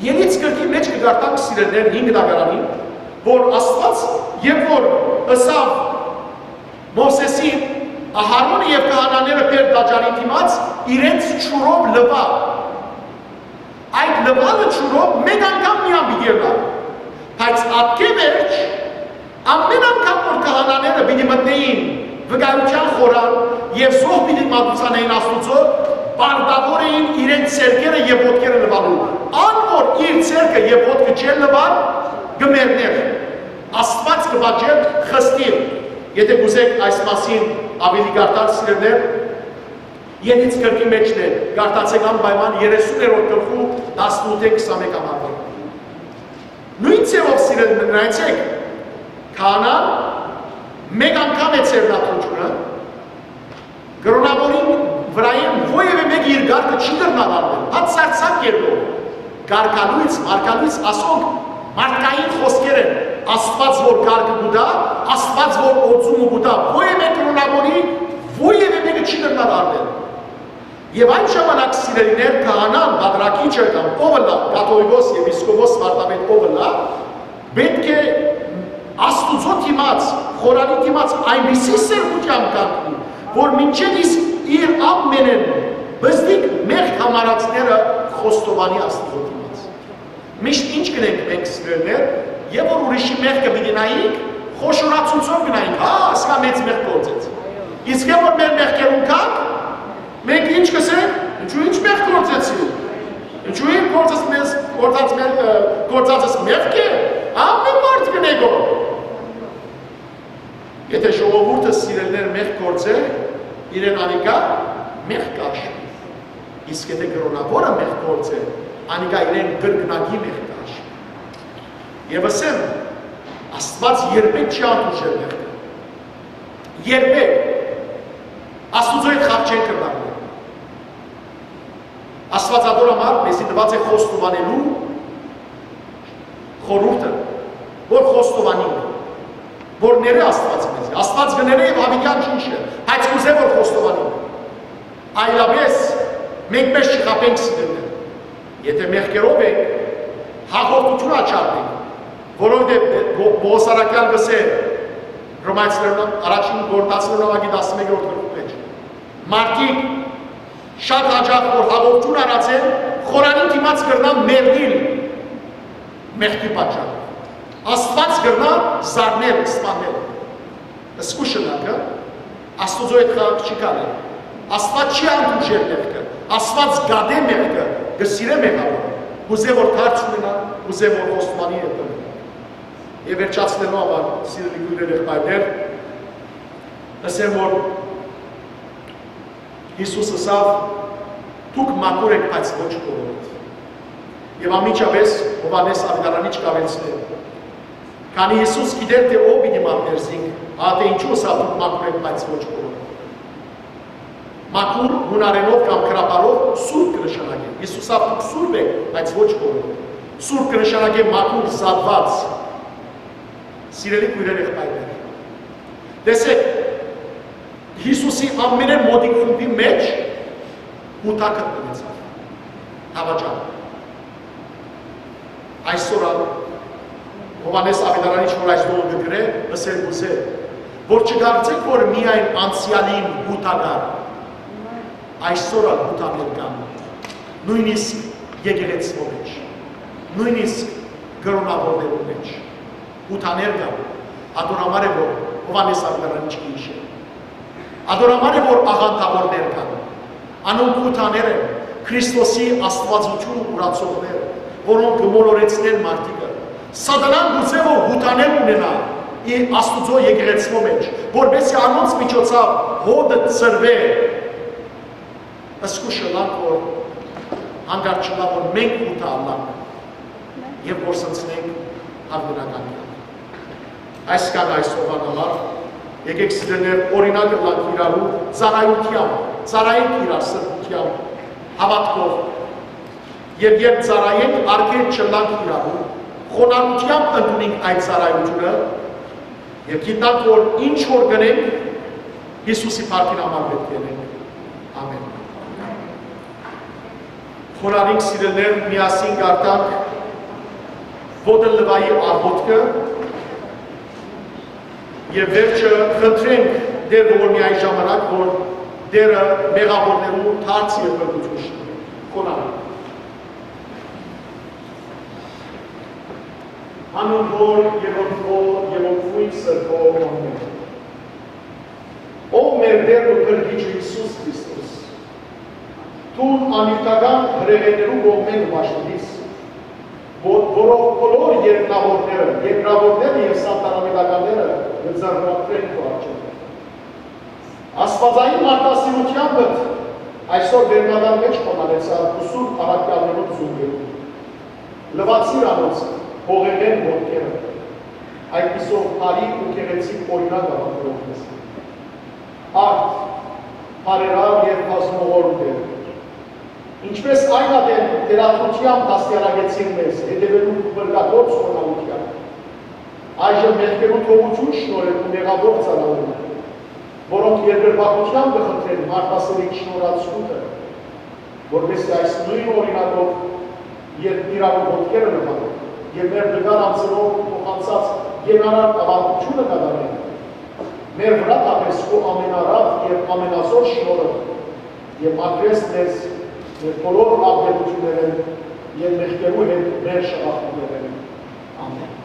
Երից գրքի մէջ կը կարդանք, սիրելիներ, հինգ դագարանին, որ Աստուած, երբ որ ըսաւ Մովսէսին, Ահարոնը եւ քահանաները բեր տաճարին դիմաց, իրենց ջուրով լուայ։ Այդ լուալը ջուրով մէկ անգամ միայն պիտի ըլլայ, բայց ատկէ վերջ, ամէն անգամ որ քահանաները պիտի մտնէին վկայութեան խորան եւ զոհ պիտի մատուցանէին Աստուծոյ, պարտաւոր էին իրենց ձեռքերը եւ ոտքերը լուալու։ Ան որ իր ձեռքը եւ ոտքը չեն լուար, կը մեռնէր։ Աստուած կը պատժէր խստին։ Եթե կ'ուզէք այս մասին աւելի կարդալ, սիրելիներ, Ելից գրքի մէջն է, կարդացէք անպայման երեսուներորդ գլխու տասնութ է քսանմեկ համարները։ Նոյն ձեւով, սիրելիներ, նայեցէք, քահանան մէկ անգամ է ձեռնադրութիւնը, կրօնաւորին վրայէն որեւէ մէկը իր կարգը չի կրնար առնել, բացարձակ կերպով։ Կարգալոյծ, մարգալոյծ, ասոնք մարդկային խօսքեր են, Աստուած որ կարգը կու տայ, Աստուած որ օծումը կու տայ, որեւէ կրօնաւորի, որեւէ մէկը չի կրնար առնել։ Եւ այն ժամանակ, սիրելիներ, քահանան, պատրակիչը կամ ով ըլլայ, կաթողիկոս, եպիսկոպոս, վարդապետ ով ըլլայ, պէտք է Աստուծոյ դիմաց, խորանի դիմաց այնպիսի սերմութեամբ կանգնի, որ մինչեւ իսկ իր ամենէն բզդիկ մեղք համարածները խոստովանի Աստուծոյ դիմաց։ Միշտ ինչ կ'ընենք մենք, սիրելիներ, եւ որ ուրիշի մեղքը պիտի նայինք, խոշորացուցով կը նայինք, հա, ասիկա մեծ մեղք գործեց։ Իսկ եւ որ մեր մեղքերուն գանք, մենք ինչ կ'ըսենք, ինչու ինչ մեղք գործեցի, ինչու իմ գործած մեզ, գործած մեր, ը, գործածս մեղք է, ամեն մարդ կ'ընէ գոհ։ Եթե ժողովուրդը, սիրելիներ, մեղք գործէ, իրեն անիկա մեղք կը հաշուի։ Իսկ եթե կրօնաւորը մեղք գործէ, անիկա իրեն կրկնակի մեղք կը հաշուի։ Եւ ըսեմ, Աստուած երբեք չի հանդուրժեր մեղքը։ Երբեք։ Աստուծոյ հետ խաղ չեն կրնար։ Աստուած ատոր համար մեզի տուած է խոստովանելու խորհուրդը, որ խոստովանենք, որ ներէ Աստուած մեզի։ Աստուած կը ներէ եւ յաւիտեան չի իշը, բայց կ'ուզէ որ խոստովանենք։ Այլապէս մենք մեզ չխաբենք, սիրելիներ։ Եթե մեղքերով ենք, հաղորդութիւն աչառնենք, որովհետեւ Պո-, Պողոս առաքեալ կ'ըսէ Հռոմայեցիներուն, առաջին Կորինթացիներուն աւագի տասնմեկերորդ գլխու մէջ. մարդիկ շատ յաճախ որ հաղորդութիւն առած են, խորանի դիմաց կրնան մեռնիլ մեղքի պատճառով։ Աստուած կրնայ զարնել, սպանել։ Զգուշ ըլլաք, Աստուծոյ հետ խաղ չի կարելի։ Աստուած չի հանդուրժեր մեղքը։ Աստուած կատէ մեղքը, կը սիրէ մեղաւորը, կ'ուզէ որ դարձ ունենայ, կ'ուզէ որ խոստովանի եւ կրնայ։ Եւ վերջացնելու համար, սիրելի քոյրեր, եղբայրներ, ըսեմ որ Յիսուս ըսաւ. «Դուք մաքուր էք, բայց ոչ բոլորդ»։ Եւ անմիջապէս Յովհաննէս Աւետարանիչ կ'աւելցնէ. քանի Յիսուս գիտէր թէ ով պիտի մատնէր զինք, ահա թէ ինչու ըսաւ. «Դուք մաքուր էք, բայց ոչ բոլորդ»։ Մաքուր յունարէնով կամ գրաբարով սուրբ կը նշանակէ։ Յիսուս ըսաւ. «Դուք սուրբ էք, բայց ոչ բոլորդ»։ Սուրբ կը նշանակէ մաքուր, զատուած։ Սիրելի քոյրեր, եղբայրներ, տեսէք, Յիսուսի ամենէն մօտիկ խումբի մէջ Յուդա գտնուեցաւ, դաւաճան։ Այսօր ալ Յովհաննէս Աւետարանիչ, որ այս տողը կը գրէ, ըսել կ'ուզէ, որ չկարծէք, որ միայն անցեալին Յուդա կար, այսօր ալ Յուդաներ կան, նոյնիսկ եկեղեցւոյ մէջ, նոյնիսկ կրօնաւորներուն մէջ։ Յուդաներ կան, ատոր համար է որ Յովհաննէս Աւետարանիչ կը յիշէ։ Ատոր համար է որ աղանդաւորներ կան։ Անոնք Յուդաներ են, Քրիստոսի աստուածութիւնը ուրացողներ, որոնք կը մոլորեցնեն մարդիկը։ Սատանան կ'ուզէ որ Յուդաներ ունենայ իր Աստուծոյ եկեղեցւոյ մէջ, որպէս զի անոնց միջոցաւ հօդը ծռուէ։ Զգուշ ըլլանք որ հանկարծ չըլլայ որ մենք Յուդա ըլլանք եւ կորսնցնենք հաւիտենական կեանքը։ Այսքան այսօրվան համար, եկեք, սիրելիներ, օրինակ ըլլանք իրարու ծառայութեամբ, ծառայենք իրար սրբութեամբ, հաւատքով, եւ երբ ծառայենք, արգել չըլլանք իրարու, խոնարհութեամբ ընդունենք այդ ծառայութիւնը եւ գիտնանք որ ինչ որ կ'ընենք, Յիսուսի փառքին համար պէտք է ընենք։ Ամէն։ Խոնարհենք, սիրելիներ, միասին կարդանք Յովհաննէս Աւետարանիչի աղօթքը եւ վերջը խնդրենք Տէր ողորմի այն ժամանակ որ Տէրը մեղաւորներու դարձ եւ փրկութիւն շնորհի։ Խոնարհենք։ Անուն Հօր եւ Հօր եւ Հօր Սուրբ Հոգու անունով։ Ով մեր Տէրն ու Փրկիչը Յիսուս Քրիստոս, դուն անիւթական հրեշներու կողմէն ու պաշտպանիս, որ-, որով բոլոր երկնաւորները, երկրաւորները եւ սանտարամետականները կը ձեռնարկեն քու առջեւը։ Աստուածային մարդասիրութեամբդ այսօր վերնական մէջ կ'անալեցար ուսուր առաքեալներուն զունգերուն։ Լուացիր անոնց հողեղէն ոտքերը, այդպիսով բարի ու գեղեցիկ օրինակ յաւակրող մեզ։ Արդ, բարերար եւ բազմողորմ Տէր, ինչպէս այն ատեն թելադրութեամբ դաստիարակեցիր մեզ հետեւելու քու փրկագործ խոնարհութեան, այժմ մեղքերու թողութիւն շնորհել քու մեղաւոր ծառաներուն, որոնք երկրպագութեան կը խնդրեն մարդասիրին շնորհացնումը, որպէս զի այս նոյն օրինակով, երբ իրարու ոտքերը լուան եւ մեր նկար անձերով փոխանցած կենարար աւանդութիւնը կատարեն, մեր վրայ թափես քու ամենարատ եւ ամենազօր շնորհը եւ մաքրես մեզ մեր բոլոր աղբերութիւններէն եւ մեղքերու հետ մեր շաղախումներէն։ Ամէն։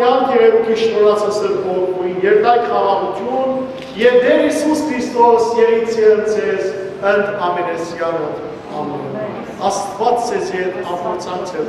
Ան գերերուկի շնորհացը Սուրբ Հոգին, երթայք խաղաղութիւն, եւ Տէր Յիսուս Քրիստոս եղիցի ձեզ ընդ ամենեսեանոտ։ Ամէն։ Աստուած ձեզ հետ ամբողջանցել։